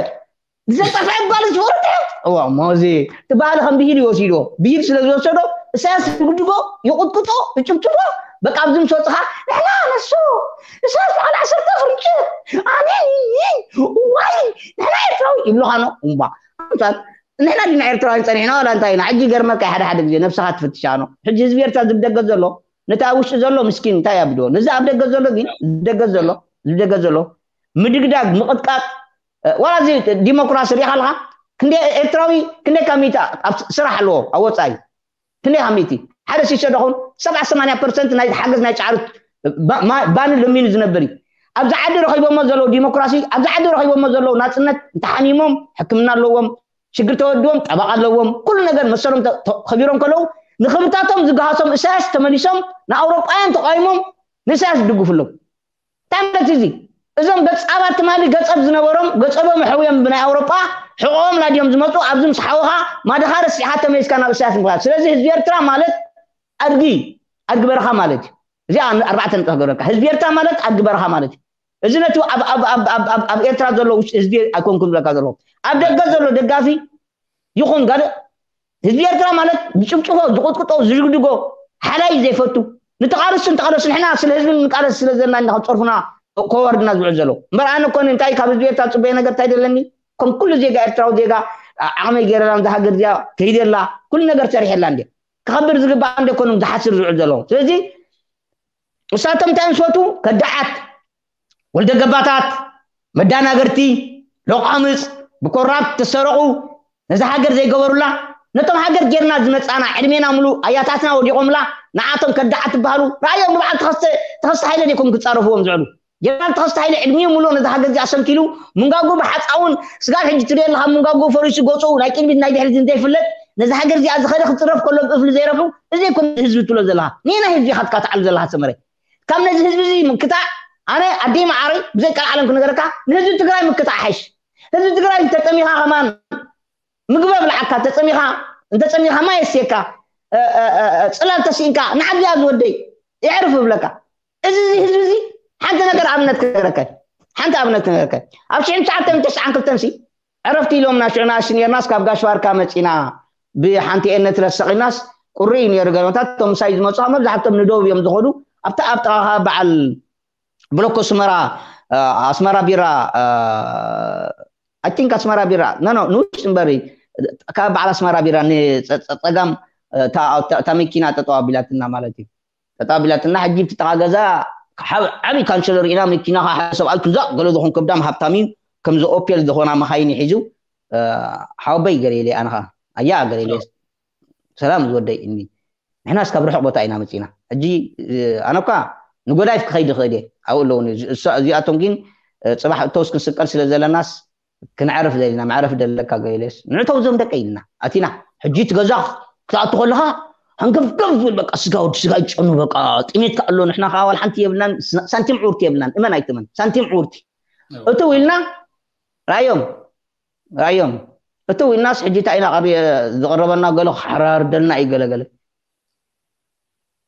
ዝጠፍዐ ጓል ዝፈርድ እዋ ሞዚ እቲ ባህሊ ከም ብሂል ይወሲድዎ ብሂል ስለ ዝወሰዶ እሳያስ ይጉድጎ ይቁጥቁጦ ይጭብጭቦ በቃ ኣብዚ ምስ ወፅኻ ንሕና ነሱ እሳያስ በዓል ዓሰርተ ፍርጭ ኣነ ዋይ ንሕና ኤርትራዊ ይብሉኻ ኖ እምባ ኣምሳል ንሕና ዲና ኤርትራውያን ፀኒሕና ዋላ እንታይ ኢና ሕጂ ገርመካ ሓደ ሓደ ግዜ ነብስኻ ትፍትሻ ኖ ሕጂ ህዝቢ ኤርትራ ዝብደገ ዘሎ ነቲ ኣብ ውሽጢ ዘሎ ምስኪን እንታይ ኣብድዎ ነዚ ኣብ ደገ ዘሎ ግን ዝደገ ዘሎ ዝደገ ዘሎ ምድግዳግ ምቕጥቃጥ ዋላ እዚ ዲሞክራሲ ሪኢኻ ኣለኻ ክንደይ ኤርትራዊ ክንደይ ካብ ሚእቲ ኣብ ስራሕ ኣለዎ ኣብ ወፃኢ ክንደይ ካብ ሚእቲ ሓደ ሲሶ ደኹን ሰብዓ ሰማንያ ፐርሰንት ናይ ሓገዝ ናይ ጫዕሩ ባኒ ለሚኑ ዝነብር እዩ ኣብዚ ዓዲ ረኺቦሞ ዘለዉ ዲሞክራሲ ኣብዚ ዓዲ ረኺቦሞ ዘለዉ ናፅነት እንተሓሚሞም ሕክምና ኣለዎም ሽግር ተወድዎም ጠበቃ ኣለዎም ኩሉ ነገር መሰሎም ከቢሮም ከለዉ ንክብርታቶም ዝገሃሶም እሳያስ ተመሊሶም ንኣውሮጳውያን ተቃዊሞም ንእሳያስ ዝድግፉ ኣለዉ እንታይ ማለት እዚ እዞም ገጻባት ትማሊ ገጸብ ዝነበሮም ገጸቦም ሕውዮም ብናይ ኣውሮጳ ሕቆም ላድዮም ዝመፁ ኣብዚ ምስ ሓውኻ ማድኻ ረሲዕኻ ተመሊስካ ናብ እሳያስ ምኻድ ስለዚ ህዝቢ ኤርትራ ማለት ኣድጊ ኣድጊ በረኻ ማለት እዩ እዚኣ ኣርባዕተ ነጥቢ ክገብረካ ህዝቢ ኤርትራ ማለት ኣድጊ በረኻ ማለት እዩ እዚ ነቲ ኣብ ኤርትራ ዘሎ ውሽጢ ህዝቢ ኣይኮንኩን ዝብለካ ዘለኹ ኣብ ደገ ዘሎ ደጋፊ ይኹን ጋር ህዝቢ ኤርትራ ማለት ዝጭብጭቦ ዝቁጥቁጦ ዝድግድጎ ሓላይ ዘይፈቱ ንተቃለሱ ንተቃለሱ ንሕና ስለ ህዝቢ ንቃለስ ስለ ዘለና ኢና ከም ፀርፉና ኮወርድና ዝውዕል ዘሎ እምበር ኣነ ኮነ እንታይ ካብ ህዝቢ ኤርትራ ፅበየ ነገር እንታይ ደለኒ ከም ኩሉ ዜጋ ኤርትራዊ ዜጋ ዓቕመይ ገይረላ ነዛ ሃገር እዚኣ ከይደላ ኩሉ ነገር ሰሪሐላ እንደ ክኸብር ዝግባእ እንደ ኮኖም ዝሓስር ዝውዕል ዘለዉ። ስለዚ እሳቶም እንታይ ምስ ፈቱ ከዳዓት፣ ወልደ ገባታት፣ መዳናገርቲ፣ ሎቃምፅ፣ ብኮራፕት ተሰረቑ፣ ነዚ ሃገር ዘይገበሩላ፣ ነቶም ሃገር ጌርና ዝመፃና ዕድሜና ሙሉ ኣያታትና ወዲቖምላ፣ ንዓቶም ከዳዓት ትበሃሉ። ራእዮም ብበዓል ተኸስተ ተኸስተ ሃይለ ዲኩም ክፃረፍዎም ዝዕሉ? ጀነራል ተኸስተ ሃይለ ዕድሚኡ ሙሉ ነዚ ሃገር እዚኣ ሰንኪሉ፣ ምንጋጉ ብሓፃውን ስጋብ ሕጂ ትሪኦ ኣለኻ፣ ምንጋጉ ፈሪሱ ገፁ ናይ ቅድሚት ናይ ድሕሪት ዘይፍለጥ፣ ነዚ ሃገር እዚኣ ዝኸደ ክፅረፍ ከሎ ብእፍሊ ዘይረፉ። እዚ ይኮን ህዝቢ ትብሎ ዘለኻ፣ ኒና ህዝቢ ኢኻ ትካትዓሉ ዘለኻ ሰመረ። ካብ ነዚ ህዝቢ እዚ ምክታዕ ኣነ ኣደይ መዓረይ ብዘይ ቃል ዓለም ክነገረካ ንህዝቢ ትግራይ ምክታዕ ሓይሽ። ህዝቢ ትግራይ እንተጠሚኻ ከማን ምግቢ ኣብልዓካ፣ ተጸሚኻ እንተጸሚኻ ማይ የስየካ፣ ጽላል ተሲእንካ ንዓብያ ዝወደይ የዕርፍ እብለካ። እዚ ህዝቢ እዚ ሓንቲ ነገር ኣብነት ክነገረካ፣ ሓንቲ ኣብነት ክነገረካ። ኣብ ሽሕን ትሽዓተን ተስዓን ክልተን ሲ ዕረፍቲ ኢሎምና፣ ሽዑ ንኣሽቱ ነርናስ ካብ ጋሽ ባርካ መጺና ብሓንቲ ኤነት ረሰቂናስ ቁሪ እዩ ነይሩ። ገለታት እቶም ምሳይ ዝመጹ መብዛሕቶም ንደቡብ እዮም ዝኸዱ። ኣብታ ኣብ ጥቓኻ በዓል ብሎኮ ኣስመራ ኣስመራ ቢራ፣ I think ኣስመራ ቢራ፣ ኖ ኖ ንውሽጢ እምበሪ ካብ በዓል ኣስመራ ቢራ ንጸጋም እታ መኪና ጠጠው ኣቢላትና ማለት እዩ። ጠጠው ኣቢላትና ሕጂ እቲ ጥቓ ገዛ ዓብዪ ካንሸሎ ርኢና፣ መኪና ከዓ ሓደ ሰብኣይ ክዛቕ ገለ ዝኾን ከብዳም ሃብታም እዩ፣ ከምዚ ኦፔል ዝኾና መኻይን ይሒዙ። ሓወበይ ገለ ኢለ ኣነ ከዓ ኣያ ገለ ኢለ ሰላም ዝወደይ እኒ ንሕናስ ካብ ርሑቕ ቦታ ኢና መፂና። ሕጂ ኣነ እኳ ንጎዳይፍ ክኸይድ ይኽእል እየ፣ ኣብኡ ኣለውኒ። እዚኣቶም ግን ፅባሕ እተውስ ክንስቀል ስለ ዘለናስ ክንዕርፍ ደሊና፣ መዕረፍ ደለካ ገይለስ ንዕተው ዞም ደቀ ኢልና ኣቲና። ሕጂ እቲ ገዛ ክትኣቱ ከለኻ ሃንገፍገፍ ዝብል በቃ ስጋ ወዲ ስጋ ይጨኑ በቃ ጥሜት ከኣሎ ንሕና ከዓ ዋላ ሓንቲ የብልናን፣ ሳንቲም ዕውርቲ የብልናን። እመን ኣይትመን ሳንቲም ዕውርቲ እትው ኢልና ራዮም ራዮም እትው ኢልናስ ሕጂ እንታይ ኢና ዝቐረበና ገለ ክሓራርደልና እዩ ገለገለ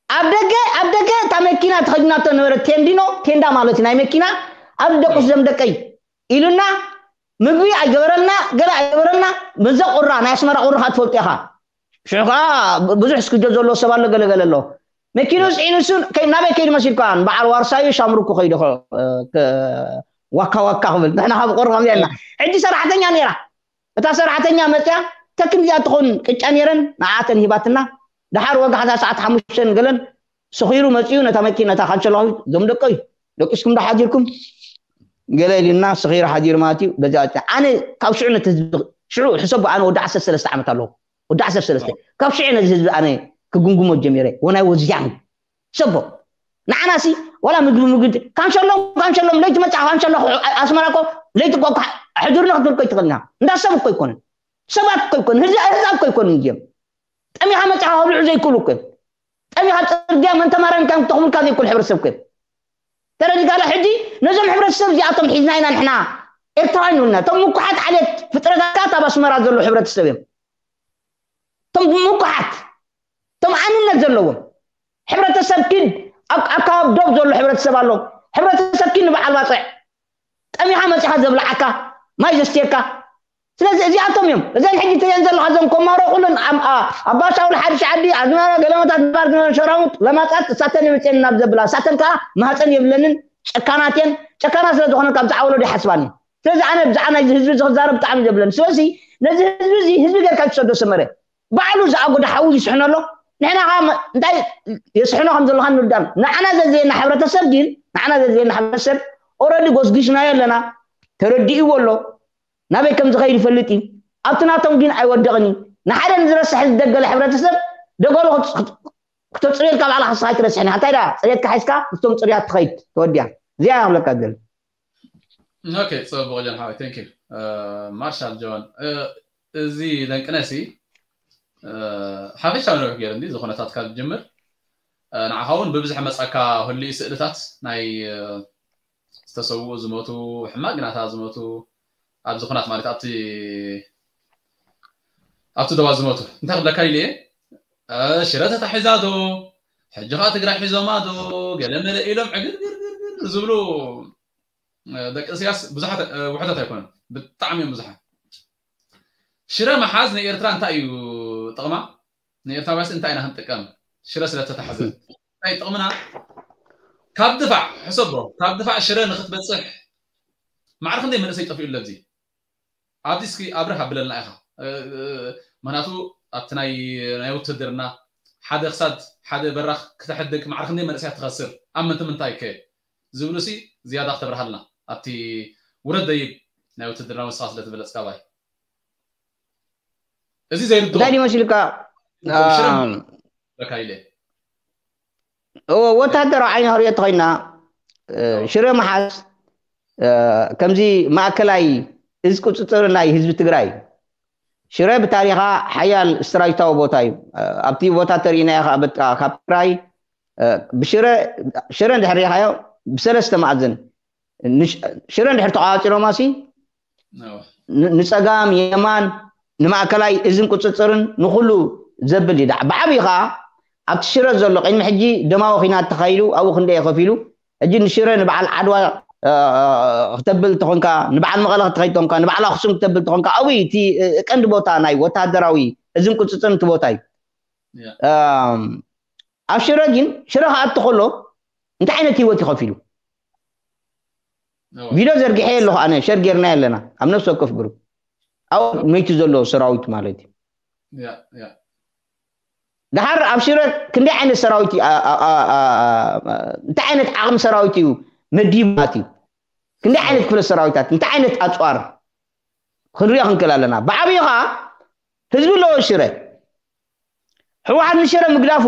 ኣብ ደገ ኣብ ደገ እታ መኪና ተኸዲናቶ ነበረ ቴንዲኖ ቴንዳ ማለት ናይ መኪና ኣብ ደቁስ ዘም ደቀይ ኢሉና ምግቢ ኣይገበረልና ገለ ኣይገበረልና መዘ ቁራ ናይ ኣስመራ ቁራ ትፈልጡ ኢኻ ሽዑ ከዓ ብዙሕ ስክጆ ዘሎ ሰብ ኣሎ ገለገለ ኣሎ መኪኑ ስዒኑ እሱ ናበይ ከይዱ መሲልካ በዓል ዋርሳዩ ሻምሩኩ ከይዱ ዋካ ዋካ ክብል ንሕና ካብ ቁር ከምዚና ሕጂ ሰራሕተኛ ነይራ እታ ሰራሕተኛ መፅያ ተክም እዚኣ ትኾን ቅጫ ነይረን ንዓተን ሂባትና ደሓር ወጋሕታ ሰዓት ሓሙሽተን ገለን ሰኺሩ መፅኡ ነታ መኪና ነታ ካንሸሎ ዞም ደቀይ ደቂስኩም ዶ ሓዲርኩም ገለ ኢልና ሰኺሩ ሓዲሩ ማለት እዩ በዚ ኣነ ካብ ሽዑ ነቲ ህዝቢ ሽዑ ሕሰቡ ኣነ ወዲ ዓሰርተ ሰለስተ ዓመት ኣለኹ ወዲ ዓሰርተ ሰለስተ ካብ ሽዑ ነዚ ህዝቢ ኣነ ክጉምጉሞ ጀሚረ ወናይ ወዝያን ሰቦ ንዓናሲ ዋላ ምግቢ ምግቢ ካንሸሎም ካንሸሎም ለይቲ መፅዓ ካንሸሎ ኣስመራ እኮ ለይቲ እኮ ሕዱርና ክትብል እኮ ይትኽእልና እንዳ ሰብ እኮ ይኮንን ሰባት እኮ ይኮን ህዝብ እኮ ይኮን እንዲዮም ጠሚኻ መፅዓ ከብልዑ ዘይክእሉ እኮ ጠሚኻ ፅርግያ መን ተማረን ከም ተኽብልካ ዘይክእሉ ሕብረተሰብ እኮ ተረዲካለ ሕጂ ነዞም ሕብረተሰብ እዚኣቶም ሒዝና ኢና ንሕና ኤርትራውያን ይብልና እቶም ምኩሓት ዓሌት ፍጥረታት ካብ ኣስመራ ዘለዉ ሕብረተሰብ እዮም እቶም ምኩሓት እቶም ኣንነት ዘለዎም ሕብረተሰብ ኪድ ኣብ ኣካባቢ ዶብ ዘሎ ሕብረተሰብ ኣሎ ሕብረተሰብ ኪድ ንበዓል ባፅዕ ጠሚኻ መፂኻ ዘብልዓካ ማይ ዘስትየካ ስለዚ እዚኣቶም እዮም እዘን ሕጂ ትሪአን ዘለኻ እዞም ኮማሮ ኩለን ኣባሻውል ሓድሽ ዓዲ ኣዝመራ ገለመታት ባር ዝነበረ ሸራሙጥ ለማፃት እሳተን የምፅየን ናብ ዘብላ እሳተን ከዓ ማህፀን የብለንን ጨካናት እየን ጨካና ስለ ዝኾነ ካብ ዝዓወሎ ይሓስባኒ ስለዚ ኣነ ብዛዕባ ናይዚ ህዝቢ እዚ ክዛረብ ብጣዕሚ ዘብለኒ ስለዚ ነዚ ህዝቢ እዚ ህዝቢ ገርካ ዝሰዶ ሰመረ ባዕሉ ዝኣጎደ ሓዊ ይስሕኖ ኣሎ ንሕና ከዓ እንታይ የስሕኖ ከም ዘለካ ንርዳም ንዓና ዘዘየና ሕብረተሰብ ግን ንዓና ዘዘየና ሕብረተሰብ ኦረዲ ጎስጊስናዮ ኣለና ተረዲእዎ ኣሎ ናበይ ከም ዝኸይድ ይፈልጥ እዩ ኣብቲ ናቶም ግን ኣይወደቕን እዩ ንሓደ ንዝረስሕ ዝደገለ ሕብረተሰብ ደገሎ ክተፅርየልካ ባዕላ ክስኻ ኣይትረስሕን እንታይ ዳ ፅሬትካ ሓይስካ ምስቶም ፅርያት ትኸይድ ተወዲያ እዚኣ ክብለካ ዝደሊ ኦኬ ፅቡቅ ጀን ሓወይ ቴንክ ዩ ማርሻል ጆን እዚ ለንቅነሲ ሓፈሻዊ ነዊሕ ገይሩ እንዲ ዝኾነታት ካብ ዝጅምር ንዓኻ እውን ብብዝሒ መፃካ ህልዩ ስእልታት ናይ ዝተሰውኡ ዝሞቱ ሕማቅ ግናታ ዝሞቱ ኣብዚ ኩናት ማለት ኣብቲ ኣብቲ ደዋ ዝሞቱ እንታይ ክብለካ ኢለ ሽረ ተታሒዛ ዶ ሕጂ ከዓ ትግራይ ሒዞማ ዶ ገለ መለ ኢሎም ዕግርግርግር ዝብሉ ደቂ እስያስ ብዙሓት ውሕደት ኣይኮነን ብጣዕሚ እዮም ብዙሓት ሽረ መሓዝ ንኤርትራ እንታይ እዩ ጥቕማ ንኤርትራውያስ እንታይ ኢና ክንጥቀም ሽረ ስለተታሕዘ እንታይ ጥቕምና ካብ ድፋዕ ሕሰቦ ካብ ድፋዕ ሽረ ንክትበፅሕ ማዕረ ክንደይ መንእሰይ ጠፊኡ ኣለብዚ ኣብዚ እስኪ ኣብርህ ኣብለልና ኢኻ ምክንያቱ ኣብቲ ናይ ናይ ውትድርና ሓደ ክሳድ ሓደ በራኽ ክተሕድግ ማዕረ ክንደይ መንእሰያት ትኸስር ኣብ ምንታይ ምንታይ ከ ዝብሉ ሲ ዝያዳ ክተብርሃልና ኣብቲ ውረድ ደይብ ናይ ውትድርና መስፋ ስለ ትበለጽካ ባይ እዚ ዘይርድኦ እንታይ ይመስልካ ሽረም በካ ኢለ ወታደራዊ ዓይኒ ክሪኦ ተኮይና ሽረ መሓዝ ከምዚ ማእከላይ እዚ ቁፅፅር ናይ ህዝቢ ትግራይ ሽረ ብታሪኻ ሓያል ስትራጅታዊ ቦታ እዩ ኣብቲ ቦታ ተሪእናዮ ከዓ በቃ ካብ ትግራይ ብሽረ ሽረ እንድሕር ሪኢኻዮ ብሰለስተ ማዕዝን ሽረ እንድሕር ተቋፂሮማ ሲ ንፀጋም የማን ንማእከላይ እዝን ቁፅፅርን ንኩሉ ዘብል እዩ ብዓብዩ ከዓ ኣብቲ ሽረ ዘሎ ቅድሚ ሕጂ ደማዊ ኩናት ተኻይሉ ኣብኡ ክንደየ ከፊሉ ሕጂ ንሽረ ንበዓል ዓድዋ ክተብል ተኾንካ ንበዓል መቐለ ክትኸይድ ተኾንካ ንበዓል ኣክሱም ክተብል ተኾንካ ኣብኡ እቲ ቀንዲ ቦታ ናይ ወታደራዊ እዝን ቁፅፅርን እቲ ቦታ እዩ ኣብ ሽረ ግን ሽረ ክኣቱ ከሎ እንታይ ዓይነት ህይወት ይኸፊሉ ቪድዮ ዘርጊሐ ኣለኹ ኣነ ሸር ጌርና ኣለና ኣብ ነፍሲ ወከፍ ግሩፕ ኣብ መይቱ ዘሎ ሰራዊት ማለት እዩ ድሓር ኣብ ሽረ ክንደይ ዓይነት ሰራዊት እንታይ ዓይነት ዓቕሚ ሰራዊት እዩ መዲባት እዩ ክንደይ ዓይነት ክፍለ ሰራዊታት እንታይ ዓይነት ኣፅዋር ክንሪኦ ክንክእል ኣለና ብዓብዩ ከዓ ህዝቢ ኣለዎ ሽረ ህወሓት ንሽረ ምግዳፉ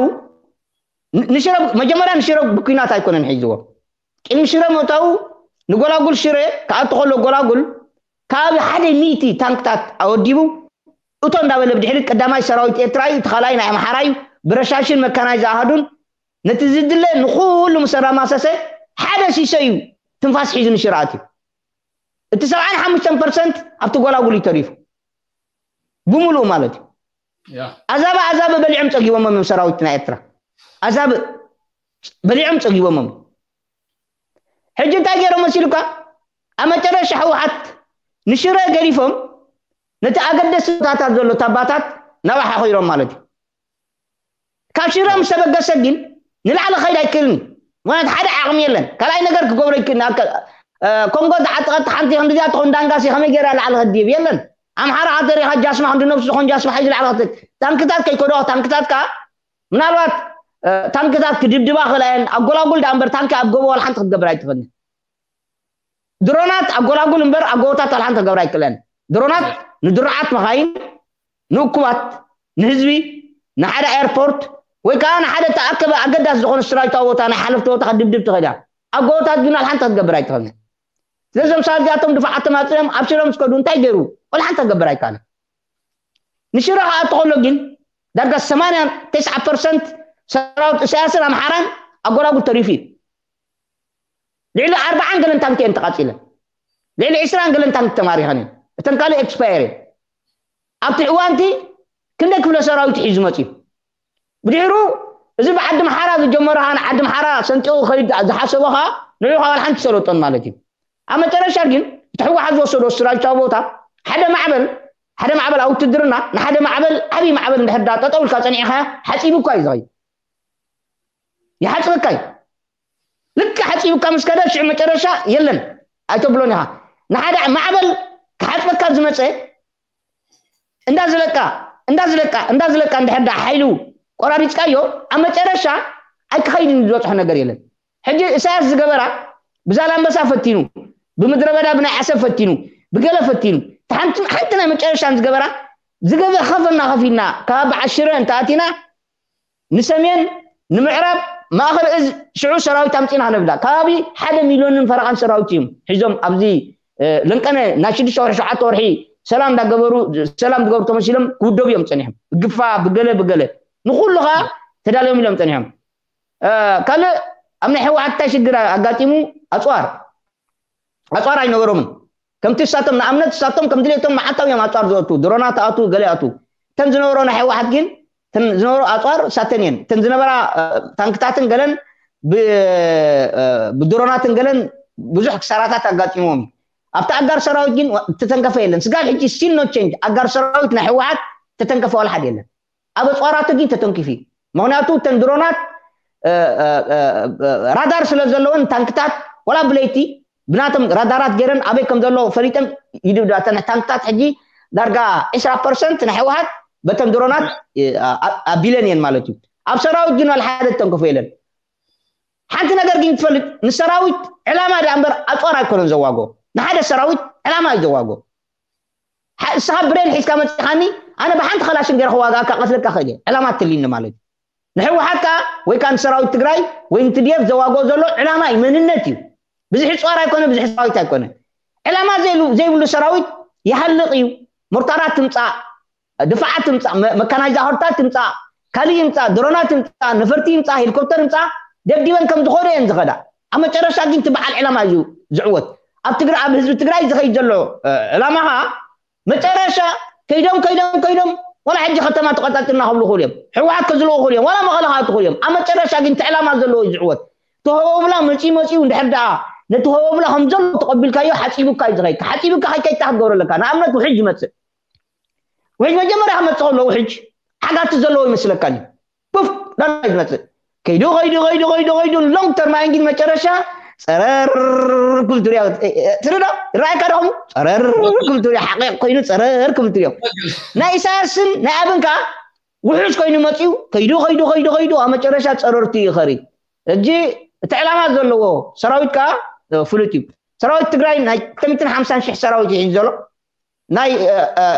ንሽረ መጀመርያ ንሽረ ብኩናት ኣይኮነን ሒዝዎ ቅድሚ ሽረ ምእታው ንጎላጉል ሽረ ክኣቱ ከሎ ጎላጉል ካብ ሓደ ሚእቲ ታንክታት ኣወዲቡ እቶ እንዳበለ ብድሕሪ ቀዳማይ ሰራዊት ኤርትራ እዩ እቲ ካልኣይ ናይ ኣምሓራ እዩ ብረሻሽን መካናይ ዝኣሃዱን ነቲ ዝድለ ንኩሉ ምስ ኣራማሰሰ ሓደ ሲሶ እዩ ትንፋስ ሒዙ ንሽረ ኣትዩ እቲ ሰብዓን ሓሙሽተን ፐርሰንት ኣብቲ ጎላጉል እዩ ተሪፉ ብምሉኡ ማለት እዩ ኣዛብ ኣዛብ በሊዖም ፀጊቦሞም እዮም ሰራዊት ናይ ኤርትራ ኣዛብ በሊዖም ፀጊቦሞም ሕጂ እንታይ ገይሮም መሲሉካ ኣብ መጨረሻ ህወሓት ንሽረ ገዲፎም ነቲ ኣገደሲ ቦታታት ዘሎ ታባታት ናብኣ ሓኺሮም ማለት እዩ ካብ ሽረ ምስ ተበገሰ ግን ንላዕሊ ከይድ ኣይክእልን እዩ ምክንያት ሓደ ዓቕሚ የለን ካልኣይ ነገር ክገብሮ ይክእል ኮንጎ ዝዓጠቐት ሓንቲ ክንዲዚኣ ትኾን ዳንጋሲ ከመይ ገይራ ላዕሊ ከድይብ የለን ኣምሓራ ሃተሪኻ ጃስማ ክንዲ ነብሱ ዝኾን ጃስማ ሓይዚ ላዕሊ ክትል ታንክታት ከይከዶ ታንክታት ከዓ ምናልባት ታንክታት ክድብድባ ክእላየን ኣብ ጎላጉል ዳ እምበር ታንኪ ኣብ ጎቦ ዋላ ሓንቲ ክትገብር ኣይትኽእልን ድሮናት ኣብ ጎላጉል እምበር ኣብ ጎቦታት ዋላ ሓንቲ ክገብር ኣይክእለን ድሮናት ንድሩዓት መኻይን ንእኩባት ንህዝቢ ንሓደ ኤርፖርት ወይ ከዓ ንሓደ ተኣከበ ኣገዳሲ ዝኾነ ስራዊታዊ ቦታ ናይ ሓለፍቲ ቦታ ከድብድብ ትኽእል እያ ኣብ ጎቦታት ግን ዋላ ሓንቲ ክትገብር ኣይትኽእልን ስለዞም ሰባት እዚኣቶም ድፋዓት ተማፅኦም ኣብ ሽረ ምስ ከዱ እንታይ ገይሩ ዋላ ሓንቲ ክገብር ኣይከኣለን ንሽረ ክኣቱ ከሎ ግን ዳርጋ ሰማንያ ተስዓ ፐርሰንት ሰራዊት እሳያስን ኣምሓራን ኣጎላጉል ተሪፉ እዩ ልዕሊ ኣርባዓን ገለን ታንክ እየን ተቃፂለን ልዕሊ ዕስራን ገለን ታንክ ተማሪኸን እየን እተን ካልእ ኤክስፓየር እየን ኣብቲ እዋንቲ ክንደይ ክፍለ ሰራዊት ሒዙ መፅዩ ብድሕሩ እዚ ብዓዲ ምሓራ ዝጀመረ ከዓ ንዓዲ ምሓራ ሰንጢቑ ከይድ ዝሓሰቦ ከዓ ንዑ ከዓ ሓንቲ ሰለጦን ማለት እዩ ኣብ መጨረሻ ግን እቲ ህወሓት ዝወሰዶ ስትራቴጂካዊ ቦታ ሓደ ማዕበል ሓደ ማዕበል ኣብ ውትድርና ንሓደ ማዕበል ዓብዪ ማዕበል እንድሕር ዳ ጠጠው ኢልካ ፀኒዕካ ሓፂቡካ እዩ ዝኸይድ ይሓፅበካ እዩ ልክዕ ሓፂቡካ ምስ ከደ ሽዑ መጨረሻ የለን ኣይተብሎን ኢኻ ንሓደ ማዕበል ክሓፅበካ ዝመፀ እንዳዝለቃ እንዳዝለቃ እንዳዝለቃ እንድሕር ዳ ሓይሉ ቆራሪፅካዮ ኣብ መጨረሻ ኣይክኸይድን ዝበፅሖ ነገር የለን ሕጂ እሳያስ ዝገበራ ብዛላምበሳ ፈቲኑ ብምድረ በዳ ብናይ ዓሰብ ፈቲኑ ብገለ ፈቲኑ ሓንቲ ናይ መጨረሻን ዝገበራ ዝገበ ከፈና ከፊልና ካብ በዓል ሽረ እንተኣቲና ንሰሜን ንምዕራብ ማእኸል እዝ ሽዑ ሰራዊት ኣምፂና ክነብላ ከባቢ ሓደ ሚልዮንን ፈረቓን ሰራዊት እዮም ሒዞም ኣብዚ ለንቀነ ናይ ሽዱሽተ ወርሒ ሸውዓተ ወርሒ ሰላም እንዳገበሩ ሰላም ዝገብሩ ተመሲሎም ክውደቡ እዮም ፀኒሖም ብግፋ ብገለ ብገለ ንኩሉ ከዓ ተዳልዮም ኢሎም ፀኒሖም ካልእ ኣብ ናይ ህወሓት እንታይ ሽግር ኣጋጢሙ ኣፅዋር ኣፅዋር ኣይነበሮምን ከምቲ እሳቶም ንኣብነት እሳቶም ከም ድሌቶም መዓልታዊ እዮም ኣፅዋር ዝወቱ ድሮናት ኣቱ ገለ ኣቱ እተን ዝነበሮ ናይ ህወሓት ግን ዝነበሩ ኣፅዋር እሳተን እየን እተን ዝነበራ ታንክታትን ገለን ብድሮናትን ገለን ብዙሕ ክሳራታት ኣጋጢምዎም ኣብቲ ኣጋር ሰራዊት ግን ተተንከፈ የለን ስጋብ ሕጂ still no change ኣጋር ሰራዊት ናይ ህወሓት ተተንከፈ ዋላ ሓደ የለን ኣብ ኣፅዋራቱ ግን ተተንኪፉ እዩ ምክንያቱ እተን ድሮናት ራዳር ስለ ዘለወን ታንክታት ዋላ ብለይቲ ብናቶም ራዳራት ገይረን ኣበይ ከም ዘሎ ፈሊጠን ይድብዳ እተን ታንክታት ሕጂ ዳርጋ ዕስራ ፐርሰንት ናይ ህወሓት በተን ድሮናት ኣብ ቢለን እየን ማለት እዩ። ኣብ ሰራዊት ግን ዋላ ሓደ ተንከፎ የለን። ሓንቲ ነገር ግን ትፈልጥ፣ ንሰራዊት ዕላማ ዳ እምበር ኣፅዋር ኣይኮነን ዘዋጎ። ንሓደ ሰራዊት ዕላማ እዩ ዘዋጎ። እስኻ ብሬን ሒዝካ መፅኻኒ፣ ኣነ ብሓንቲ ከላሽን ገይረ ክዋጋእካ ቀትለካ ክእል እየ። ዕላማ ትልኒ ማለት እዩ። ንሕወሓት ከዓ ወይ ከዓ ንሰራዊት ትግራይ ወይ ንትድኤፍ ዘዋግኦ ዘሎ ዕላማ እዩ፣ መንነት እዩ። ብዙሕ ፃር ኣይኮነ፣ ብዙሕ ሰራዊት ኣይኮነ። ዕላማ ዘይብሉ ሰራዊት ይሃልቕ እዩ። ሞርታራት ትምፃእ፣ ድፋዓት ትምፃእ፣ መካናይዛኸርታት ትምፃእ፣ ካልእ ይምፃእ፣ ድሮናት ትምፃእ፣ ነፈርቲ ይምፃእ፣ ሄሊኮፕተር ይምፃእ፣ ደብዲበን ከም ዝኾነ እየን ዝኸዳ። ኣብ መጨረሻ ግን እቲ በዓል ዕላማ እዩ ዝዕወት። ኣብ ትግራይ፣ ኣብ ህዝቢ ትግራይ ዝኸይድ ዘሎ ዕላማ ከዓ መጨረሻ ከይዶም ከይዶም ከይዶም ዋላ ሕጂ ከተማ ተቆጻጽርና ክብሉ ክብሉ እዮም። ሕወሓት ከዝልዎ ክብሉ እዮም። ዋላ መቐለ ክኣቱ ክብሉ እዮም። ኣብ መጨረሻ ግን እቲ ዕላማ ዘለዎ እዩ ዝዕወት። እቲ ሆቦብላ መጺኡ መጺኡ እንድሕር ደኣ ነቲ ሆቦብላ ከም ዘሎ ተቐቢልካዮ ሓጺቡካ እዩ ዝኸይድ። ሓጺቡካ ከይከይድካ ክትገብሮ ኣለካ። ንኣብነት ውሕጅ ይመጽእ። ውሕጅ መጀመርያ ክመጽእ ከሎ ውሕጅ ሓጋቲ ዘለዎ ይመስለካ እዩ። ቡፍ ዳና ዝመጽእ ከይዱ ከይዱ ከይዱ ከይዱ ከይዱ ሎንግ ተርም ኣየን ግን መጨረሻ ጸረር ክብል ትሪኦ ትርዶ ራእካ ደኹም ጸረር ክብል ትሪኦ ሓቂ ኮይኑ ጸረር ክብል ትሪኦ ናይ ኢሳያስን ናይ ኣብን ከዓ ውሑስ ኮይኑ መፂኡ ከይዱ ከይዱ ከይዱ ከይዱ ኣብ መጨረሻ ጸረርቱ ይኸሪ። እጂ እቲ ዕላማ ዘለዎ ሰራዊት ከዓ ፍሉጥ እዩ። ሰራዊት ትግራይ ናይ ክልተ ሚእትን ሓምሳን ሽሕ ሰራዊት ይሒዝ ዘሎ ናይ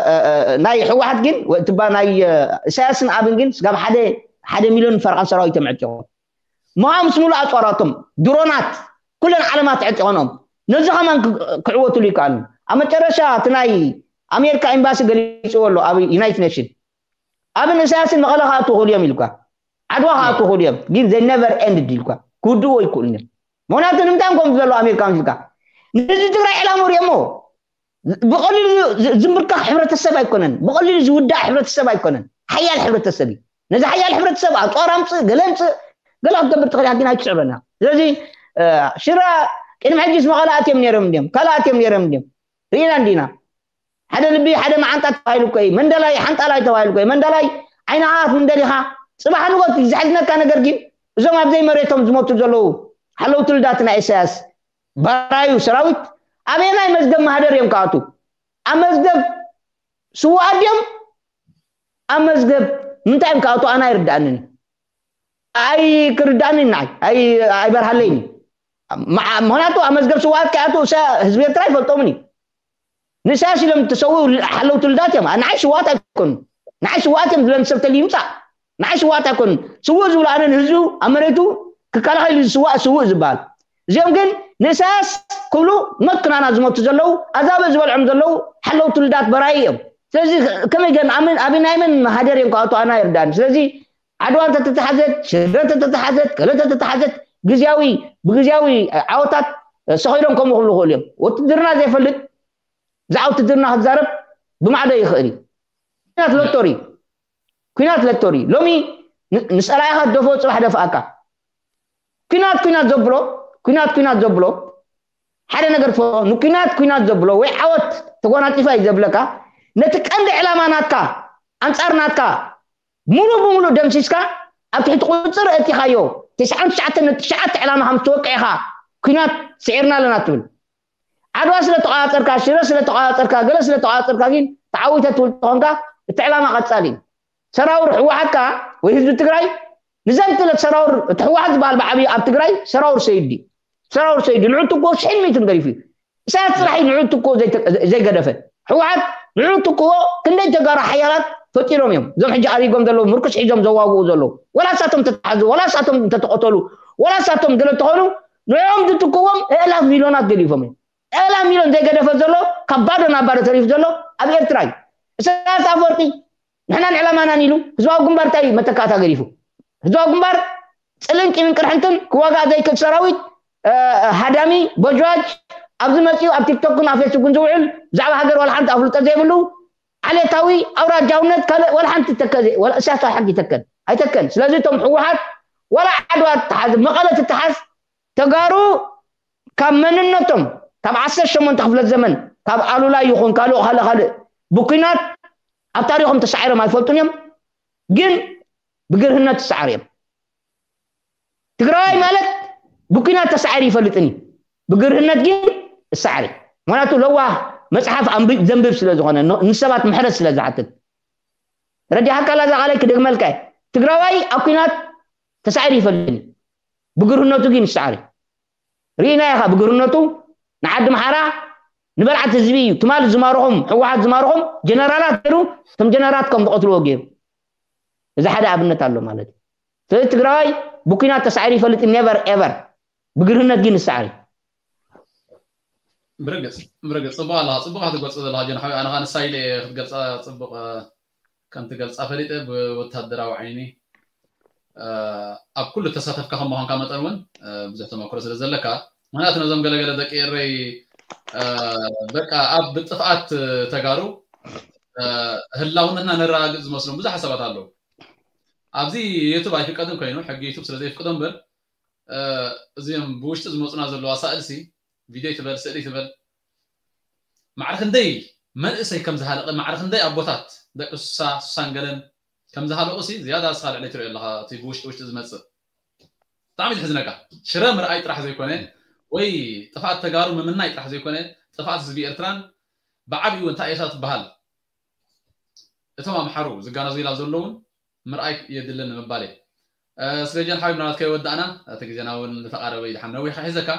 ናይ ህወሓት ግን ትባ ናይ ኢሳያስን ኣብን ግን ስጋብ ሓደ ሓደ ሚሊዮን ፈርቓን ሰራዊት እዮም ዕጢቖም። ምሃ ምስ ሙሉእ ኣፅዋራቶም ድሮናት ኩለን ዓለማት ዕጢቐኖም ነዚ ከማን ክዕወትሉ ይከኣሉ። ኣብ መጨረሻ እቲ ናይ ኣሜሪካ ኤምባሲ ገሊፅዎ ኣሎ ኣብ ዩናይትድ ኔሽን ኣብን ኢሳያስን መቐለ ክኣቱ ክእሉ እዮም ኢልኳ ዓድዋ ክኣቱ ክእሉ እዮም ግን they never ended ኢልኳ ክውድእዎ ይክእሉ እዮም። ምክንያቱ ንምንታይ ከም ዘሎ ኣሜሪካ ምስልካ ንህዝቢ ትግራይ ዕላሙ ሪኦሞ ብቐሊሉ ዝንብርካኽ ሕብረተሰብ ኣይኮነን፣ ብቐሊሉ ዝውዳእ ሕብረተሰብ ኣይኮነን። ሓያል ሕብረተሰብ እዩ። ነዚ ሓያል ሕብረተሰብ ኣፅዋር ኣምፅእ፣ ገለ ኣምፅእ፣ ገለ ክትገብር ትኽእል ኢኻ፣ ግን ኣይትስዕበና። ስለዚ ሽረ ቅድሚ ሕጂስ መቐለ ኣትዮም ነይሮም እንድዮም፣ ካልእ ኣትዮም ነይሮም እንድዮም። ርኢና እንዲና። ሓደ ልቢ ሓደ መዓንጣ ተባሂሉ እኮ እዩ። መንደላይ ሓንጣላይ ተባሂሉ እኮ እዩ። መንደላይ ዓይንኻ ክትምንደል ኢኻ። ፅባሕ ንጎት ዝሕዝነካ ነገር ግን እዞም ኣብ ዘይመሬቶም ዝሞቱ ዘለዉ ሓለውቲ ልዳት ናይ ኢሳያስ ባራዩ ሰራዊት ኣበየናይ መዝገብ ማህደር እዮም ክኣቱ? ኣብ መዝገብ ስውኣት ድዮም? ኣብ መዝገብ ምንታይ እዮም ክኣቱ? ኣነ ኣይርድኣንን። ኣይ ክርድኣንን ንዓይ ኣይበርሃለይን። ምክንያቱ ኣብ መዝገብ ስውኣት ከይኣቱ ህዝቢ ኤርትራ ኣይፈልጦምን እዩ። ንኢሳያስ ኢሎም ዝተሰውኡ ሓለውቲ ልዳት እዮም። ንዓይ ስውኣት ኣይኮኑ። ንዓይ ስውኣት እዮም ዝብለን ሰብ ተልዩ ይምፃእ። ንዓይ ስውኣት ኣይኮኑን። ስውእ ዝብሉ ኣነ ንህዝቡ ኣብ መሬቱ ክከላኸል እዩ ዝስዋእ ስውእ ዝበሃል። እዚኦም ግን ንኢሳያስ ክብሉ መክናና ዝመቱ ዘለዉ ኣዛብእ ዝበልዖም ዘለዉ ሓለውቲ ልዳት በራይ እዮም። ስለዚ ከመይ ገን ኣበይ ናይ መን ሃደር እዮም ክኣቱ ኣና ይርዳእኒ። ስለዚ ዓድዋ እንተተተሓዘት ሽረ እንተተተሓዘት ገለ እንተተተሓዘት ግዝያዊ ብግዝያዊ ዓወታት ሰኺዶም ከምኡ ክብሉ ክእሉ እዮም። ውትድርና ዘይፈልጥ ብዛዕባ ውትድርና ክዛረብ ብማዕዶ ይኽእል እዩ። ኩናት ሎቶሪ ኩናት ለቶሪ ሎሚ ንፀላኢኻ ደፎ ፅባሕ ደፍኣካ ኩናት ኩናት ዘብሎ ኩናት ኩናት ዘብሎ ሓደ ነገር ፈ ንኩናት ኩናት ዘብሎ ወይ ዓወት ተጎናፂፋ እዩ ዘብለካ ነቲ ቀንዲ ዕላማ ናትካ ኣንፃር ናትካ ሙሉ ብሙሉ ደምሲስካ ኣብ ትሕቲ ቁፅር እቲኻዮ ትስዓን ትሽዓተ ነጥቢ ትሽዓተ ዕላማ ከም ዝተወቅዕኻ ኩናት ስዒርና ኣለና ትብል ዓድዋ ስለ ተቋፀርካ ሽረ ስለ ተቋፀርካ ገለ ስለ ተቋፀርካ ግን ተዓዊተ ትብል ተኾንካ እቲ ዕላማ ቀፃሊ እዩ ሰራውር ህወሓት ከዓ ወይ ህዝቢ ትግራይ ንዘንትለት ሰራውር እቲ ህወሓት ዝበሃል ብዓብዩ ኣብ ትግራይ ሰራውር ሰይድ እዩ ሰራውር ሰይድ እዩ ንዑ ትኮ ሽሕን ሚእትን ገዲፉ እዩ ኢሳያስ ፅራሕ እዩ ንዑ ትኮ ዘይገደፈ ህወሓት ንዑ ትኮ ክንደይ ተጋሩ ሓያላት ፈጢሮም እዮም እዞም ሕጂ ኣሪጎም ዘለዉ ምርኩስ ሒዞም ዘዋግኡ ዘለዉ ወላ ሳቶም ተተሓዙ ወላ ሳቶም እንተተቐተሉ ወላ ሳቶም ገለ ተኾኑ ንዕኦም ዝትክዎም እእላፍ ሚልዮናት ገዲፎም እዮም። እእላፍ ሚልዮን ዘይገደፈ ዘሎ ካብ ባዶ ናብ ባዶ ተሪፉ ዘሎ ኣብ ኤርትራ እዩ። ኢሳያስ ኣፈወርቂ ንሕናን ዕላማናን ኢሉ ህዝባዊ ግንባር እንታይ መተካእታ ገዲፉ? ህዝባዊ ግንባር ፅልን ቂምን ቅርሕንትን ክዋጋእ ዘይክእል ሰራዊት ሃዳሚ ቦጅዋጅ ኣብዚ መፂኡ ኣብ ቲክቶክን ኣብ ፌስቡክን ዝውዕል ብዛዕባ ሃገር ዋላ ሓንቲ ኣፍልጦ ዘይብሉ ዓሌታዊ ኣውራጃውነት ካልእ ዋላ ሓንቲ ተከ ኢሳያስ ዋላ ሓንቲ ይተከል ኣይተከል ስለዚ እቶም ህወሓት ዋላ ዓድዋ ትተሓዝ መቐለ ትተሓዝ ተጋሩ ካብ መንነቶም ካብ ዓሰርተ ሸሞንተ ክፍለ ዘመን ካብ ኣሉላ ይኹን ካልእ ካልእ ካልእ ብኩናት ኣብ ታሪኾም ተሳዒሮም ኣይፈልጡን እዮም ግን ብግርህነት ተሳዓር እዮም ትግራዋይ ማለት ብኩናት ተሳዒሩ ይፈልጥን እዩ ብግርህነት ግን እሳዕሪ ምክንያቱ ለዋህ መጽሓፍ ኣንብብ ዘንብብ ስለ ዝኾነ፣ ን- ንሰባት ምሕረት ስለ ዝሓትት። ረዲሓካ ኣላ እዛ ቃለይ ክደግመልካ እየ። ትግራዋይ ኣብ ኲናት ተሳዒሩ ይፈልጥን እዩ። ብግርህነቱ ግን ይሰዓር እዩ። ርኢና ኢኻ ብግርህነቱ ንዓዲ ምሓራ ንበልዓት ህዝቢ እዩ። ትማል ዝማርኾም፣ ህወሓት ዝማርኾም ጀነራላት ገይሩ፣ እቶም ጀነራላት ከም ዝቐትልዎ ገይሩ። እዚ ሓደ ኣብነት ኣሎ ማለት እዩ። ስለዚ ትግራዋይ ብኲናት ተሳዒሩ ይፈልጥ፣ ኔቨር ኤቨር። ብግርህነት ግን ይሰዓር እዩ። ብርግፅ ብርግፅ ፅቡቅ ኣለካ፣ ፅቡቅ ክትገልፆ ዘለካ ጀን ሓዊ። ኣነ ከዓ ንሳ ኢለ ክትገልፃ ፅቡቅ ከም ትገልፃ ፈሊጠ ብወታደራዊ ዓይኒ ኣብ ኩሉ ተሳተፍካ ከም ምኳንካ መጠን እውን ብዙሕ ተመክሮ ስለ ዘለካ፣ ምክንያቱ ነዞም ገለገለ ደቂ ኤረይ በቃ ኣብ ጥፍኣት ተጋሩ ህላውነትና ነረጋግፅ ዝመስሎም ብዙሕ ሓሳባት ኣለዉ። ኣብዚ ዩቱብ ኣይፍቀድን ኮይኑ ሕጊ ዩቱብ ስለ ዘይፍቅዶ እምበር እዚም ብውሽጢ ዝመፁና ዘለዋ ሳእልሲ ቪድዮ ትበል ስእሊ ትበል ማዕረ ክንደይ መንእሰይ ከም ዝሃለቀ ማዕረ ክንደይ ኣቦታት ደቂ ሱሳ ሱሳን ገለን ከም ዝሃለቁ ሲ ዝያዳ ስኻ ልዕሊ ትሪኦ ኣለኻ። እቲ ብውሽጢ ውሽጢ ዝመፅእ ብጣዕሚ ዝሕዝነካ። ሽረ ምርኣይ ጥራሕ ዘይኮነ ወይ ጥፍኣት ተጋሩ ምምናይ ጥራሕ ዘይኮነ ጥፍኣት ህዝቢ ኤርትራን ብዓብኡ እንታይ እያ ትበሃል እቶም ኣምሓሩ ዝጋነዙ ኢላ ዘለውን ምርኣይ የድልን ምባል እየ። ስለ ጀን ሓቢብ ናት ከይወዳእና እቲ ግዜና እውን ዝተቃረበ እዩ። ድሓን ነዊሕ ሒዘካ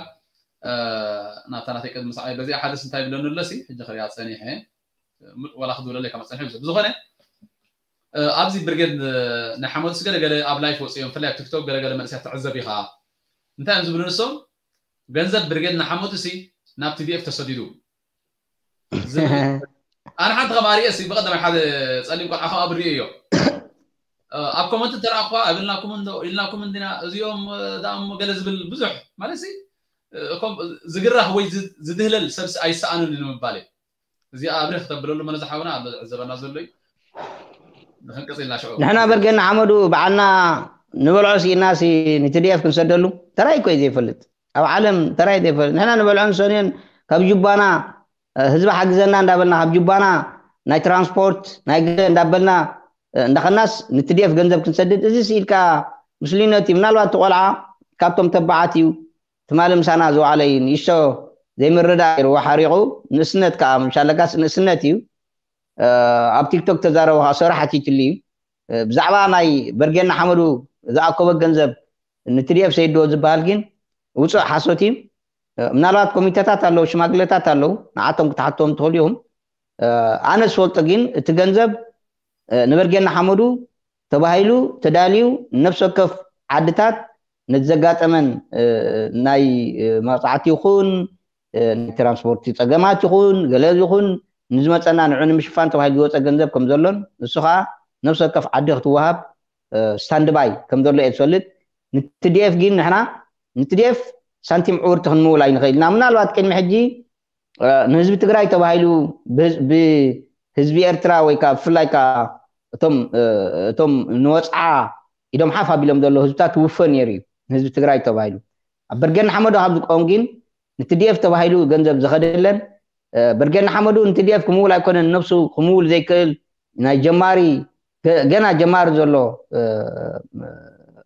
ናብታ ናተይ ቅድሚ ሰዓይ በዚኣ ሓደስ እንታይ ብለኒ ኣለሲ ሕጂ ክሪኣ ፀኒሐ ወላ ክድውለለይ ካብ ፀንሐ ብዝኾነ ኣብዚ ብርጌድ ናይ ሓመዱስ ገለገለ ኣብ ላይፍ ወፅኦም ፍላይ ኣብ ቲክቶክ ገለገለ መንእሰያት ትዕዘብ ኢኻ እንታይ እዮም ዝብሉ ንሶም ገንዘብ ብርጌድ ንሓመዱሲ ናብ ቲዲኤፍ ተሰዲዱ ኣነ ሓንቲ ከም ኣርእየ ሲ ብቀዳማይ ሓደ ፀሊም ቆልዓ ከም ኣብርእዮ ኣብ ኮመንት ተረኣኳ ኣብልናኩም እንዶ ኢልናኩም እንዲና እዚኦም ዳሞ ገለ ዝብል ብዙሕ ማለት ሲ ዝግራህ ወይ ዝድህለል ሰብሲ ኣይሰኣኑን ንምባል እዚ ኣብሪኽ ተብለሉ መነ ዝሓውና ኣሎ ዝዕዘበና ዘሎ እዩ ንክንቀፅልና ሽዑ ንሕና በርገና ሓመዱ በዓልና ንበልዖ ሲኢና ሲ ንትዲኤፍ ክንሰደሉ ተራይ እኮ እዩ ዘይፈልጥ ኣብ ዓለም ተራይ ዘይፈልጥ ንሕና ንበልዖ ንሰንዮን ካብ ጁባና ህዝቢ ሓግዘና እንዳበልና ካብ ጁባና ናይ ትራንስፖርት ናይ ገለ እንዳበልና እንዳኸናስ ንትዲኤፍ ገንዘብ ክንሰድድ እዚ ስኢልካ ምስሉይነት እዩ ምናልባት ትቆልዓ ካብቶም ተባዓት እዩ ትማሊ ምሳና ዝወዓለ እዩ ንእሽቶ ዘይምርዳእ ይርዎ ሓሪቑ ንእስነት ከዓ ምሻለካስ ንእስነት እዩ ኣብ ቲክቶክ ተዛረቡ ከዓ ሰሩ ሓቲትሉ እዩ ብዛዕባ ናይ በርጌና ሓመዱ ዝኣከቦ ገንዘብ ንትዲኤፍ ሰይድዎ ዝበሃል ግን ውፁእ ሓሶት እዩ ምናልባት ኮሚቴታት ኣለዉ ሽማግሌታት ኣለዉ ንዓቶም ክትሓትዎም ትኽእሉ ኢኹም ኣነ ዝፈልጦ ግን እቲ ገንዘብ ንበርጌና ሓመዱ ተባሂሉ ተዳልዩ ነፍሲ ወከፍ ዓድታት ነቲ ዘጋጠመን ናይ መቕፃዕቲ ይኹን ናይ ትራንስፖርት ፀገማት ይኹን ገለ ይኹን ንዝመፀና ንዑ ንምሽፋን ተባሂሉ ዝወፀ ገንዘብ ከም ዘሎን ንሱ ከዓ ነፍሲ ወከፍ ዓዲ ክትወሃብ ስታንድባይ ከም ዘሎ እየ ዝፈልጥ ንትዲኤፍ ግን ንሕና ንትዲኤፍ ሳንቲም ዕውርቲ ክንምውል ኣይንኽእል ኢና ምናልባት ቅድሚ ሕጂ ንህዝቢ ትግራይ ተባሂሉ ብህዝቢ ኤርትራ ወይ ከዓ ብፍላይ ከዓ እቶም እቶም ንወፅዓ ኢዶም ሓፍ ኣቢሎም ዘሎ ህዝብታት ትውፈ ነይሩ እዩ ንህዝቢ ትግራይ ተባሂሉ ኣብ በርገን ሓመዶ ካብ ዝቆም ግን ንትዲኤፍ ተባሂሉ ገንዘብ ዝኸደ የለን በርገን ሓመዱ ንትዲኤፍ ክምውል ኣይኮነን ነብሱ ክምውል ዘይክእል ናይ ጀማሪ ገና ጀማሪ ዘሎ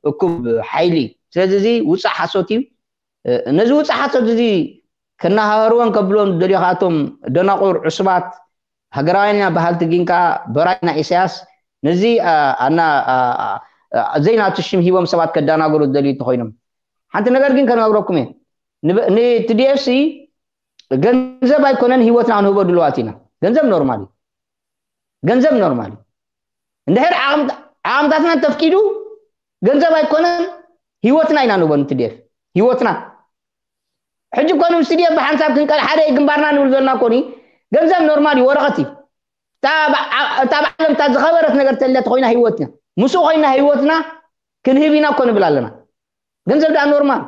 እኩብ ሓይሊ ስለዚ እዚ ውፃእ ሓሶት እዩ ነዚ ውፃእ ሓሶት እዚ ከናሃህርወን ከብልዎም ዝደልዩ ከኣቶም ደናቁር ዕሱባት ሃገራውያን ኢና በሃልቲ ግን ከዓ በራይ ናይ ኢሳያስ ነዚ ዘይናቱ ሽም ሂቦም ሰባት ከዳናገሩ ዝደልዩ እንተኮይኖም ሓንቲ ነገር ግን ከነግረኩም እየ ንትዲኤፍሲ ገንዘብ ኣይኮነን ህይወትና ክንህቦ ድልዋት ኢና ገንዘብ ኖርማል እዩ ገንዘብ ኖርማል እዩ እንድሕር ዓቕምታትና ተፍቂዱ ገንዘብ ኣይኮነን ህይወትና ኢና ንህቦ ንትዲኤፍ ህይወትና ሕጂ ኮኑ ምስ ትዲኤፍ ብሓንሳብ ክንቀል ሓደ ግንባርና ንብል ዘለና ኮኒ ገንዘብ ኖርማል እዩ ወረቐት እዩ እታ ብዓለም እታ ዝኸበረት ነገር ተለ ተኮይና ህይወትና ምስኡ ኮይና ህይወትና ክንህብ ኢና እኮ ንብል ኣለና ገንዘብ ደኣ ኖርማል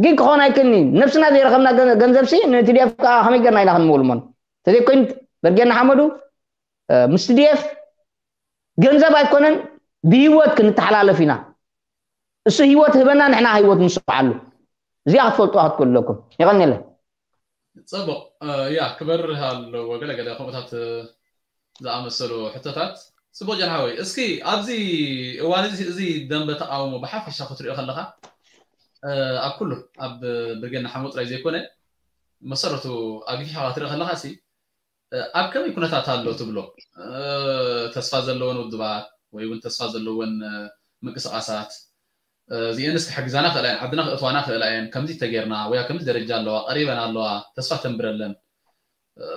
ግን ክኾን ኣይክእልኒ ነብስና ዘይረኸብና ገንዘብ ሲ ንትዲኤፍ ከዓ ከመይ ገርና ኢና ክንምውል እሞ ተዘይኮይኑ በርጌና ሓመዱ ምስ ትዲኤፍ ገንዘብ ኣይኮነን ብህይወት ክንተሓላለፍ ኢና እሱ ህይወት ህበና ንሕና ህይወት ንስዓሉ እዚኣ ክትፈልጡ ክትክእሉ ኣለኩም የቀኒለ ፅቡቅ ያ ክበርህ ኣለዎ ገለገለ ከምኡታት ዝኣመሰሉ ሕቶታት ፅቡቅ ጀንሓወይ እስኪ ኣብዚ እዋን እዚ እዚ ደንበ ተቃውሞ ብሓፈሻ ክትሪኦ ከለካ ኣብ ኩሉ ኣብ ብርጌና ሓመዱ ጥራይ ዘይኮነ መሰረቱ ኣግፊሕካ ክትርኢ ከለካ ሲ ኣብ ከመይ ኩነታት ኣሎ ትብሎ? ተስፋ ዘለወን ውድባት ወይ እውን ተስፋ ዘለወን ምንቅስቃሳት እዚአንስ ክሕግዛና ክእላ እየን፣ ዓድና ክእትዋና ክእላ እየን፣ ከምዚ ተጌርና ወይ ኣብ ከምዚ ደረጃ ኣለዋ፣ ቀሪበን ኣለዋ፣ ተስፋ ተንብረለን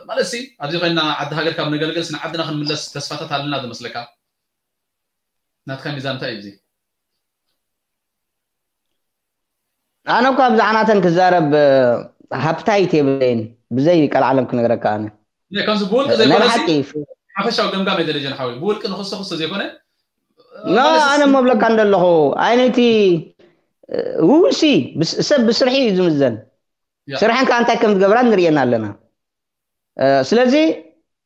ማለት ሲ ኣብዚ ኮይና ዓዲ ሃገር ካብ ነገልግል ስን ዓድና ክንምለስ ተስፋታት ኣለና ዝመስለካ? ናትካ ሚዛን እንታይ እዩ እዚ? ኣነ እኳ ብዛዕናተን ክዛረብ ሃብታይት የብለይን፣ ብዘይ ቀልዓለም ክነግረካ ኣነ ከምዚ ብውልቂ ዘይኮነ ሓፈሻዊ ገምጋም የደለጀን ሓዊ ብውልቂ ንክስተ ክስተ ዘይኮነ ኖ ኣነ መብለካ እንደለኹ ዓይነይቲ ውሲ ሰብ ብስርሒ እዩ ዝምዘን። ስርሐን ከዓ እንታይ ከም ዝገብራ ንርእየን ኣለና። ስለዚ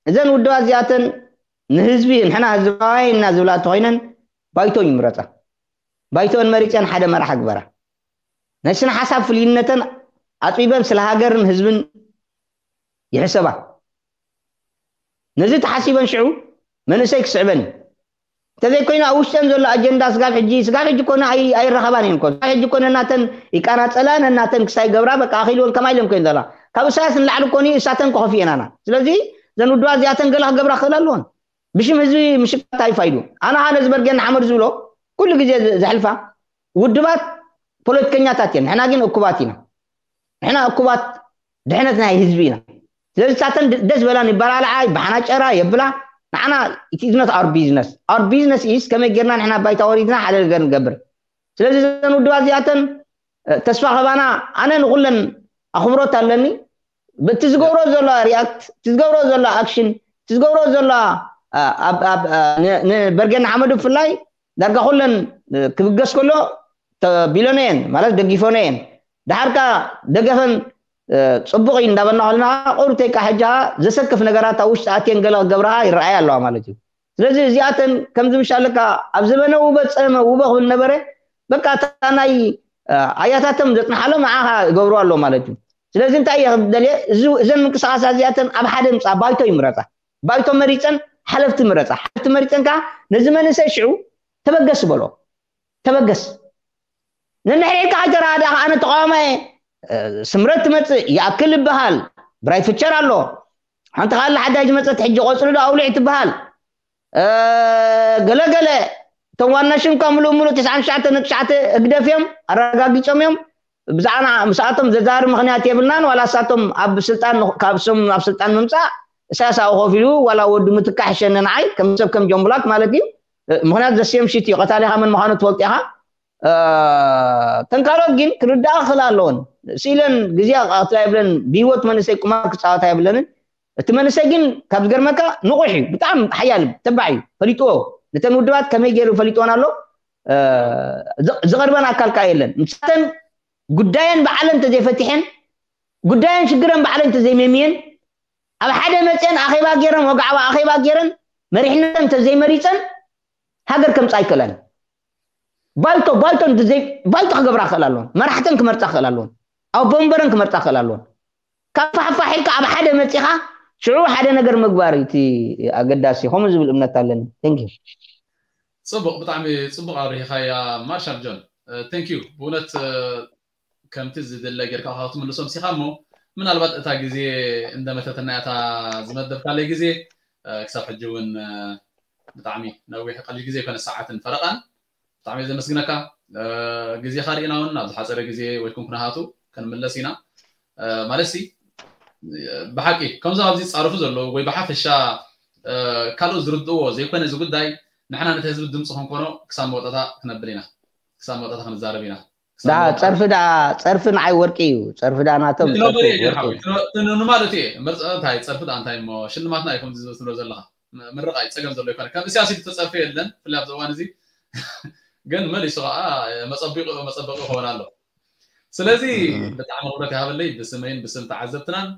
እዘን ውድባት እዚኣተን ንህዝቢ ንሕና ህዝባውያን ኢና ዝብላ እንተኮይነን ባይቶ ይምረፃ። ባይቶን መሪፀን ሓደ መራሒ ግበራ። ናይ ስነ ሓሳብ ፍልይነተን ኣፅቢበን ስለ ሃገርን ህዝብን ይሕሰባ። ነዚ ተሓሲበን ሽዑ መንእሰይ ክስዕበን እዩ። እንተዘይኮይኑ ኣብ ውሽጠን ዘሎ ኣጀንዳ ስጋብ ሕጂ ስጋብ ሕጂ ኮነ ኣይረኸባን እየን። ኮነ ስጋብ ሕጂ ኮነ እናተን ይቃናፀላ ነናተን ክሳይ ገብራ በቃ ኣኺልወን ከማ ኢለን ኮይን ዘላ ካብ እሳያስ ንላዕሊ ኮኒ እሳተን ክኸፍየናና። ስለዚ ዘን ውድባ እዚኣተን ገለ ክገብራ ክኽእል ኣለዎን። ብሽም ህዝቢ ምሽቃት ኣይፋይዱ። ኣነ ኸ ነዚ በርጌን ሓመድ ዝብሎ ኩሉ ግዜ ዘሕልፋ ውድባት ፖለቲከኛታት እየን። ንሕና ግን እኩባት ኢና። ንሕና እኩባት ድሕነት ናይ ህዝቢ ኢና። ስለዚ ሳተን ደስ በላን ይበላለዓ ይበሓናጨራ የብላ። ንዓና it is not our business. Our business is ከመይ ጌርና ንሕና ባይታ ወሪድና ሓደ ነገር ንገብር። ስለዚ ዘን ውድባት እዚኣተን ተስፋ ከባና ኣነ ንኩለን ኣኽብሮት ኣለኒ። እቲ ዝገብሮ ዘሎ ሪያክት እቲ ዝገብሮ ዘሎ ኣክሽን እቲ ዝገብሮ ዘሎ ንበርጌን ሓመዱ ብፍላይ ዳርጋ ኩለን ክብገስ ከሎ ተቢሎነ እየን ማለት ደጊፎነ እየን። ድሓርካ ደገፈን ፅቡቅ እዩ እንዳበልና ከለና ቁርብተይካ ሕጃ ዘሰክፍ ነገራት ኣብ ውሽጢ ኣትየን ገለ ክገብርሃ ይረኣያ ኣለዋ ማለት እዩ። ስለዚ እዚኣተን ከምዚ ምሻለካ ኣብ ዘበነ ውበ ፀመ ውበ ክብል ነበረ በቃ እታ ናይ ኣያታቶም ዘፅንሓሎም ንዓኻ ይገብሩ ኣሎ ማለት እዩ። ስለዚ እንታይ እየ ክደልየ እዘን ምንቅስቃሳ እዚኣተን ኣብ ሓደ ምፃ ባይቶ ይምረፃ። ባይቶ መሪፀን ሓለፍቲ ምረፃ። ሓለፍቲ መሪፀን ከዓ ነዚ መንእሰይ ሽዑ ተበገስ በሎ። ተበገስ። ነንሕድሕድካ ከይተረዳእካ ኣነ ተቃዋማየ ስምረት ትመፅእ ይኣክል ይበሃል። ብራይ ፍቸር ኣሎ። ሓንቲ ካለ ሓዳይ ዝመፀት ሕጂ ቆፅሊ ዶ ኣውሊዕ ትበሃል። ገለገለ እቶም ዋና ሽምካ ምሉእ ምሉእ ትስዓን ትሽዓተ ነጥቢ ትሽዓተ ህግደፍ እዮም ኣረጋጊፆም እዮም። ብዛዕና ምስኣቶም ዘዛሪ ምክንያት የብልናን ዋላ እሳቶም ኣብ ስልጣን ካብ ስም ኣብ ስልጣን ምምፃእ እሳያስ ኣብኡ ኮፍ ኢሉ ዋላ ወዱ ምትካሕ ይሸነ ንዓይ ከም ሰብ ከም ጆምብላክ ማለት እዩ። ምክንያቱ ዘስየም ሽት እዩ ቀታሊካ መን ምኳኑ ትፈልጡ ኢካ። ተንካሎት ግን ክርዳኣ ክኽእል ኣለዎን ስኢለን ግዜ ክቀትላ የብለን ብሂወት መንእሰይ ቁማር ክፃወታ የብለንን። እቲ መንእሰይ ግን ካብ ዝገርመካ ንቑሕ እዩ ብጣዕሚ ሓያል ተባዕ እዩ ፈሊጥዎ። ነተን ውድባት ከመይ ገይሩ ፈሊጥዎን ኣሎ። ዝቐርበን ኣካል ከዓ የለን። ንሳተን ጉዳየን ባዕለን እንተዘይፈቲሐን ጉዳየን ሽግረን ባዕለን እንተዘይመምየን ኣብ ሓደ መፅአን ኣኼባ ገይረን ወግዓዊ ኣኼባ ገይረን መሪሕነተን እንተዘይመሪፀን ሃገር ከምፃ ኣይክእላን። ባይቶ ባይቶ ባይቶ ክገብራ ክእል ኣለዎን። መራሕተን ክመርፃ ክእል ኣለዎን። ኣብ ወንበረን ክመርፃ ክእል ኣለዎን። ካብ ፋሕፋሕ ኢልካ ኣብ ሓደ መፂኻ ሽዑ ሓደ ነገር ምግባር እቲ ኣገዳሲ ከምኡ ዝብል እምነት ኣለኒ። Thank you። ፅቡቕ ብጣዕሚ ፅቡቕ ኣብሪሂኻያ ማርሻል ጆን። Thank you ብእውነት ከምቲ ዝድለ ጌርካ ካብ ትምልሶም ሲኻ እሞ ምናልባት እታ ግዜ እንደመተተና እታ ዝመደብካለይ ግዜ ክሳብ ሕጂ እውን ብጣዕሚ ነዊሕ ቀሊል ግዜ ይኮነ ሰዓትን ፈረቃን ብጣዕሚ ዘመስግነካ። ግዜኻ ርኢና እውን ኣብ ዝሓፀረ ግዜ ወይ ኩንኩናሃቱ ክንምለስ ኢና ማለት ሲ ብሓቂ ከምዞም ኣብዚ ዝፃረፉ ዘለዉ ወይ ብሓፈሻ ካልኦት ዝርድእዎ ዘይኮነ እዚ ጉዳይ ንሕና ነቲ ህዝቢ ድምፂ ክንኮኖ ክሳብ መወጠታ ክነብል ኢና ክሳብ መወጠታ ክንዛረብ ኢና። ዳ ጸርፊ ዳ ጸርፊ ንዓይ ወርቂ እዩ። ጸርፊ ዳ ናቶም ማለት እየ መርፀ እንታይ ጸርፊ ዳ እንታይ እሞ ሽልማትና እዩ ከምዚ ዝብል ትብሎ ዘለኻ ምርቕ ኣይ ፀገም ዘሎ ይኮነ ከም እስያስ ተፀርፊ የለን ፍላይ ኣብዚ እዋን እዚ ግን መሊሱ ከዓ መፀቢቑ መፀበቂ ይኸውን ኣሎ። ስለዚ ብጣዕሚ ክብረት ይሃበለይ ብስመይን ብስም ተዓዘብትናን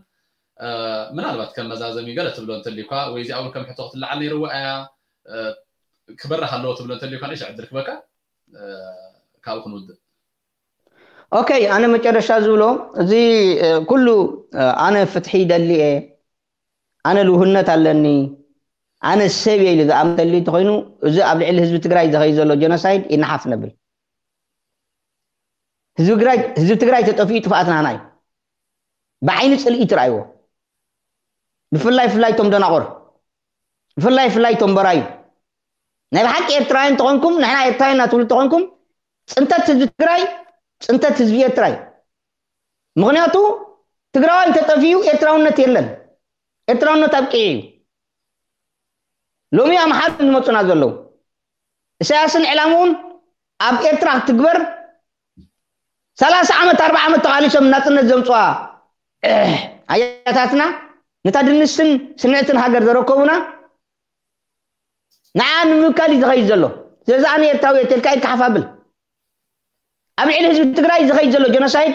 ምናልባት ከም መዛዘሚ ገለ ትብሎ እንተልዩኳ ወይ እዚኣ እውን ከም ሕቶ ክትለዓል ነይርዋ እያ ክበራሕ ኣለዎ ትብሎ እንተልዩኳ ንእሽዕ ዕድል ክበካ ካብኡ ክንውድእ። ኦኬ ኣነ መጨረሻ ዝብሎ እዚ ኩሉ ኣነ ፍትሒ ይደሊ እየ ኣነ ልውህነት ኣለኒ ኣነ ሰብ እየ ኢሉ ዝኣምን ተልዩ እንተኮይኑ እዚ ኣብ ልዕሊ ህዝቢ ትግራይ ዝኸይ ዘሎ ጀኖሳይድ ይነሓፍ ነብል። ህዝቢ ትግራይ ተጠፊኡ ጥፍኣት ናህና እዩ። ብዓይኒ ፅልኢ ትረኣይዎ። ብፍላይ ፍላይ ቶም ደናቑር፣ ብፍላይ ፍላይ ቶም በራዩ፣ ናይ ብሓቂ ኤርትራውያን ተኾንኩም፣ ንሕና ኤርትራውያን እናትብሉ ተኾንኩም፣ ፅንተት ህዝቢ ትግራይ ፅንተት ህዝቢ ኤርትራ እዩ። ምኽንያቱ ትግራዋይ እንተጠፊኡ ኤርትራውነት የለን። ኤርትራውነት ኣብቂዑ እዩ። ሎሚ ኣምሓሩ ዝመፁና ዘለዉ፣ ኢሳያስን ዕላምኡን ኣብ ኤርትራ ክትግበር ሰላሳ ዓመት ኣርባዓ ዓመት ተቓሊሶም ናፅነት ዘምፅዋ ኣያታትና፣ ነታ ድንስትን ስንዕትን ሃገር ዘረከቡና፣ ንዓ ንምምካል እዩ ዝኸይድ ዘሎ። ስለዚ ኣነ ኤርትራዊ እየ ተልካ ኢድካ ሓፍ ኣብል። ኣብ ልዕሊ ህዝቢ ትግራይ ዝኸይድ ዘሎ ጀኖሳይድ፣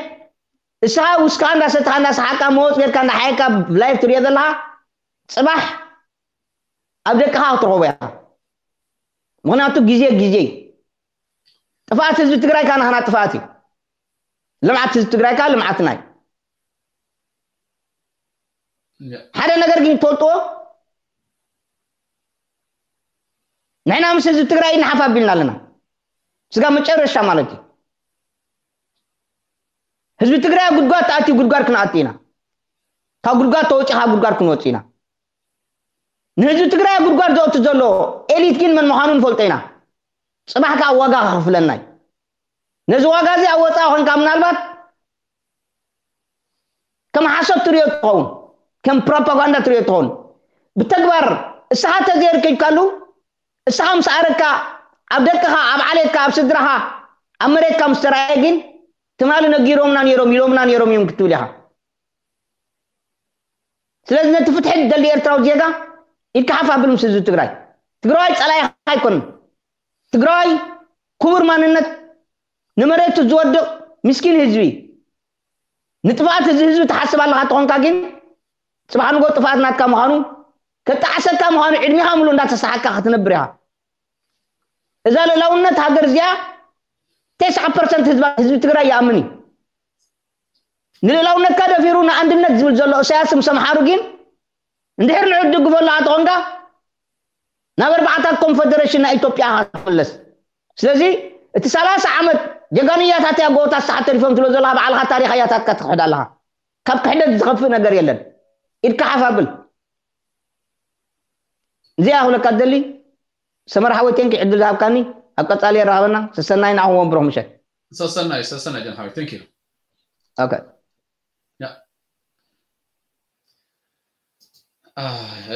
እስኻ ውስካ እንዳሰትኻ እንዳሰሓቅካ መወፅ ጌርካ እንዳሓየካ ላይፍ ትሪኦ ዘለኻ፣ ፅባሕ ኣብ ደቅኻ ክትረኽቦ ኢኻ። ምኽንያቱ ግዜ ግዜ እዩ። ጥፍኣት ህዝቢ ትግራይ ካናኸና ጥፍኣት እዩ። ልምዓት ህዝቢ ትግራይ ከዓ ልምዓትና እዩ። ሓደ ነገር ግን ትፈልጥዎ፣ ንሕና ምስ ህዝቢ ትግራይ ንሓፍ ኣቢልና ኣለና። ስጋ መጨረሻ ማለት እዩ። ህዝቢ ትግራይ ኣብ ጉድጓድ ተኣትዩ ጉድጓድ ክንኣቱ ኢና። ካብ ጉድጓድ ተወፂኻ ጉድጓድ ክንወፅ ኢና። ንህዝቢ ትግራይ ኣብ ጉድጓድ ዘእቱ ዘሎ ኤሊት ግን መን ምዃኑ ንፈልጦ ኢና። ፅባሕ ከዓ ዋጋ ከኽፍለና እዩ። ነዚ ዋጋ እዚ ኣብ ወፃኢ ኮንካ ምናልባት ከም ሓሶት ትሪኦ ትኸውን፣ ከም ፕሮፓጋንዳ ትሪኦ ትኸውን። ብተግባር እስኻ ተዘየርከብካሉ፣ እስኻ ምስ ኣረካ፣ ኣብ ደቅኻ፣ ኣብ ዓሌትካ፣ ኣብ ስድራኻ፣ ኣብ መሬትካ ምስ ተረኣየ ግን ትማሊ ነጊሮምና ነይሮም፣ ኢሎምና ነይሮም እዮም ክትብል ኢኻ። ስለዚ ነቲ ፍትሒ ዝደሊ ኤርትራዊ ዜጋ ኢድካ ሓፍ ኣብል ምስ ህዝቢ ትግራይ። ትግራዋይ ፀላኢኻ ኣይኮነን። ትግራዋይ ክቡር ማንነት፣ ንመሬቱ ዝወድቕ ምስኪን ህዝቢ፣ ንጥፍኣት እዚ ህዝቢ ትሓስብ ኣለኻ ተኾንካ ግን ፅባሕ ንጎ ጥፍኣት ናትካ ምዃኑ፣ ከጣዕሰካ ምዃኑ ዕድሜኻ ምሉእ እንዳተሰሓካ ክትነብር ኢኻ። እዛ ልእላውነት ሃገር እዚኣ ተስዓ ፐርሰንት ህዝባ፣ ህዝቢ ትግራይ ይኣምን እዩ። ንልእላውነትካ ደፊሩ ንኣንድነት ዝብል ዘሎ እሳያስ ምስ ኣምሓሩ ግን እንድሕር ንዑ ትድግፎ ኣለኻ ተኾንካ ናብ ኣርባዕታት ኮንፈደሬሽን ናይ ኢትዮጵያ ኢኻ ትምለስ። ስለዚ እቲ ሰላሳ ዓመት ጀጋኑ እያታት እያ ጎቦታት ሰሓብ ተሪፎም ትብሎ ዘለኻ ባዕልኻ ታሪኽ እያታትካ ትክሕድ ኣለኻ። ካብ ክሕደት ዝኸፍእ ነገር የለን። ኢድካ ሓፍ ኣብል። እዚኣ ክብለካ ትደሊ ሰመር ሓወይ፣ ቴንኪ ዕድል ዝሃብካኒ። ኣብ ቀጻሊ የራኸበና። ሰሰናይ ንዓኹም ወንብሮም ምሸት። ሰሰናይ ሰሰናይ ጀን ሓወይ፣ ቴንኪ። ኦኬ። ያ።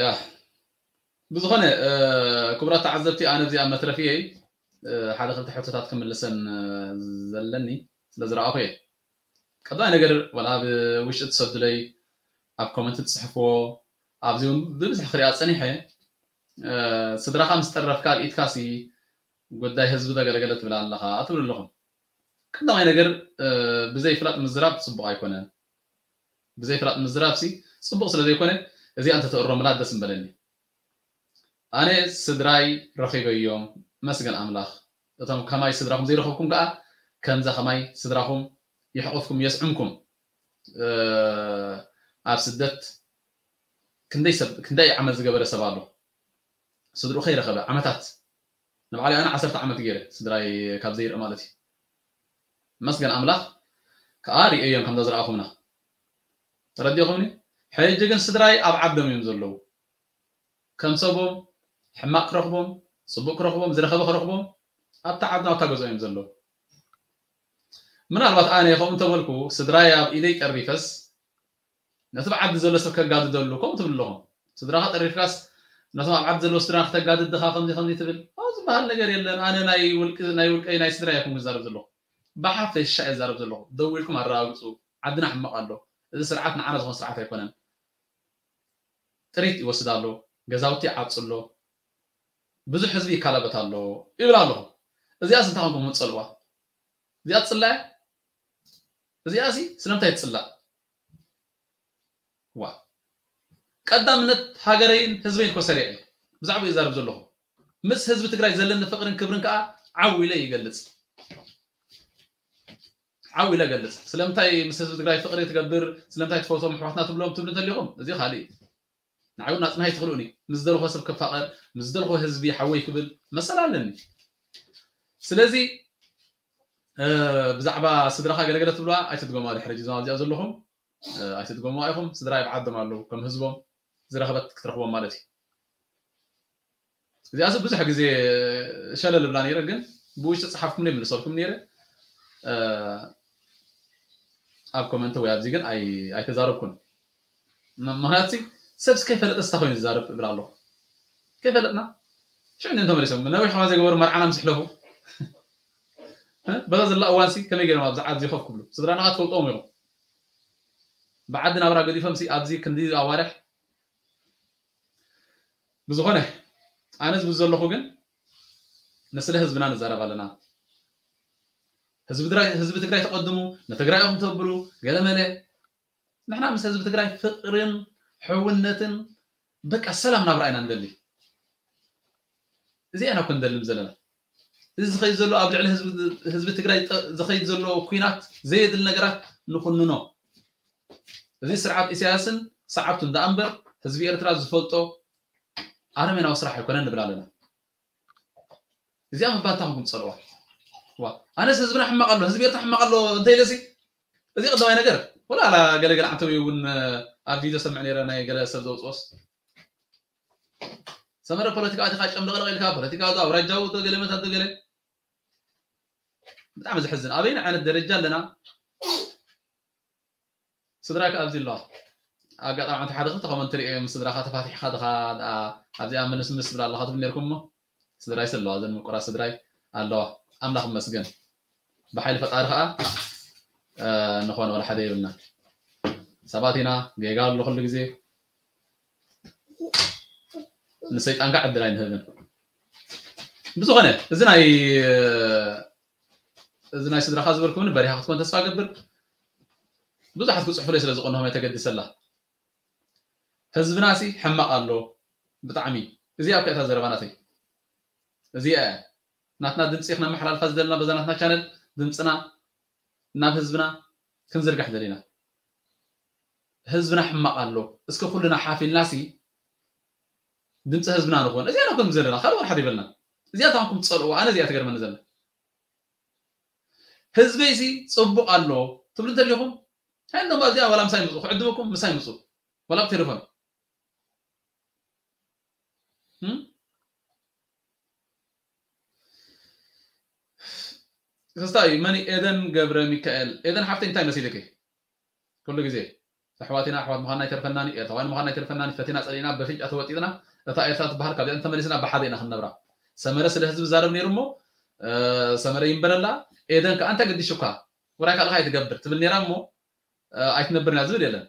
ያ። ብዝኾነ ክቡራት ተዓዘብቲ፣ ኣነ እዚኣ መትረፍየይ ሓደ ክልተ ሕቶታት ክምልሰን ዘለኒ ስለ ዝረኣኹ እየ። ቀዳማይ ነገር፣ ዋላ ኣብ ውሽጢ ትሰዱለይ፣ ኣብ ኮመንት ትፅሕፍዎ፣ ኣብዚ እውን ብብዝሒ ክሪኣ ፀኒሐ፣ ስድራኻ ምስ ጠረፍካ ኣብ ኢድካ ሲ ጉዳይ ህዝቢ ዘገለገለ ትብል ኣለኻ ትብሉ ኣለኹም። ቀዳማይ ነገር፣ ብዘይ ፍላጥ ምዝራብ ፅቡቕ ኣይኮነን። ብዘይ ፍላጥ ምዝራብ ሲ ፅቡቕ ስለ ዘይኮነ፣ እዚኣ እንተተእሮምላ ደስ ምበለኒ። ኣነ ስድራይ ረኺበዮም፣ መስገን ኣምላኽ። እቶም ከማይ ስድራኹም ዘይረኸብኩም ከኣ፣ ከምዛ ከማይ ስድራኹም የሕቑፍኩም፣ የስዕምኩም። ኣብ ስደት ክንደይ ሰብ፣ ክንደይ ዓመት ዝገበረ ሰብ ኣሎ፣ ስድርኡ ከይረኸበ ዓመታት። ንባዕለይ ኣነ ዓሰርተ ዓመት ገይረ ስድራይ ካብ ዘይርኢ ማለት እዩ። መስገን ኣምላኽ ከኣ ርእየዮም ከምዛ ዝረኣኹምና። ተረዲኹምኒ? ሕጂ ግን ስድራይ ኣብ ዓዶም እዮም ዘለዉ። ከም ሰቦም ሕማቕ ክረኽቦም፣ ጽቡቕ ክረኽቦም፣ ዝረኸበ ክረኽቦም፣ ኣብታ ዓድና ኣብታ ገዝኦም እዮም ዘለዉ። ምናልባት ኣነ ከምኡ እንተበልኩ፣ ስድራይ ኣብ ኢደይ ጠሪፈስ፣ ነቲ ብዓዲ ዘሎ ሰብ ከጋድደሉ፣ ከምኡ ትብል ኣለኹም። ስድራኻ ጠሪፍካስ፣ ነቶም ኣብ ዓዲ ዘለዉ ስድራ ክተጋድድ ድኻ ከምዚ ከምዚ ትብል? ከምኡ ዝበሃል ነገር የለን። ኣነ ናይ ውልቂ-፣ ናይ ውልቀይ ናይ ስድራይ ኣይኮንኩ ዝዛረብ ዘለኹ። ብሓፈሻ እየ ዝዛረብ ዘለኹ። ደው ኢልኩም ኣረጋግጹ። ዓድና ሕማቕ ኣሎ። እዚ ስርዓት ንዓና ዝኾነ ስርዓት ኣይኮነን። ጥሪት ይወስድ ኣሎ። ገዛውቲ ይዓጹ ኣሎ። ብዙሕ ህዝቢ ይካላበት ኣሎ ይብል ኣለኹ። እዚኣስ እንታይ ኮንኩም ምትጸልዋ? እዚኣ ትጽላእ? እዚኣሲ ስለምንታይ ትጽላእ? ዋ። ቀዳምነት ሃገረይን ህዝበይን እኮ ሰሪዐ። ብዛዕባ ይዛረብ ዘለኹ። ምስ ህዝቢ ትግራይ ዘለኒ ፍቕርን ክብርን ከኣ ዓው ኢለ ይገልጽ። ዓው ኢለ ገልጽ። ስለምንታይ ምስ ህዝቢ ትግራይ ፍቕሪ ትገብር፣ ስለምንታይ ትፈትዎም ኣሕዋትና ትብሎም ትብሉ እንተሊኹም፣ እዚ ካልእ እዩ። ንዓይ እውን ኣጽንሃይ ትኽእሉኒ። ምስ ዝደልኹዎ ሰብ ክፋቐር፣ ምስ ዝደልኹዎ ህዝቢ ሓወይ ክብል መሰል ኣለኒ። ስለዚ፣ እ፣ ብዛዕባ ስድራኻ ገለገለ ትብልዋ ኣይትድገሙዋ። ድሕሪ ሕጂ እዞም ኣብዚኣ ዘለኹም፣ እ፣ ኣይትድገሙዋ ኢኹም። ስድራ ኣብ ዓዶም ኣለዉ፣ ከም ህዝቦም። ዝረኸበት ክትረኽቦም ማለት እዩ። እዚኣስ ብዙሕ ግዜ ሸለል ብላ ነይረ፣ ግን ብውሽጢ ጸሓፍኩም ይምልሰልኩም ነይረ። ኣብ ኮመንት ወይ ኣብዚ ግን ኣይተዛረብኩን። ምክንያቱ ሰብ ከይፈለጠ ስታ ኮይኑ ዝዛረብ እብል ኣለኹ። ከይፈለጥና ሽዑ እንተመሊሶም ነዊሕ ከማ ዘይገበሩ መርዓና ምስ ሕለፉ በዛ ዘላ እዋንሲ ከመይ ገይሮም ኣብዚ ዓዲ ኮፍ ክብሉ? ስድራና ትፈልጦም እዮም። ብዓዲ ናብራ ገዲፎም ሲ ኣብዚ ክንዲ ኣዋርሕ ብዝኾነ ኣነ ዝብል ዘለኹ ግን ንስለ ህዝብና ንዛረብ ኣለና። ህዝቢ ትግራይ ተቐድሙ፣ ንትግራይ ኢኹም ተብሉ ገለመለ። ንሕና ምስ ህዝቢ ትግራይ ፍቕርን ሕውነትን በቃ ሰላም ናብራ ኢና ንደሊ። እዚኣ ኢና እኮ ንደልም ዘለና። እዚ ዝኸይድ ዘሎ ኣብ ልዕሊ ህዝቢ ትግራይ ዝኸይድ ዘሎ ኩናት ዘየድሊ ነገራት ንኹንኖ። እዚ ስርዓት ኢሳያስን ሰዓብቱ እንዳ እምበር ህዝቢ ኤርትራ ዝፈልጦ ኣረሜናዊ ስራሕ ኣይኮነን ንብል ኣለና። እዚኣ ምባል እንታይ ኮንኩም ትጸልዋ? ዋ ኣነስ ህዝብና ሕማቕ ኣሎ፣ ህዝቢ ኤርትራ ሕማቕ ኣሎ እንተ ኢለሲ እዚ ቀዳማይ ነገር ወላ ኣላ ገለገለ ዓንተዊ እውን ኣብ ቪድዮ ሰምዕ ነይረ ናይ ገለ ሰብ ዘውፅኦስ ሰመረ ፖለቲካ ኣቲኻ ጨምለቕለቕ ኢልካ ፖለቲካ ኣውራጃዊ ተገለ መታት ተገለ ብጣዕሚ ዘሕዝን ኣበይን ዓይነት ደረጃ ኣለና ስድራይ ኣብዚ ኣለዋ ኣጋጣሚ ሓንቲ ሓደ ክልተ ኮመንት ሪኦ ምስ ስድራኻ ተፋቲሕካ ድኻ ኣብዚኣ ምንስምስ ትብል ኣለኻ ትብል ነርኩም እሞ ስድራይ ኣለዋ ዘን ምቁራት ስድራይ ኣለዋ ኣምላኽ ይመስገን ብሓይሊ ፈጣሪ ከዓ ንኾነ ወላ ሓደ የብልና ሰባት ኢና ጌጋ ኣሎ ኩሉ ግዜ ንሰይጣን ከዓ ዕድል ኣይንህብን ብዝኾነ እዚ ናይ እዚ ናይ ስድራኻ ዝበልኩ እውን በሪኻ ክትኮን ተስፋ ገብር ብዙሓት ክፅሕፉለይ ስለ ዝቐንሆም እየ ተገዲሰላ ህዝብና ሲ ሕማቕ ኣሎ ብጣዕሚ እዚኣ እኮ እታ ዘረባ ናተይ እዚኣ እያ ናትና ድምፂ ክነመሓላልፋ ዝደለና በዛ ናትና ቻነል ድምፅና ናብ ህዝብና ክንዝርጋሕ ደሊና ህዝብና ሕማቕ ኣሎ እስከ ኩልና ሓፊልና ሲ ድምፂ ህዝብና ንኾን እዚኣ ናኮን ዘለና ካልእ ወላ ሓደ ይበልና እዚኣ ታንኩም ትፀልእዋ ኣነ እዚኣ ትገርመኒ ዘላ ህዝበይሲ ፅቡቕ ኣሎ ትብሉ እንተሊኹም እንታይ እዚኣ ዋላ ምሳይ ምፁ ክዕድመኩም ምሳይ ምፁ ዋላ ብቴሌፎን ክስታይ መኒ ኤደን ገብረ ሚካኤል ኤደን ሓፍተይ እንታይ መሲልኪ ኩሉ ግዜ ኣሕዋት ኢና ኣሕዋት ምዃንና ኣይተርፈናን እዩ ኤርትራውያን ምዃንና ኣይተርፈናን እዩ ፈቲና ጸሊእና በፍንጫ ተወጢጥና እታ ኤርትራ ትበሃል ካብዚኣ እንተመሊስና ብሓደ ኢና ክንነብራ ሰመረ ስለ ህዝቢ ዛረብ ነይሩ እሞ ሰመረ ይንበረላ ኤደን ከዓ እንታይ ገዲሹካ ውራይ ካልኻ ኣይትገብር ትብል ነይራ እሞ ኣይትነብርና ዝብል የለን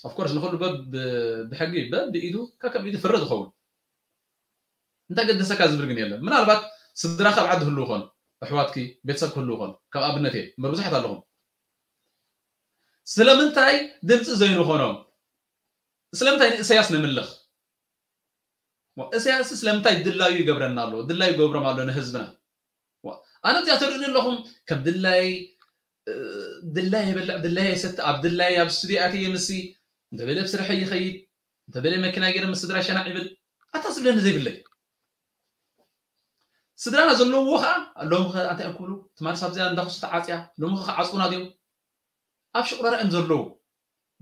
of course ንኹሉ በብ ብሕጊ በብ ኢዱ ከከም ኢዱ ፍረ ዝኸውን እንታይ ገደሰካ ዝብል ግን የለን ምናልባት ስድራካ ኣብ ዓዲ ህልው ኾን ኣሕዋትኪ ቤተሰብ ክህልው ኾን ከም ኣብነት እየ እምበር ብዙሓት ኣለኹም ስለምንታይ ድምፂ ዘይንኾኖም ስለምንታይ ንእሰያስ ንምልኽ እሰያስ ስለምንታይ ድላዩ ይገብረና ኣሎ ድላዩ ይገብሮም ኣሎ ንህዝብና ኣነ እዚኣ ተርእኒ ኣለኹም ከም ድላይ ድላይ ይበልዕ ድላይ ይሰቲ ኣብ ድላይ ኣብ ስቱዲዮ ኣትየ ምስሲ እንተበለ ብስርሐ ይኸይድ እንተበለ መኪና ገይረ ምስ ስድራ ሸናዕ ይብል ኣታ ዝብለኒ ዘይብለይ ስድራና ዘለዎ ከዓ ሎሚ ከ እንታይ እዮም ክብሉ ትማሊ ሳብ እዚኣ እንዳክሱ ተዓፅያ ሎሚ ከ ክዓፅቡና ድዮም ኣብ ሽቁረራ እዮም ዘለዉ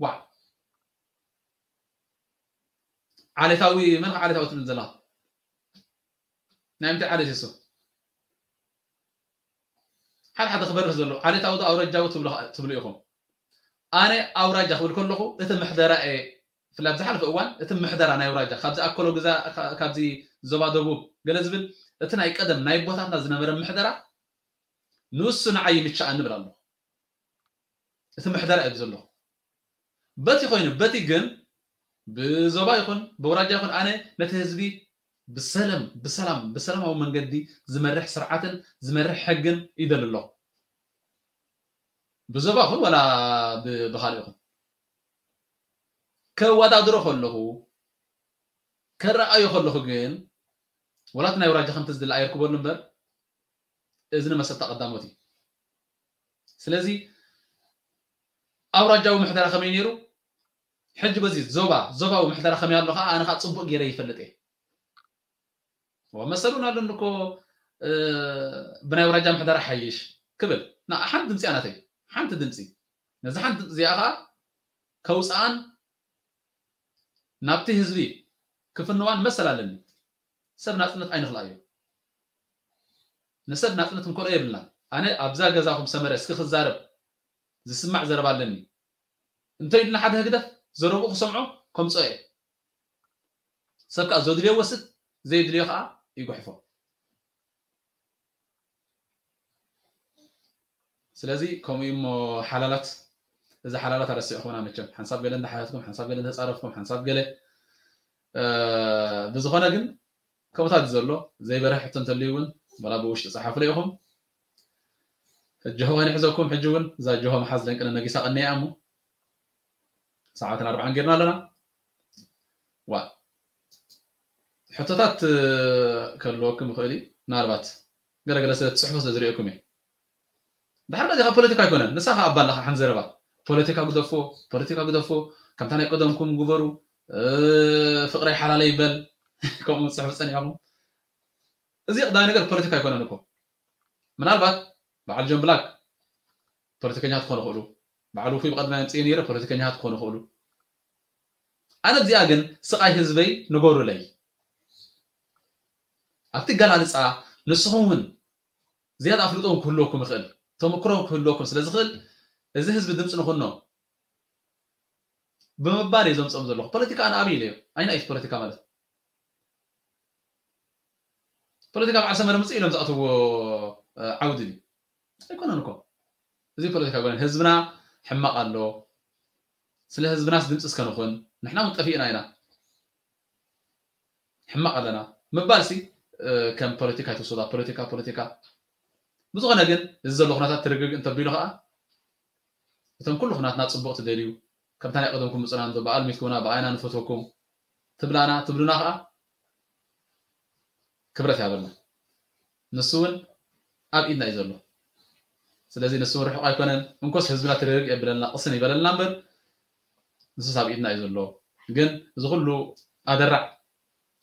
ዋ ዓሌታዊ መን ከዓ ዓሌታዊ ትብል ዘላ ናይ ምንታይ ዓሌት እሱ ሓደ ሓደ ክበርህ ዘሎ ዓሌታዊ ዶ ኣውረጃዊ ትብሉ ኢኹም ኣነ ኣውራጃ ክብል ከለኹ እቲ ምሕደራ እየ ብፍላይ ኣብ ዝሓለፈ እዋን እቲ ምሕደራ ናይ ኣውራጃ ካብዚ ኣከሎ ግዛ ካብዚ ዞባ ደቡብ ገለ ዝብል እቲ ናይ ቀደም ናይ ኣቦታትና ዝነበረ ምሕደራ ንሱ ንዓይ ይምችኣኒ እብል ኣለኹ እቲ ምሕደራ እዩ ዘለኹ በቲ ኮይኑ በቲ ግን ብዞባ ይኹን ብውራጃ ይኹን ኣነ ነቲ ህዝቢ ብሰለም ብሰላም ብሰላማዊ መንገዲ ዝመርሕ ስርዓትን ዝመርሕ ሕግን ይደሊ ኣለኹ ብዞባ ይኹን ወላ ብካልእ ይኹን ከወዳድሮ ከለኹ ከረኣዮ ከለኹ ግን ወላት ናይ ውራጃ ከምቲ ዝድለ ኣየርክበሉ እምበር እዚ ንመሰታ ቀዳሞት እዩ ስለዚ ኣውራጃዊ ምሕደራ ከመይ ነይሩ ሕጂ በዚ ዞባ ዞባዊ ምሕደራ ከመይ ኣሎ ከዓ ኣነ ከዓ ፅቡቅ ገይረ ይፈልጥ እየ መሰሉን ኣለኒ እኮ ብናይ ኣውራጃ ምሕደራ ሓይሽ ክብል ሓንቲ ድምፂ ኣናተይ ሓንቲ ድምፂ ነዚ ሓንቲ ድምፂ እዚኣ ከዓ ከውፅኣን ናብቲ ህዝቢ ክፍንዋን መሰል ኣለኒ። ሰብ ናጽነት ኣይንኽልኣዮ። ንሰብ ናጽነት ክንከልኦ የብልና። ኣነ ኣብዛ ገዛኹም ሰመረ እስኪ ክዛረብ ዝስማዕ ዘረባ ኣለኒ እንተ ኢሉና ሓደ ህግደፍ ዘረብኡ ክሰምዖ ከምጽኦ እየ። ሰብ ከዓ ዘድልዮ ወስድ፣ ዘይድልዮ ከዓ ይጉሕፎ። ስለዚ ከምኡ እዩ እሞ ሓላላት፣ እዚ ሓላላት ኣረሲዕኹምና መቸም። ሓንሳብ ገለ እንዳሓተትኩም፣ ሓንሳብ ገለ እንተጻረፍኩም፣ ሓንሳብ ገለ ብዝኾነ ግን ከምኡታት ዘሎ ዘይበርሀ ሕቶ እንተልዩ እውን ወላ ብውሽጢ ጸሓፉ ኢኹም። ጅሆ ከይንሕዘኩም ሕጂ እውን እዛ ጅሆ መሓዝ ደንቅነ ነጊሳ ቀኒያ እሞ ሰዓትን ኣርባዓን ጌርና ኣለና። ዋ ሕቶታት ከልወኩም ይኽእል እዩ። ምናልባት ገለገለ ስለ ትፅሕፉ ስለ ዝሪኦኩም እየ። ድሓር ነዚ ካብ ፖለቲካ ኣይኮነን። ንሳ ከዓ ኣባላ ከዓ ሓንቲ ዘረባ ፖለቲካ ግደፎ፣ ፖለቲካ ግደፎ፣ ከምታ ናይ ቀደምኩም ግበሩ፣ ፍቅረይ ሓላለይ ይበል። ከምኡ ትፅሕፉ ፀኒዕኩም። እዚ ቀዳማይ ነገር ፖለቲካ ኣይኮነን እኮ። ምናልባት በዓል ጆን ብላክ ፖለቲከኛታት ክኾኑ ይኽእሉ። በዓል ውፉይ ብቐደማይ ኣምፅኤ ነይረ ፖለቲከኛታት ክኾኑ ይኽእሉ። ኣነ እዚኣ ግን ስቓይ ህዝበይ ንገሩለይ። ኣብቲ ገላልፃ ንስኹም እውን ዝያዳ ኣፍልጦ እውን ክህልወኩም ይኽእል፣ ተመክሮ እውን ክህልወኩም ስለ ዝኽእል እዚ ህዝቢ ድምፂ ንኹኖ ብምባል እየ ዘምፅኦም ዘለኹ። ፖለቲካ ኣነ ኣብይ ኢለዮ ኣይና እዩ ፖለቲካ ማለት ፖለቲካ በዓል ሰመረ ምፅእ ኢሎም ዝኣትዎ ዓውዲ ድዩ? ኣይኮነን እኮ። እዚ ፖለቲካ ኣይኮነን። ህዝብና ሕማቕ ኣሎ። ስለ ህዝብናስ ድምፂ እስከ ንኹን። ንሕና እውን ጠፊእና ኢና። ሕማቕ ኣለና ምባል ሲ ከም ፖለቲካ ኣይትወስዶ። ፖለቲካ ፖለቲካ። ብዝኾነ ግን እዚ ዘሎ ኩነታት ትርግርግ እንተቢሉ ከዓ እቶም ኩሉ ኩናትና ፅቡቕ ትደልዩ ከምታ ናይ ቀደምኩም ምፅና እንዶ ብኣል ሚትኩምና ብኣይና ንፈትወኩም ትብላና ትብሉና ከዓ ክብረት ያበልና። ንሱ እውን ኣብ ኢድና እዩ ዘሎ። ስለዚ ንሱ እውን ርሑቕ ኣይኮነን። እንኮስ ህዝብና ትርርግ የብለልና ቅስን ይበለልና እምበር ንሱስ ኣብ ኢድና እዩ ዘሎ። ግን እዚ ኩሉ ኣደራዕ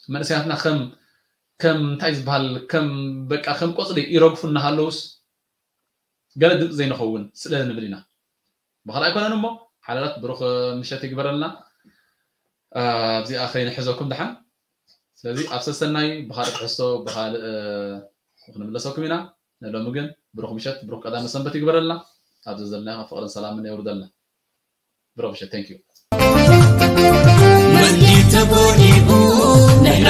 መንእሰያትና ከም ከም እንታይ ዝበሃል ከም በቃ ከም ቆፅሊ ይረግፉ እናሃለውስ ገለ ድምፂ ዘይንኸውን ስለ ንብል ኢና። ብኻልእ ኣይኮነን እሞ ሓላላት ብሩኽ ምሸት ይግበረልና። ኣብዚኣ ከይንሕዘኩም ደሓን። ስለዚ ኣብ ሰሰናይ ብኻልእ ትሕዝቶ ብኻልእ ክንምለሰኩም ኢና። ንሎሚ ግን ብሩኽ ምሸት ብሩኽ ቀዳመ ሰንበት ይግበረልና። ኣብዚ ዘለና ፍቕርን ሰላምን የውርደልና። ብሩኽ ምሸት። Thank you። ወዲ ተጎዲኡ ንሕና